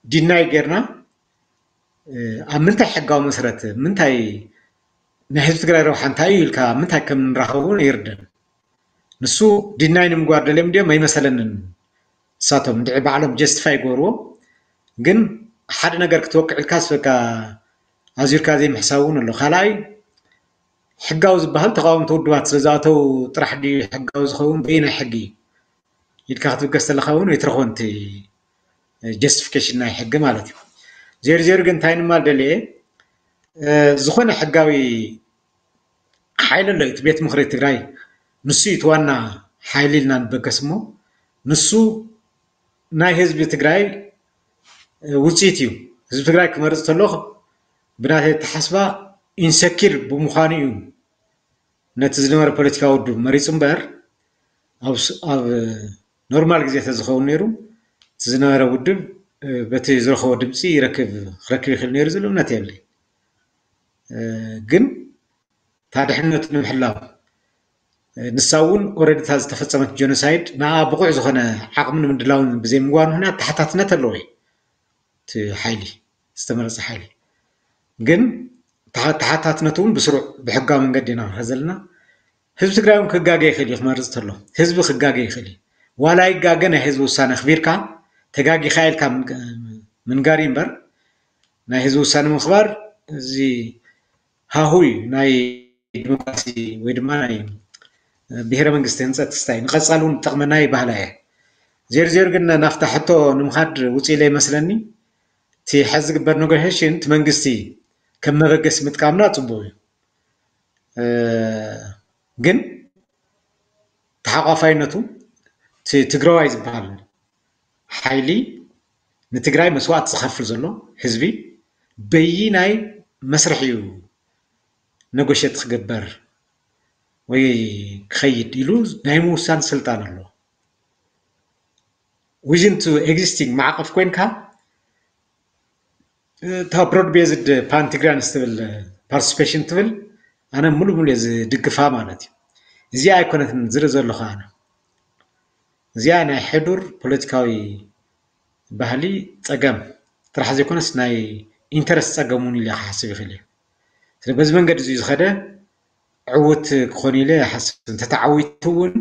ዲናይ ጌርና ኣብ ምንታይ ሕጋዊ መሰረት ምንታይ ናይ ህዝቢ ትግራይ ረብሓ እንታይ እዩ ኢልካ ምንታይ ከም ንራኸቡ ይርደን። ንሱ ዲናይ ንምግባር ደልዮም ድዮም ኣይመሰለንን። ንሳቶም ድዒ ባዕሎም ጀስቲፋይ ይገብርዎ። ግን ሓደ ነገር ክትወቅዕ ኢልካስ በቃ ኣዚርካ ዘይምሕሳብ እውን ኣሎ። ካልኣይ ሕጋዊ ዝበሃል ተቃወምቲ ውድባት ስለዝኣተው ጥራሕ ድዩ ሕጋዊ ዝኸውን በየናይ ሕጊ ኢልካ ክትብገስ ተለካ እውን ኣይትረኽቦን እቲ ጀስቲፊኬሽን ናይ ሕጊ ማለት እዩ። ዜሩ ዜሩ ግን እንታይ ንማል ደልየ ዝኾነ ሕጋዊ ሓይሊ ኣሎ እቲ ቤት ምኽሪ ትግራይ ንሱ እዩ እቲ ዋና ሓይሊ ኢልና ንበገስ እሞ ንሱ ናይ ህዝቢ ትግራይ ውፅኢት እዩ። ህዝቢ ትግራይ ክመርፅ ተሎ ብናተይ ኣተሓስባ ኢንሰኪር ብምዃኑ እዩ ነቲ ዝነበረ ፖለቲካዊ ውድብ መሪፁ እምበር ኣብ ኖርማል ግዜ ተዝኸውን ነይሩ እቲ ዝነበረ ውድብ በቲ ዝረኸቦ ድምፂ ይረክብ ክረክብ ይኽእል ነይሩ ዝብል እምነት የብለይ። ግን እታ ድሕነቱ ንምሕላው ንሳ እውን ኦረዲ እታ ዝተፈፀመት ጀኖሳይድ ንኣ ብቑዕ ዝኾነ ዓቕምን ምድላውን ብዘይምግባር ምክንያት ተሓታትነት ኣለዎ እዩ እቲ ሓይሊ ዝተመረፀ ሓይሊ ግን ተሓታትነቱ እውን ብስሩዕ ብሕጋዊ መንገዲ ኢና ንኸ ዘለና ህዝቢ ትግራይ እውን ክጋገ ይኽእል እዩ ክመርፅ ተሎ ህዝቢ ክጋገ ይኽእል እዩ ዋላ ይጋገ ናይ ህዝቢ ውሳነ ኣኽቢርካ ተጋጊኻ ኢልካ ምንጋር እዩ እምበር ናይ ህዝቢ ውሳነ ምኽባር እዚ ሃሁ እዩ ናይ ዲሞክራሲ ወይ ድማ ናይ ብሄረ መንግስቲ ህንፀት ክስታይ ንቐፃሊ እውን ዝጠቕመና ይባህላ እየ ዜሩ ዜሩ ግን ናፍታ ሕቶ ንምኻድ ውፅእ ኢለ ይመስለኒ እቲ ሕዚ ዝግበር ኔጎሽሽን እቲ መንግስቲ ከም መበገሲ ምጥቃምና ፅቡቅ እዩ ግን ተሓቋፋይነቱ ትግራዋይ ዝበሃል ሓይሊ ንትግራይ መስዋእቲ ዝኸፍል ዘሎ ህዝቢ በይናይ መስርሕ እዩ ነጎሸት ክግበር ወይ ክኸይድ ኢሉ ናይ ምውሳን ስልጣን ኣሎ within to existing ማዕቐፍ ኮይንካ እታ ብሮድ ቤዝድ ፓንቲግራንስ ትብል ፓርቲስፔሽን ትብል ኣነ ሙሉ ሙሉ ዝድግፋ ማለት እዩ እዚኣ ኣይኮነትን ዝርኢ ዘለኹ ኣነ እዚኣ ናይ ሕዱር ፖለቲካዊ ባህሊ ፀገም ጥራሕ ዘይኮነስ ናይ ኢንተረስት ፀገም እውን ኢለ ክሓስብ ይኽእል እዩ ስለ በዚ መንገዲ እዚ ዝኸደ ዕውት ክኾን ኢለ ይሓስብ እንተተዓዊቱ እውን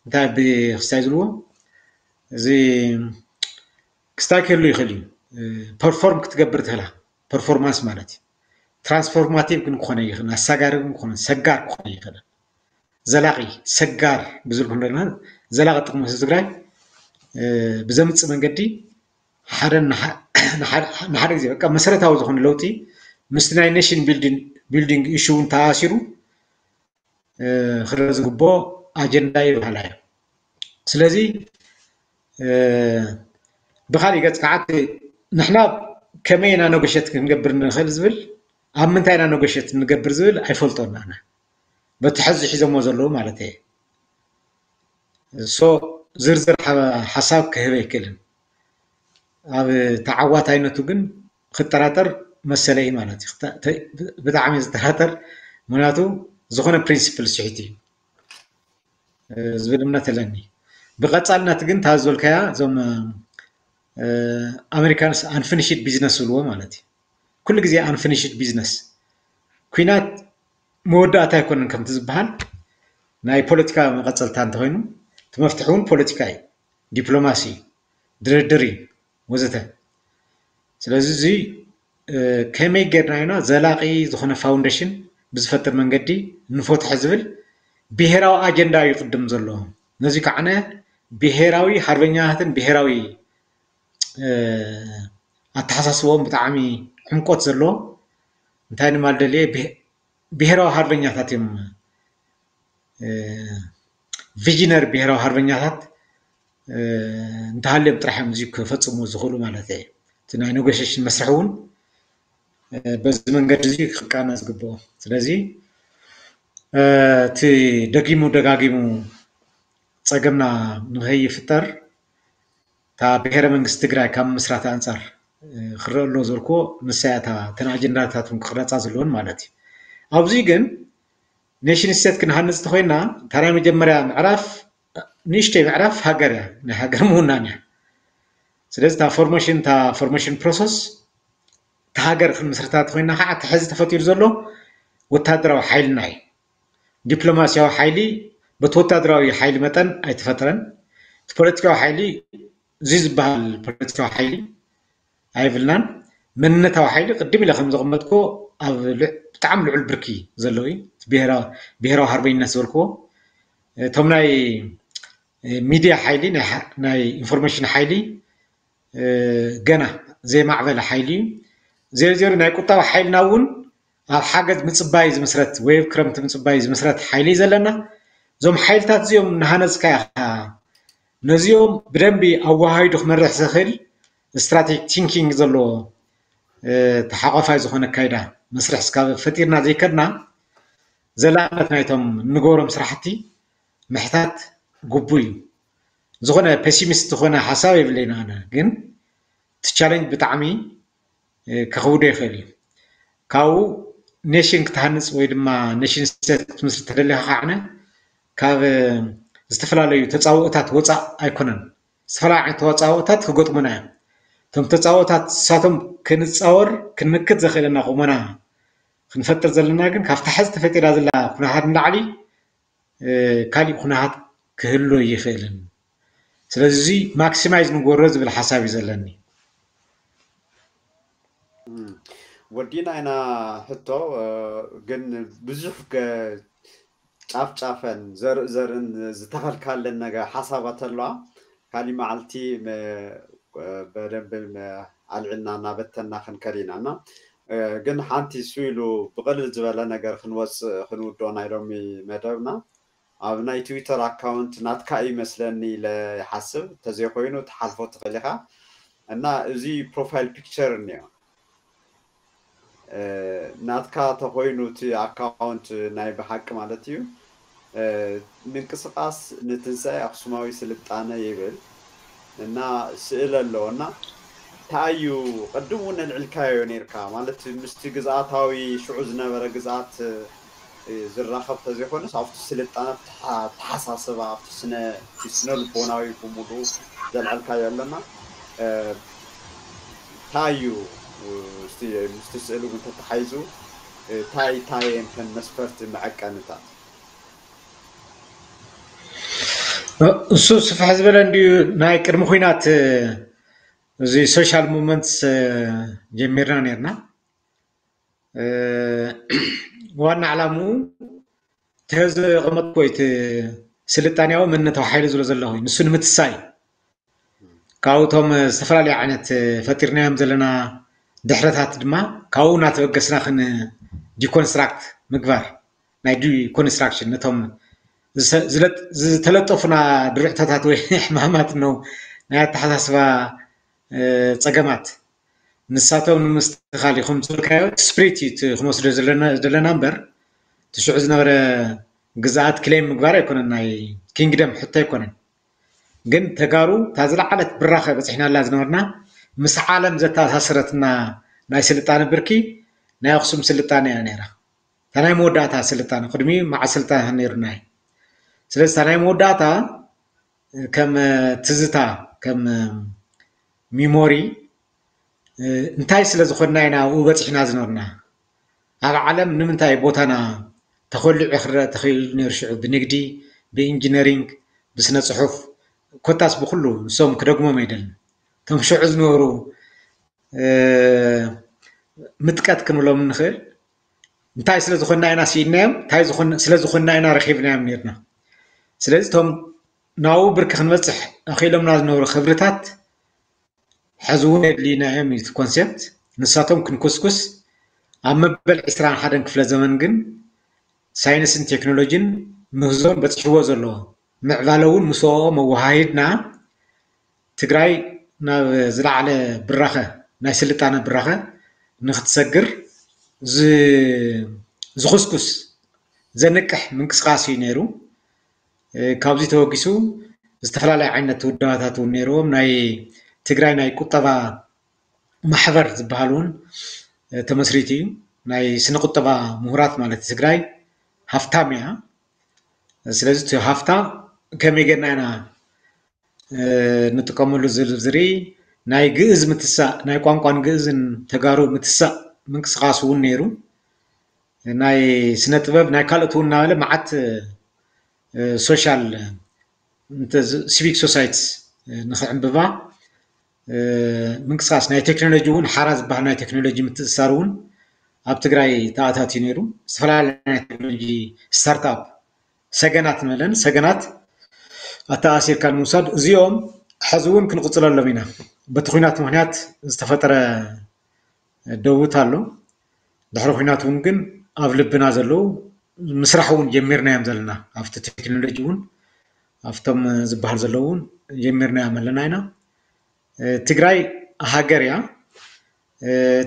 እንታይ ብክስታይ ዝብልዎ እዚ ክስታይ ክህሉ ይኽእል እዩ ፐርፎርም ክትገብር ትኽእላ ፐርፎርማንስ ማለት እዩ ትራንስፎርማቲቭ ግን ክኾነ ይኽእል ኣሳጋሪ ግን ክኾነ ሰጋር ክኾነ ይኽእል ዘላቂ ሰጋር ብዝብል ክንደና ዘላቂ ጥቅሚ ህዝቢ ትግራይ ብዘምፅእ መንገዲ ሓደ ንሓደ ግዜ በቃ መሰረታዊ ዝኾነ ለውጢ ምስቲ ናይ ኔሽን ቢልዲንግ ኢሹ እውን ተኣሲሩ ክረአ ዝግብኦ ኣጀንዳ እዩ በሃላይ። ስለዚ ብካሊእ ገፅ ከዓ ንሕና ከመይ ኢና ነጎሸት ክንገብር ንኽእል ዝብል፣ ኣብ ምንታይ ኢና ነጎሸት ንገብር ዝብል ኣይፈልጦን ኣነ፣ በቲ ሕዚ ሒዞሞ ዘለዉ ማለት እየ። ሶ ዝርዝር ሓሳብ ክህብ ኣይክእልን። ኣብ ተዓዋታይነቱ ግን ክጠራጠር መሰለ እዩ ማለት እዩ። ብጣዕሚ ዝጠራጠር፣ ምክንያቱ ዝኾነ ፕሪንሲፕል ስሒት እዩ ዝብል እምነት ኣለኒ። ብቐፃልነት ግን እታ ዝበልካያ እዞም ኣሜሪካንስ አንፊኒሽድ ቢዝነስ ዝብልዎ ማለት እዩ። ኩሉ ግዜ አንፊኒሽድ ቢዝነስ፣ ኩናት መወዳእታ ኣይኮነን ከምቲ ዝበሃል፣ ናይ ፖለቲካ መቐፀልታ እንተኮይኑ እቲ መፍትሒ እውን ፖለቲካ እዩ። ዲፕሎማሲ፣ ድርድር እዩ ወዘተ። ስለዚ እዚ ከመይ ጌርና ኢና ዘላቒ ዝኾነ ፋውንዴሽን ብዝፈጥር መንገዲ ንፈትሖ ዝብል ብሄራዊ ኣጀንዳ እዩ ቅድም ዘሎ። ነዚ ከዓነ ብሄራዊ ሓርበኛታትን ብሄራዊ ኣተሓሳስቦም ብጣዕሚ ዕምቆት ዘለዎ እንታይ ንማል ደልየ ብሄራዊ ሓርበኛታት እዮም። ቪዥነር ብሄራዊ ሓርበኛታት እንተሃልዮም ጥራሕ እዮም እዚ ክፈፅሙ ዝኽእሉ ማለት እየ። እቲ ናይ ኔጎሽሽን መስርሕ እውን በዚ መንገዲ እዚ ክቃነ ዝግብኦ። ስለዚ እቲ ደጊሙ ደጋጊሙ ፀገምና ንኸይፍጠር እታ ብሄረ መንግስቲ ትግራይ ካብ ምስራት ኣንፃር ክረአ ኣሎ ዝበልክዎ ንሳ እያ እታ እተን ኣጀንዳታት እውን ክቕረፃ ዘለዎን ማለት እዩ። ኣብዚ ግን ኔሽን ስቴት ክንሃንፅ እንተኮይና እታ ናይ መጀመርያ ምዕራፍ ንእሽተይ ምዕራፍ ሃገር እያ፣ ናይ ሃገር ምውናን እያ። ስለዚ እታ ፎርሜሽን እታ ፎርሜሽን ፕሮሰስ እታ ሃገር ክንምስርታ እንተኮይና ከዓ እቲ ሕዚ ተፈጢሩ ዘሎ ወታደራዊ ሓይልና እዩ። ዲፕሎማሲያዊ ሓይሊ በቲ ወታደራዊ ሓይሊ መጠን ኣይተፈጥረን። እቲ ፖለቲካዊ ሓይሊ እዚ ዝበሃል ፖለቲካዊ ሓይሊ ኣይብልናን። መንነታዊ ሓይሊ ቅድም ኢለ ከም ዘቐመጥኩ ኣብ ብጣዕሚ ልዑል ብርኪ ዘለዎ እዩ። ብሄራዊ ሓርበኝነት ዝበልክዎ እቶም ናይ ሚድያ ሓይሊ ናይ ኢንፎርሜሽን ሓይሊ ገና ዘይማዕበለ ሓይሊ እዩ። ዜሩ ዜሩ ናይ ቁጠባ ሓይልና እውን ኣብ ሓገዝ ምፅባይ ዝምስረት ወይ ኣብ ክረምቲ ምፅባይ ዝምስረት ሓይሊ እዩ ዘለና። እዞም ሓይልታት እዚኦም እናሃነፅካ ኢኻ ነዚኦም ብደንቢ ኣወሃሂዱ ክመርሕ ዝኽእል ስትራቴጂክ ቲንኪንግ ዘለዎ ተሓቋፋይ ዝኾነ ኣካይዳ መስርሕ ስካብ ፈጢርና ዘይከድና ዘላቕነት ናይቶም እንገብሮም ስራሕቲ ምሕታት ግቡእ እዩ። ዝኾነ ፔሲሚስት ዝኾነ ሓሳብ የብለይን ኣነ፣ ግን እቲ ቻለንጅ ብጣዕሚ ከኽብዶ ይኽእል እዩ። ካብኡ ኔሽን ክትሃንፅ ወይ ድማ ኔሽን ስቴት ክትምስርት ተደሊኻ ከዓነ ካብ ዝተፈላለዩ ተፃብኦታት ወፃእ ኣይኮነን። ዝተፈላለዩ ዓይነት ተፃብኦታት ክገጥሙና እዮም። እቶም ተፃብኦታት ንሳቶም ክንፃወር ክንምክት ዘኽእለና ቁመና ክንፈጥር ዘለና ግን ካብታ ሕዚ ተፈጢራ ዘላ ኩነታት ንላዕሊ ካሊእ ኩነታት ክህሉ ኣይኽእልን። ስለዚ እዚ ማክሲማይዝ ንግበሮ ዝብል ሓሳብ እዩ ዘለኒ። ወዲና ኢና ሕቶ ግን ብዙሕ ጫፍ ጫፈን ዘርኢ ዘርእን ዝተኸልካለን ነገር ሓሳባት ኣለዋ። ካሊእ መዓልቲ በደንብ ኣልዕልና እናበተና ክንከድ ኢና እና ግን ሓንቲ እሱ ኢሉ ብቕልል ዝበለ ነገር ክንወፅእ ክንውድኦ ናይ ሎሚ መደብና ኣብ ናይ ትዊተር ኣካውንት ናትካ እዩ መስለኒ ኢለ ይሓስብ። እንተዘይኮይኑ ትሓልፎ ትኽእል ኢኻ እና እዚ ፕሮፋይል ፒክቸር እኒኦ ናትካ ተኮይኑ እቲ ኣካውንት ናይ ብሓቂ ማለት እዩ ምንቅስቃስ ንትንሳኤ ኣክሱማዊ ስልጣነ ይብል እና ስእል ኣለዎ እና እንታይ እዩ ቅድም እውን ኣልዕልካዮ ነይርካ ማለት ምስቲ ግዝኣታዊ ሽዑ ዝነበረ ግዝኣት ዝራኸብ ተዘይኮነስ ኣብቲ ስልጣነ ኣተሓሳስባ ኣብቲ ስነ ልቦናዊ ብምሉ ዘልዐልካዮ ኣለና እንታይ እዩ ምስቲ ስእሊ እውን ተተሓይዙ እንታይ እንታይ እየን ከን መስፈርቲ መዐቀንታት እሱ ስፍሕ ዝበለ እንዲዩ ናይ ቅድሚ ኩናት እዚ ሶሻል ሙቭመንትስ ጀሚርና ነርና ዋና ዕላምኡ ተዘቐመጥኮ እቲ ስልጣንያዊ መንነታዊ ሓይሊ ዝብሎ ዘለኹ ንሱ ንምትሳይ ካብኡቶም ዝተፈላለዩ ዓይነት ፈጢርናዮም ዘለና ድሕረታት ድማ ካብኡ እናተበገስና ክን ዲኮንስትራክት ምግባር ናይ ዲኮንስትራክሽን ነቶም ዝተለጠፉና ድርዕቶታት ወይ ሕማማት ነው ናይ ኣተሓሳስባ ፀገማት ንሳቶም ንምስትኻል ኢኹም ዝበልካዮ ስፕሪት እዩ እቲ ክንወስዶ ዘለና እምበር ትሽዑ ዝነበረ ግዝኣት ክሌም ምግባር ኣይኮነን፣ ናይ ኪንግደም ሕቶ ኣይኮነን። ግን ተጋሩ እታ ዝለዓለት ብራኸ በፂሕናላ ዝነበርና ምስ ዓለም ዘተኣሳስረትና ናይ ስልጣነ ብርኪ ናይ ኣክሱም ስልጣነ እያ ነይራ። እታ ናይ መወዳእታ ስልጣነ ቅድሚ መዓል ስልጣነ ነይሩና እዩ። ስለዚ እታ ናይ መወዳእታ ከም ትዝታ ከም ሚሞሪ እንታይ ስለ ዝኾንና ኢና ኣብኡ በፂሕና ዝነበርና? ኣብ ዓለም ንምንታይ ቦታና ተኾሊዑ ክረአ ተኽኢሉ ነይሩ? ሽዑ ብንግዲ፣ ብኢንጂነሪንግ፣ ብስነ ፅሑፍ ኮታስ ብኩሉ ንሶም ክደግሞም ኣይደልን። እቶም ሽዑ ዝነበሩ ምጥቀት ክንብሎም ንኽእል እንታይ ስለ ዝኾንና ኢና ስኢንናዮም? እንታይ ስለ ዝኾንና ኢና ረኺብናዮም ነርና? ስለዚ እቶም ናብኡ ብርኪ ክንበፅሕ ኣኽኢሎምና ዝነበሩ ክብርታት ሕዚ እውን የድልዩና እዮም እዩ ኮንሴፕት። ንሳቶም ክንኩስኩስ ኣብ መበል ዕስራን ሓደን ክፍለ ዘመን ግን ሳይንስን ቴክኖሎጂን ምህዞን በፂሕዎ ዘሎ ምዕባለ እውን ምስኦ መወሃሂድና ትግራይ ናብ ዝለዓለ ብራኸ ናይ ስልጣነ ብራኸ ንክትሰግር ዝኹስኩስ ዘንቅሕ ምንቅስቃስ እዩ ነይሩ። ካብዚ ተወጊሱ ዝተፈላለዩ ዓይነት ውዳባታት እውን ነይርዎም። ናይ ትግራይ ናይ ቁጠባ ማሕበር ዝበሃል እውን ተመስሪቱ እዩ። ናይ ስነ ቁጠባ ምሁራት ማለት ትግራይ ሃፍታም እያ። ስለዚ እቲ ሃፍታ ከመይ ጌርና ኢና ንጥቀመሉ ዝብል ዝርኢ ናይ ግእዝ ምትሳእ ናይ ቋንቋን ግእዝን ተጋሩ ምትሳእ ምንቅስቃስ እውን ነይሩ። ናይ ስነ ጥበብ ናይ ካልኦት እውን እናበለ መዓት ሶሻል ሲቪክ ሶሳይትስ ንክዕንብባ ምንቅስቃስ ናይ ቴክኖሎጂ እውን ሓራ ዝበሃል ናይ ቴክኖሎጂ ምትእስሳር እውን ኣብ ትግራይ ተኣታትዩ ነይሩ። ዝተፈላለዩ ናይ ቴክኖሎጂ ስታርትኣፕ ሰገናት ንበለን ሰገናት ኣተኣሲርካ ንምውሳድ እዚኦም ሕዚ እውን ክንቕፅለሎም ኢና። በቲ ኩናት ምክንያት ዝተፈጠረ ደውት ኣሎ። ድሕሪ ኩናት እውን ግን ኣብ ልብና ዘለዉ ምስራሕ እውን ጀሚርናዮም ዘለና ኣብቲ ቴክኖሎጂ እውን ኣብቶም ዝበሃል ዘለዉ እውን ጀሚርናዮም ኣለና ኢና። ትግራይ ሃገር እያ።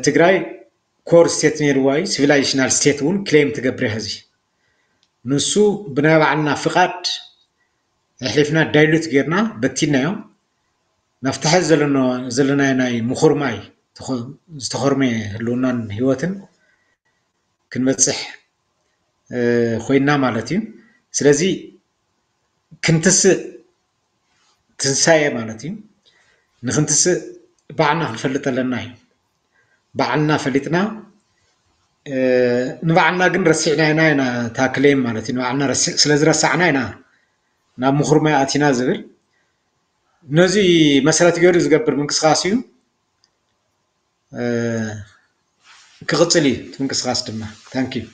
ትግራይ ኮር ስቴት ነይርዋ እዩ። ሲቪላይዜሽናል ስቴት እውን ክሌም ትገብር እያ። ሕዚ ንሱ ብናይ ባዕልና ፍቓድ ኣሕሊፍና ዳይሉት ጌርና በቲናዮ ናብቲ ሕዚ ዘለናዮ ናይ ምኹርማይ ዝተኾርመ ህልውናን ህይወትን ክንበፅሕ ኮይና ማለት እዩ። ስለዚ ክንትስእ ትንሳኤ ማለት እዩ። ንክንትስእ ባዕልና ክንፈልጥ ኣለና እዩ። ባዕልና ፈሊጥና ንባዕልና ግን ረሲዕና ኢና ኢና ታክሌም ማለት እዩ። ንባዕልና ስለዝረሳዕና ኢና ናብ ምኹርማይ ኣቲና ዝብል ነዚ መሰረት ገይሩ ዝገብር ምንቅስቃስ እዩ። ክቕፅል እዩ እቲ ምንቅስቃስ ድማ። ታንኪዩ።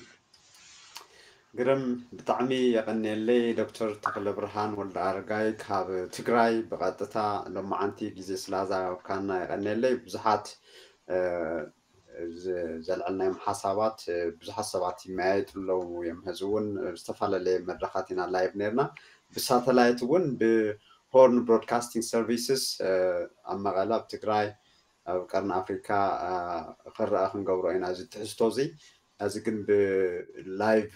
ግርም፣ ብጣዕሚ የቐንየለይ ዶክተር ተኽለ ብርሃን ወልደ ኣረጋይ ካብ ትግራይ ብቐጥታ ሎማዓንቲ ግዜ ስላዛወካና የቐንየለይ። ብዙሓት ዘልዐልናዮም ሓሳባት ብዙሓት ሰባት ይመያየጡ ኣለዉ እዮም። ሕዚ እውን ዝተፈላለየ መድረኻት ኢና ላይቭ ነርና። ብሳተላይት እውን ብሆርን ብሮድካስቲንግ ሰርቪስስ ኣብ መቐለ ኣብ ትግራይ ኣብ ቀርኒ ኣፍሪካ ክረኣ ክንገብሮ ኢና እዚ ትሕዝቶ እዚ። እዚ ግን ብላይቭ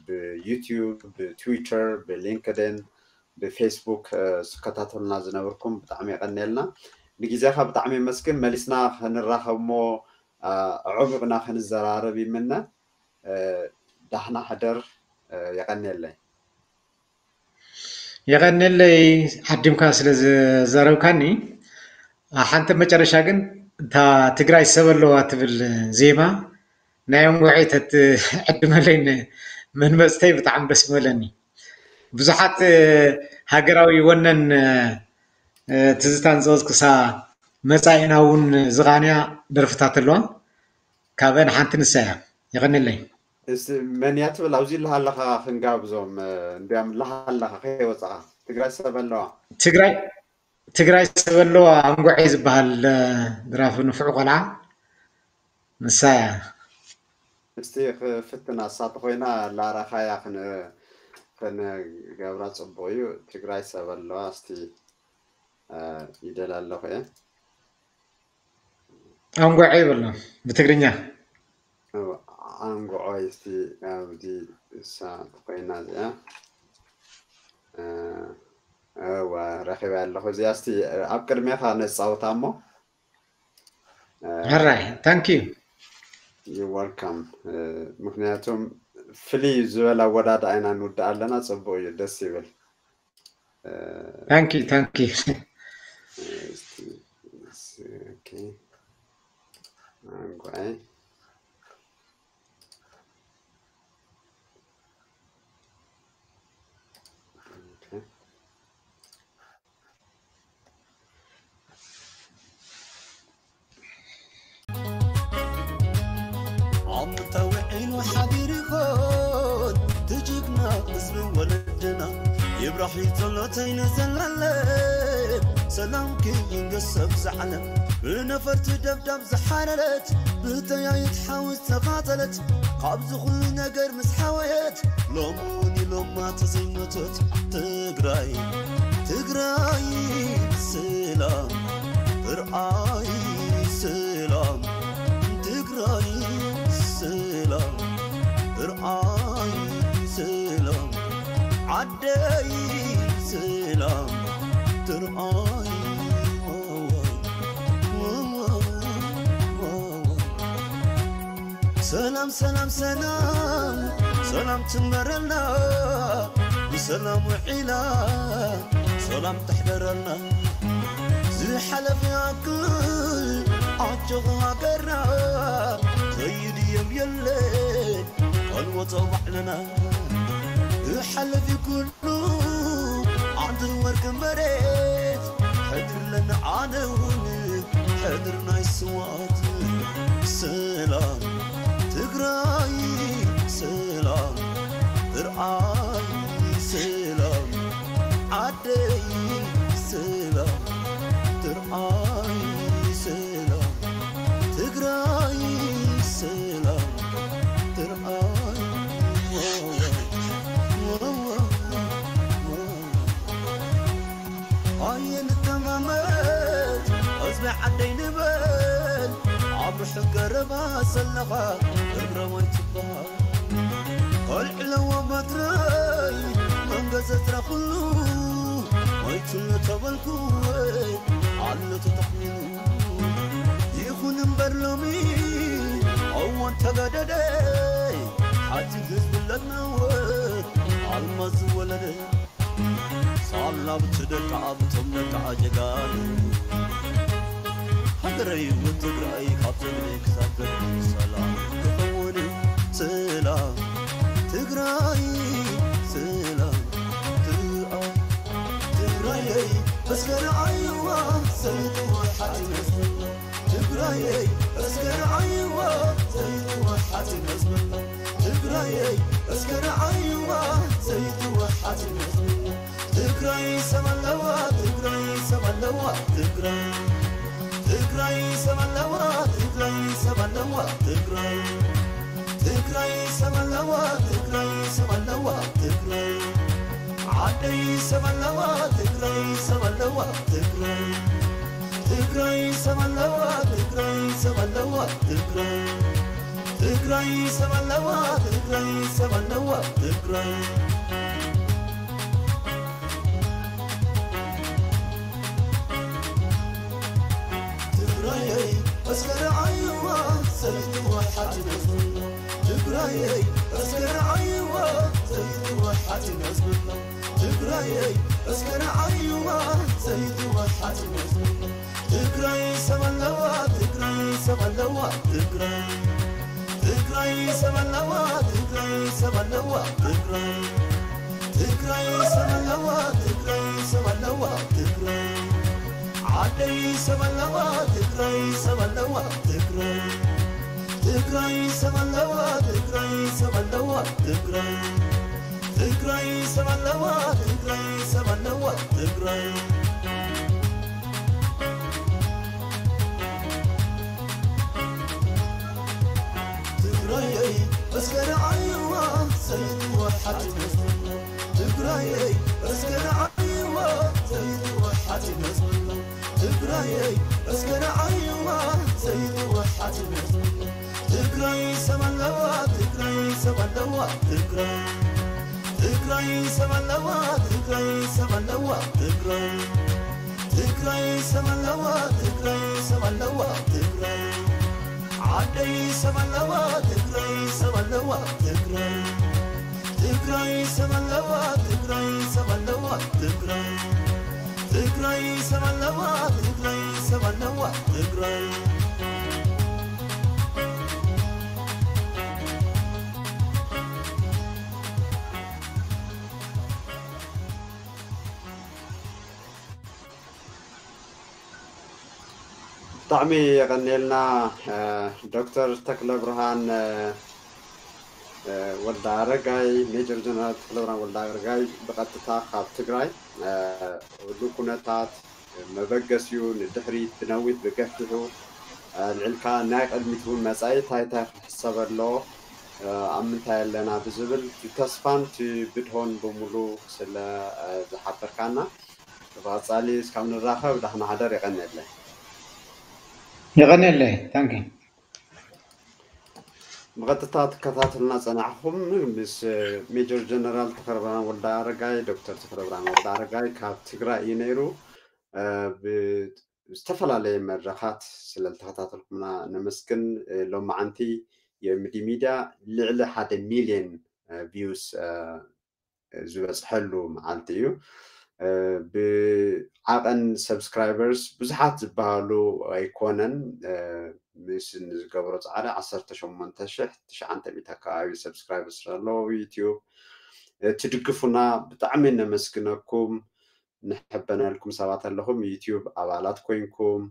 ብዩቲዩብ ብትዊተር ብሊንክድን ብፌስቡክ ዝከታተሉና ዝነብርኩም ብጣዕሚ የቀንየልና። ንግዜኻ ብጣዕሚ የመስግን። መሊስና ክንራኸብ እሞ ኣዕሚቕና ክንዘራረብ ይምነ። ዳሕና ሕደር። የቀንየለይ። የቐንየለይ ዓዲምካ ስለ ዘረብካኒ። ሓንቲ መጨረሻ ግን እታ ትግራይ ሰብ ኣለዋ ትብል ዜማ ናይ እንጉዐይ ተትዕድመለይ መንመፅተይ ብጣዕሚ ደስ ምበለኒ። ብዙሓት ሃገራዊ ወነን ትዝታን ዝቐዝቅሳ መፃኢና እውን ዝቓንያ ደርፍታት ኣለዋ። ካብአን ሓንቲ ንሳ እያ። የቐንየለይ። መን እያ ትብል ኣብዚ ኣለኻ ኣለኻ ክንጋብዞም እንዲያም ኣለኻ ኣለኻ ከይወፃኻ ትግራይ ሰብ ኣለዋ። ትግራይ ትግራይ ሰብ ኣለዋ። ኣንጎዐይ ዝበሃል ድራፊ ንፉዕ ቆልዓ ንሳ እያ። እስቲ ክፍትና፣ እሳተ ኮይና ላራኻያ ክን-፣ ክንገብራ ጽቡቕ እዩ። ትግራይ ሰብ ኣለዋ፣ እስቲ፣ እ፣ ይደል ኣለኹ እየ። ኣንጓዐ ይበልና ብትግርኛ። እው፣ ኣንጉዖ እስቲ ኣብዚ እሳተ ኮይና እዚኣ። እ፣ እወ፣ ረኺበያ ኣለኹ። እዚኣ እስቲ ኣብ ቅድሜኻ ነጻውታ እሞ። እ፣ ሕራይ፣ thank you። You're welcome። እ፣ ምክንያቱም ፍልይ ዝበለ ኣወዳድኣ ኢና ንውድእ ኣለና። ጽቡቕ እዩ፣ ደስ ይብል። እ፣ Thank you፣ thank you። እስቲ፣ ኦኬ፣ ኣንጓይ። ኦኬ። ዓመታ ውዒሉ ሓዲሩ ይኾን ትጅግና ህዝቢ ወለድና። ይብራህ ጸሎተይ ንዘላለም ሰላምኪ ይንገስ ኣብዚ ዓለም። ብነፈርቲ ደብዳብ ዝሓረረት ብጠያይት ሓዊ ዝተቓጸለት ካብዚ ኩሉ ነገር ምስ ሓወየት ሎሚ እውን ኢሎማ ተዘይሞተት ትግራይ ትግራይ ሰላም ትርዓይ ሰላም ትግራይ ሰላም ትርዓይ ሰላም ዓደይ ሰላም ትርዓይ ሰላም ሰላም ሰላም ሰላም ትንበረልና ብሰላም ውዒላ ሰላም ተሕደረልና ዝሓለፈ ያክል ኣጆኹ ሃገርና ዘይድየብ የለ ካልወጾ ባዕልና ዝሓለፍ ኩሉ ዓንድር ወርቂ መሬት ሕድርለና ኣነ እውን ሕድር ናይ ስዋት ሰላም ትግራይ ሰላም ትርዓይ ሰላም ዓደይ ሰላም ትርዓይ ሰላም ትግራይ ሰላም ትርዓይ ኣየንተማመት ህዝቢ ዓደይ ንበል ኣብ ርሑቕ ገረባ ዘለኻ እግረ ወይ ትበሃል ኣልዕለዎ በትረይ መንገዘትራ ኩሉ ሞይቱሉ ተበልኩ ኣሎ ተተኽሚኑ ይኹን እምበር ሎሚ እዋን ተገደደ ሓቲ ህዝቢ ለናወ ኣልማዝ ዝወለደ ሳላ ብትደቃ ብቶም ደቃ ጀጋኑ ሃገረይ እውን ትግራይ ካብ ዘግደ ክሳብ ዘግደ ሰላም ክኸውን ሰላም ትግራይ ሰላም ትኣ ትግራየይ እስከ ረኣይዋ ዘይትወሓት ይመስል ትግራየይ እስከ ረኣይዋ ዘይትወሓት ይመስል ትግራየይ እስከ ረኣይዋ ዘይትወሓት ይመስል ትግራይ ሰብ ኣለዋ ትግራይ ሰብ ኣለዋ ትግራይ ትግራይ ሰብ ኣለዋ ትግራይ ሰብ ኣለዋ ትግራይ ትግራይ ሰብ ኣለዋ ትግራይ ሰብ ኣለዋ ትግራይ ዓደይ ሰብ ኣለዋ ትግራይ ሰብ ኣለዋ ትግራይ ትግራይ ሰብ ኣለዋ ትግራይ ሰብ ኣለዋ ትግራይ ትግራይ ሰብ ኣለዋ ትግራይ ሰብ ኣለዋ ትግራይ ትግራየይ እስከ ረዓይዋ ዘይትወሓት ነዝብሎ ትግራየይ እስከ ረዓይዋ ዘይትወሓት ነዝብሎ ትግራየይ እስከ ረዓይዋ ዘይትወሓት ነዝብሎ ትግራይ ሰብ ኣለዋ ትግራይ ሰብ ኣለዋ ትግራይ ትግራይ ሰብ ኣለዋ ትግራይ ሰብ ኣለዋ ትግራይ ትግራይ ሰብ ኣለዋ ትግራይ ሰብ ኣለዋ ትግራይ ዓደይ ሰብ ኣለዋ ትግራይ ሰብ ኣለዋ ትግራይ ትግራይ ሰብ ኣለዋ ትግራይ ሰብ ኣለዋ ትግራይ ትግራይ ሰብ ኣለዋ ትግራይ ሰብ ኣለዋ ትግራይ ትግራየይ እስከ ንዓይዋ ዘይትወሓት ይመስሎ። ትግራየይ እስከ ንዓይዋ ዘይትወሓት ይመስሎ። ትግራይ ሰብ ኣለዋ፣ ትግራይ ሰብ ኣለዋ፣ ትግራይ። ትግራይ ሰብ ኣለዋ፣ ትግራይ ሰብ ኣለዋ፣ ትግራይ። ትግራይ ሰብ ኣለዋ፣ ትግራይ ሰብ ኣለዋ፣ ትግራይ። ዓደይ ሰብ ኣለዋ፣ ትግራይ ሰብ ኣለዋ፣ ትግራይ። ትግራይ ሰብ ኣለዋ፣ ትግራይ ሰብ ኣለዋ፣ ትግራይ። ትግራይ ሰብ ኣለዋ፣ ትግራይ ሰብ ኣለዋ፣ ትግራይ። ብጣዕሚ የቐንየልና ዶክተር ተክለ ብርሃን ወልደ ኣረጋይ፣ ሜጀር ጀነራል ተክለ ብርሃን ወልደ ኣረጋይ ብቐጥታ ካብ ትግራይ። ኩሉ ኩነታት መበገሲኡ ንድሕሪት ብነዊት ብገፊሑ ኣልዒልካ ናይ ቅድሚት እውን መጻኢ እንታይ እንታይ ክሕሰብ ኣለዎ፣ ኣብ ምንታይ ኣለና ብዝብል እቲ ተስፋን እቲ ብድሆን ብምሉ ስለ ዝሓበርካና ብቐጻሊ እስካብ ንራኸብ ዳሕና ሓደር። የቐንየለይ። የቐንየለይ። ታንኪ። ብቐጥታ ትከታተሉና ጸናሕኹም ምስ ሜጀር ጀነራል ተክለብርሃን ወልደ ኣረጋይ። ዶክተር ተክለብርሃን ወልደ ኣረጋይ ካብ ትግራይ እዩ ነይሩ። ብዝተፈላለየ መድረኻት ስለ ዝተኸታተልኩምና ነመስግን። ሎማዓንቲ የምዲ ሚድያ ልዕሊ ሓደ ሚልዮን ቪውስ ዝበፅሐሉ መዓልቲ እዩ። ብዓቐን ሰብስክራይበርስ ብዙሓት ዝበሃሉ ኣይኮነን። ምስ ንዝገብሮ ፃዕሪ ዓሰርተ ሸሞንተ ሽሕ ትሽዓተ ሚእቲ ኣካባቢ ሰብስክራይበርስ ኣለዎ ዩቲዩብ። ትድግፉና ብጣዕሚ ነመስግነኩም። ንሕበነልኩም ሰባት ኣለኹም ዩቲዩብ ኣባላት ኮይንኩም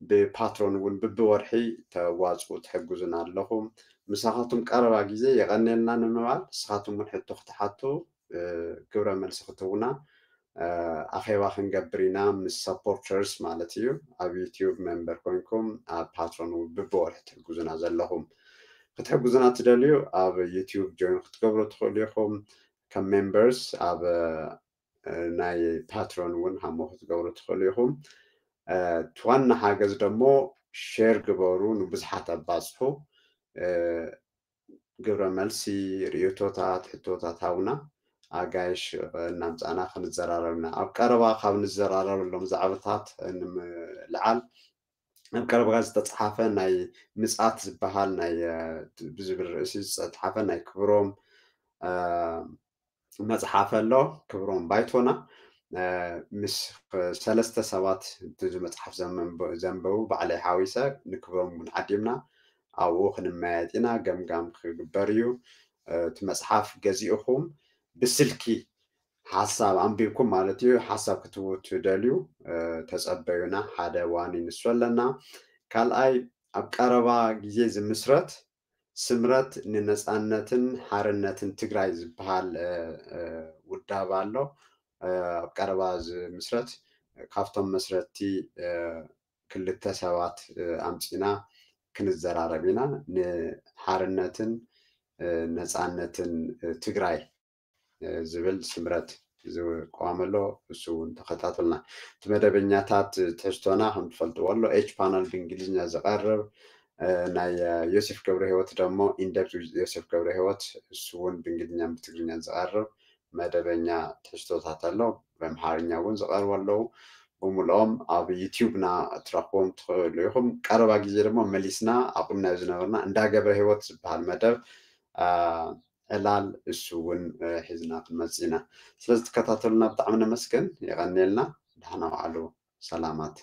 ብፓትሮን እውን ብብወርሒ ተዋፅኡ ትሕግዙና ኣለኹም። ምሳኻትኩም ቀረባ ግዜ የቐንየልና ንምባል ንስኻትኩም እውን ሕቶ ክትሓቱ ግብረ መልሲ ክትህቡና ኣኼባ ክንገብር ኢና ምስ ሰፖርተርስ ማለት እዩ። ኣብ ዩቲዩብ ሜምበር ኮይንኩም ኣብ ፓትሮን እውን ብብወርሒ ትሕግዙና ዘለኹም ክትሕግዙና ትደልዩ ኣብ ዩቲዩብ ጆይን ክትገብሩ ትኽእሉ ኢኹም። ከም ሜምበርስ ኣብ ናይ ፓትሮን እውን ሃሞ ክትገብሩ ትኽእሉ ኢኹም። እቲ ዋና ሓገዝ ደሞ ሼር ግበሩ፣ ንብዙሓት ኣባፅሑ። ግብረ መልሲ፣ ርእቶታት፣ ሕቶታት ሃቡና። ኣጋይሽ እናምፃእና ክንዘራረብና ኣብ ቀረባ ካብ ንዘራረበሎም ዛዕባታት ንምልዓል ኣብ ቀረባ ዝተፅሓፈ ናይ ምፅኣት ዝበሃል ናይ ብዝብል ርእሲ ዝተፅሓፈ ናይ ክብሮም መፅሓፍ ኣሎ። ክብሮም ባይቶና ምስ ሰለስተ ሰባት እዚ መፅሓፍ ዘንበቡ ባዕለይ ሓዊሰ ንክብሮም እውን ዓዲምና ኣብኡ ክንመያየጥ ኢና። ገምጋም ክግበር እዩ። እቲ መፅሓፍ ገዚእኹም ብስልኪ ሓሳብ ኣንቢብኩም ማለት እዩ ሓሳብ ክትህቡ ትደልዩ ተፀበዩና። ሓደ ዋኒ ንሱ ኣለና። ካልኣይ ኣብ ቀረባ ግዜ ዝምስረት ስምረት ንነፃነትን ሓርነትን ትግራይ ዝበሃል ውዳብ ኣሎ። ኣብ ቀረባ ዝምስረት ካብቶም መስረትቲ ክልተ ሰባት ኣምፂና ክንዘራረብ ኢና። ንሓርነትን ነፃነትን ትግራይ ዝብል ስምረት ዝቋም ኣሎ። እሱ እውን ተኸታተልና። እቲ መደበኛታት ትሕዝቶና ከም ትፈልጥዎ ኣሎ። ኤች ፓነል ብእንግሊዝኛ ዝቐርብ ናይ ዮሴፍ ገብረ ህይወት ደሞ ኢንደፕት ዮሴፍ ገብረ ህይወት እሱ እውን ብእንግሊዝኛን ብትግርኛን ዝቐርብ መደበኛ ትሕዝቶታት ኣሎ። ብኣምሓርኛ እውን ዝቐርቡ ኣለዉ። ብምልኦም ኣብ ዩቲዩብና ትረኽቦም ትኽእሉ ኢኹም። ቀረባ ግዜ ድማ መሊስና ኣቑምናዮ ዝነበርና እንዳ ገብረ ህይወት ዝበሃል መደብ ዕላል እሱ እውን ሒዝና ክንመፅእ ኢና። ስለዚ ትከታተሉና ብጣዕሚ ነመስገን። የቐንየልና። ደሓና ዋዕሉ። ሰላማት።